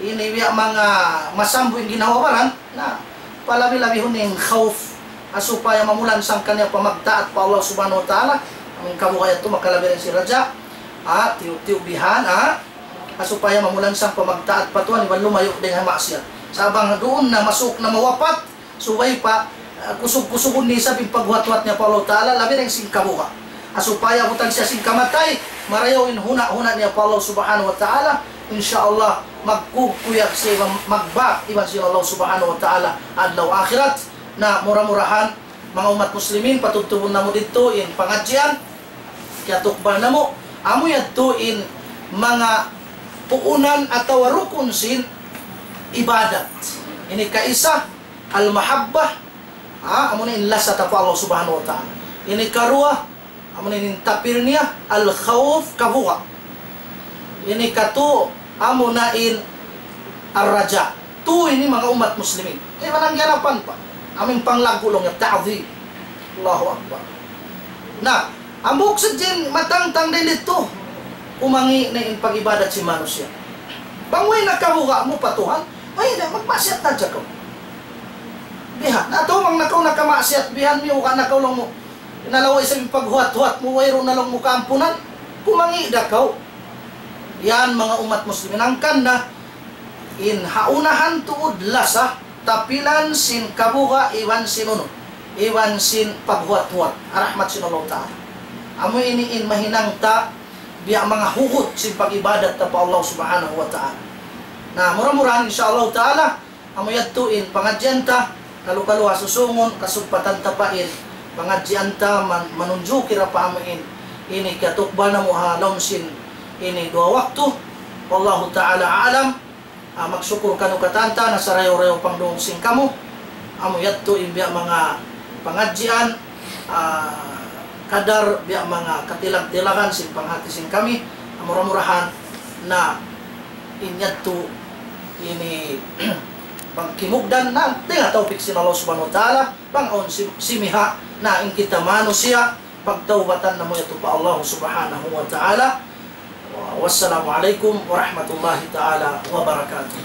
ini biya' manga masambu' in ginhawa-baran, na palabi-labihun in khawf, ha supaya mamulansang kaniya pa magtaat pa Allah Subhanahu wa Ta'ala, amu in kabuga' yadtu makalabi dayn sin raja, ha, tiyu'-tiyu' bihan, ha, ha supaya mamulansang pa magtaat pa Tuhan, iban lumayu' dayn ha maksiyat. Sa' bang duun na masuuk na mawapat, subay pa, ah, kusug-kusugun niya isab in paghuwat-huwat niya pa Allah Ta'ala, labi dayn sin kabuga'. Ha supaya butang siya sin kamatay, marayaw in huna'-huna' niya pa Allah Subhanahu wa Ta'ala, insya Allah, magkukuyag siya iban magbak iban sin Allah Subhanahu wa Ta'ala adlaw akhirat. Na mura-murahan, manga ummat muslimin, patubtubun namu' didtu in pangadjian, kiyatukbal namu', amu yadtu in manga puunan atawa rukun sin ibadat. Ini kaisa, al-mahabbah, ha, amu na in lasa ta pa Allah Subhanahu wa Ta'ala. Ini karuwa, amu na in tapir niya, al-khawf, kabuga'. Ini katu, amu na in ar-raja. Tu ini manga ummat muslimin. Kaya manang ganapan pa. Amu in panglaggu' laung niya, ta'zim. Allahu Akbar. Na, hambuuk sadja in matangtang dayn didtu, kumangi' na in pag-ibadat sin manusiya'. Bang way na kabuga' mu pa Tuhan, way na, magmaksiyat na hadja kaw. Bihan, na tu bang na kaw nakamaksiyat, bihan, miyuga' na kaw laung mu. Nalawa' isab in paghuwat-huwat mu, wayruun na laung mu kaampunan, kumangi' da kaw. Yan, manga ummat muslimin, hangkan na, in ha unahan tuud lasa, tapilan sin kabuga' iban sin unu, iban sin paghuwat-huwat, ha rahmat sin Allah Ta'ala. Amu ini in mahinang ta, biya' manga hugut sin pag-ibadat ta pa Allah Subhanahu wa Ta'ala. Na, mura-murahan, insya Allah Ta'ala, amu yadtu in pangadjian ta, kalu-kalu ha susungun, kasugpatan ta pa in pangadjian ta, man-, manunjuki ra pa amu in, ini kiyatukbal namu' ha lawm sin ini duwa waktu. Wallahu ta'ala a'lam. Ah, magsukul kaniyu katan ta, nasarayaw-rayaw pangdungug sin kamu. Amu yadtu in biya' manga pangadjian, ah, kadar biya' manga katilag-tilagan sin panghati sin kami. Mura-murahan na in yadtu ini bang kimugdan na dayn ha tawpik sin Allah Subhanahu wa Ta'ala, bang awn sim-, simiha' na in kita manusiya', pagtawbatan namu' yadtu pa Allah Subhanahu wa Ta'ala. Wassalamu alaykum warahmatullahi ta'ala wabarakatuh.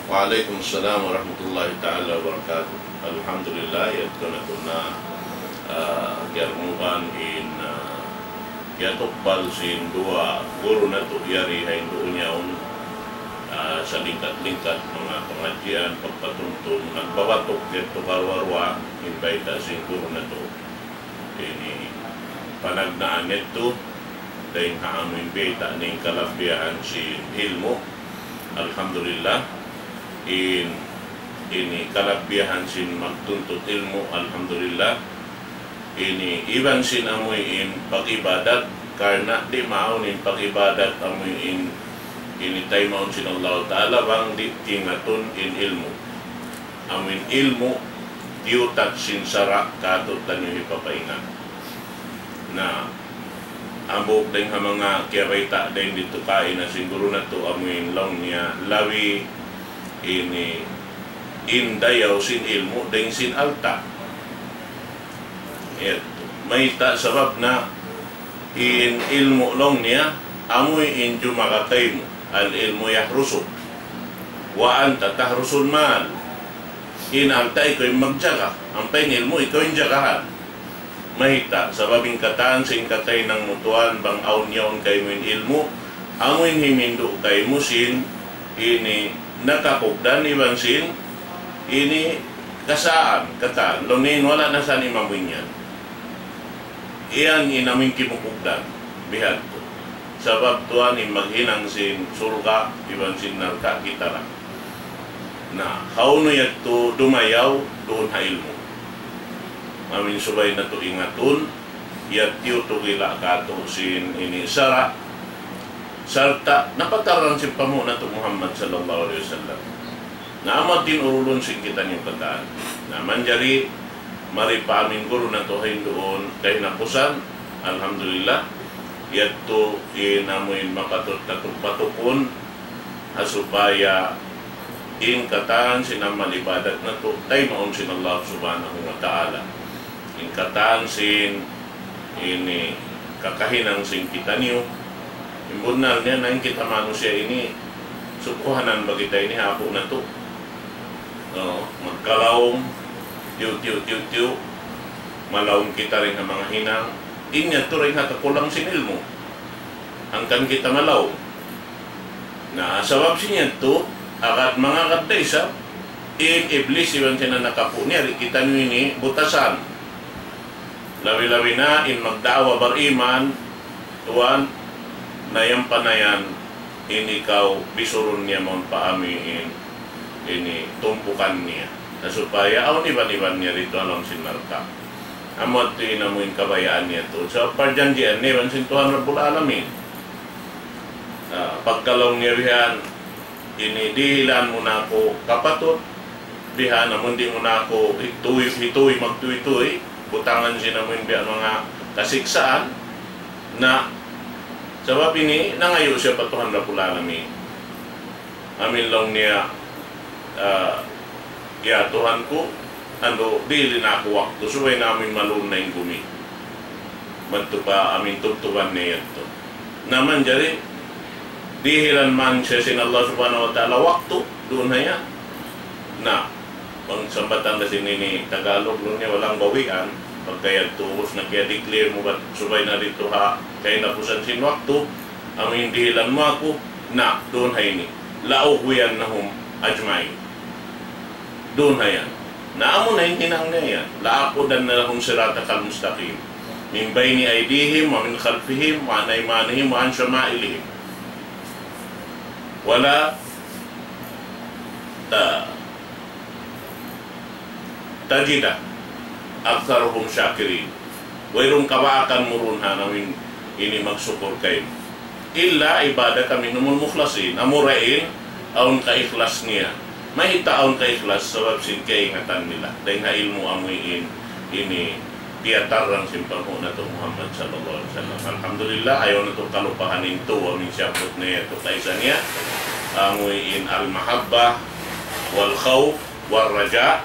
Wa alaykum salam warahmatullahi ta'ala wabarakatuh. Alhamdulillah, yadtu na tuud na, ah, kiyarungugan in, ah, kiyatukbal sin duwa guru natu' yari ha dunya yaun, ah, salingkat-lingkat manga pangadjian, pagpatuntun, nagbabatuk yadtu karuwa-ruwa, in bayta' sin guru natu'. Ini panagnaan yadtu, dayn ha amu in bayta' niya in kalabbiyahan sin ilmu'. Alhamdulillah, in, ini kalabbiyahan sin magtuntut ilmu', alhamdulillah. Ini iban sin amu in pag-ibadat, karna' di' maawn in pag-ibadat amu in, ini taymaun sin Allah Ta'ala bang di' tingatun in ilmu'. Amu in ilmu', diyutat sin sara' kātu'niyu hipapaingat. Na, hambuuk dayn ha manga kiyabayta' dayn didtu kaina sin guru natu', amu in laung niya labi ini in dayaw sin ilmu' dayn sin alta'. Yadtu. Mayta' sabab na in ilmu' laung niya, amu in jumaga kaymu, العلم يحرسك وأنت تحرس المال. In alta' ikaw in magjaga, ampa in ilmu' ikaw in jagahan. Mayta', sabab in katan sin kataynangmu tuwan bang awn yaun kaymu in ilmu', amu in himindu' kaymu sin ini nakakugdan iban sin ini kasaan, katan, laung niya in wala' na sa' imamuin yan. Iyan in amu in kimukugdan, bihadtu. Sabab tuwan in maghinang sin surga', iban sin narka' kita ra. Na, hawnu yadtu dumayaw, duun ha ilmu'. Amu in subay natu' ingatun, yadtu tiyutugila' kātu' sin ini sara', sarta' napatarrang sin panghu' natu' Muhammad sallallahu alayhi wasallam. Na amu in urulun sin kitaniyu katan. Na manjari mari pa amu in guru natu' ha duun kahinapusan, alhamdulillah. Yadtu in amuin makatut natu' patukun, ha supaya in katan sin amal ibadat natu' taymaun sin Allah Subhanahu wa Ta'ala. In katan sin ini kakahinang sin kitaniyu. In bunnal niya na in kita manusiya' ini, sukuhanan ba kita ini ha apu' natu'? No, magkalaum, tiyu', tiyu', tiyu', tiyu', malaum kita dayn ha manga hinang, in yadtu dayn ha kakulang sin ilmu'. Hangkan kita malaum. Na, sabab sin yadtu, agad mangagad da isab, in Iblis iban sin anak apu' niya, di' kitaniyu ini butasan. Labi-labi na in magda'wa bariman, tuwan, na yan pa na yan, in ikaw bisurun niya mawn pa amuin, ini tumpukan niya. Na supaya awn iban-iban niya didtu ha lawm sin narka'. Amu yadtu in amuin kabayaan niya tuud. Sa' parjanjian niya iban sin Tuhan Rabbul Alamin. Ah, pagkalaung niya bihan, ini dihilan mu na aku kapatut, bihan amun di' mu na aku hituy, hituy, magtuy-tuy, butangan sin amuin biya' manga kasiksaan, na sabab ini nangayu' siya pa Tuhan Rabbul Alamin. Amuin laung niya, ah, "Ya Tuhan ku, andu', dihili na aku waktu, subay na amuin malun na in gumi." Madtu pa amuin tubtuban niya yadtu. Na manjari, dihilan man siya sin Allah Subhanahu wa Ta'ala waktu, duun ha yan. Na, bang sambatan da sin ini Tagalog, laung niya walang bawian, pagka yadtu, ubus na kiya-declare mu, bat subay na didtu ha kahinapusan sin waktu, amuin dihilan mu aku, na, duun ha ini. لأغوينهم أجمعين. Duun ha yan. Na amu na in hinang niya yan. لأقعدن لهم صراطك المستقيم من بين أيديهم ومن خلفهم وعن أيمانهم وعن شمائلهم ولا ت-، تجد أكثرهم شاكرين. Wayruun kabaakan mu duun ha amuin ini magsukur kaymu. إلا عبادك منهم المخلصين. Amura in awn kaikhlas niya. Mayta' awn kaikhlas? Sabab sin kaingatan nila dayn ha ilmu' amuin ini tiyatarrang sin panghu' natu' Muhammad sallallahu alayhi wasallam. Alhamdulillah, ayaw natu' kalupahan in tu, amuin siyabbut niya yadtu kaisa niya. Amuin المحبة والخوف والرجاء.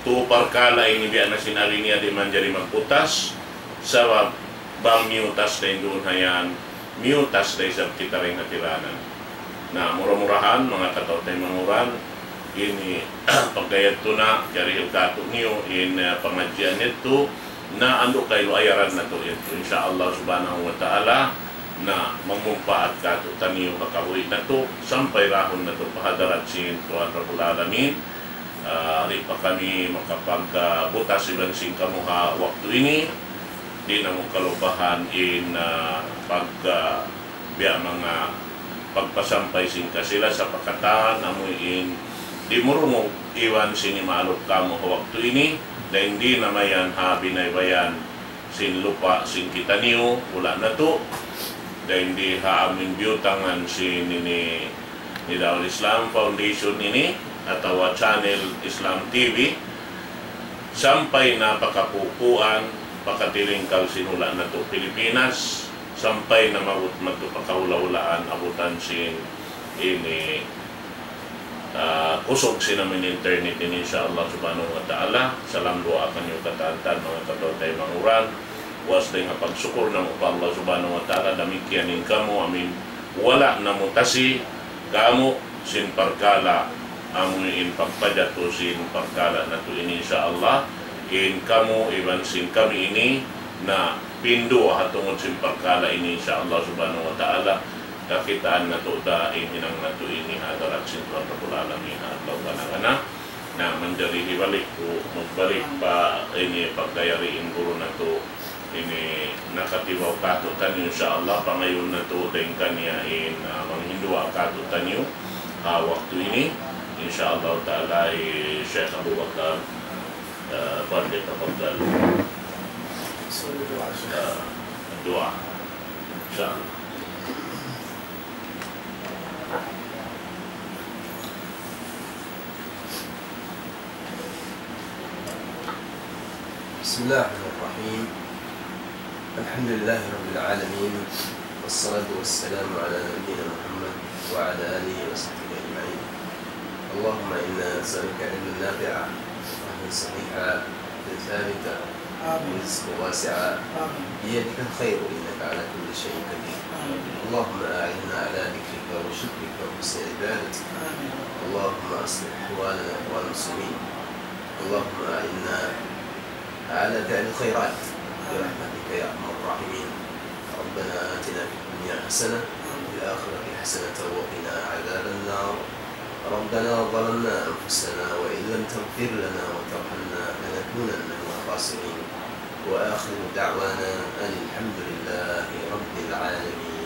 Tu parkala' ini biya' na sin ari niya di' manjari magbutas, sabab bang miyutas da in duun ha yan, miyutas da isab kita dayn ha tiranan. Na, mura-murahan, manga kataw-taymanghuran, ini pagka yadtu na, jarihil kātu'niyu in, eh, pangadjian yadtu, na andu' kailu ayaran natu' yadtu. Insya Allah Subhanahu wa Ta'ala, na mamumpaat kātu'niyu ha kabuhi' natu', sampay dahun natu' pa hadarat sin Tuhan Rabbul Alamin. Ah, di' pa kami makapagbutas iban sin kamu ha waktu ini. Di' namu' kalupahan in, ah, pag, ah, biya' manga pagpasampay sin kasila-sala pa katan, amuin dimurungug iban sin imaalup kamu ha waktu ini, dayn di na mayan ha binaybayan sin lupa' sin kitaniyu, hula' natu', dayn di ha amuin biyutangan sin ini Nidawul Islam Foundation ini, atawa channel Islam T V, sampay na pa kapupuan, pa katilingkal sin hula' natu' Pilipinas, sampay na maabut madtu pa kahula'-hulaan, abutan sin ini, ah, kusug sin amuin internet ini, insya Allah Subhanahu wa Ta'ala. Salam duwaa kaniyu katan-katan, manga kataw-taymanghuran. Puas dayn ha pagsukur namu' pa Allah Subhanahu wa Ta'ala, damikkiyan in kamu, amuin wala' namu' tasi kamu sin parkala', amuin pagpajatu sin parkala' natu' ini, insya Allah. In kamu iban sin kami ini, na pinduwa ha tungud sin parkala' ini, insya Allah Subhanahu wa Ta'ala, kakitaan natu' da in hinang natu' ini ha hadarat sin Tuhan Rabbul Alamin ha adlaw kana-kana. Na, manjari hibalik ku, magbalik pa ini pagdayari in guru natu' ini nakatibaw kātu'niyu, insya Allah, pangayuun natu' dayn kaniya in, ah, manghinduwaa kātu'niyu, ah, waktu ini, insya Allah Ta'ala, eh, Sheikh Abu Bakar, ah, فليتفضل. Ah, duwaa. Insya Allah. بسم الله الرحمن الرحيم. الحمد لله رب العالمين، والصلاة والسلام على نبينا محمد وعلى آله وصحبه أجمعين. اللهم إنا نسألك علما نافعا، وفهما صحيحا، ورزقا واسعا، بيدك الخير إنك على كل شيء قدير. اللهم أعنا على ذكرك وشكرك وحسن عبادتك. اللهم أصلح أحوالنا وأحوال المسلمين. اللهم أعنا على فعل الخيرات برحمتك يا أرحم الراحمين. ربنا آتنا في الدنيا حسنة وفي الآخرة حسنة وقنا عذاب النار. ربنا ظلمنا أنفسنا وإن لم تغفر لنا وترحمنا لنكونن من الخاسرين. وآخر دعوانا أن الحمد لله رب العالمين.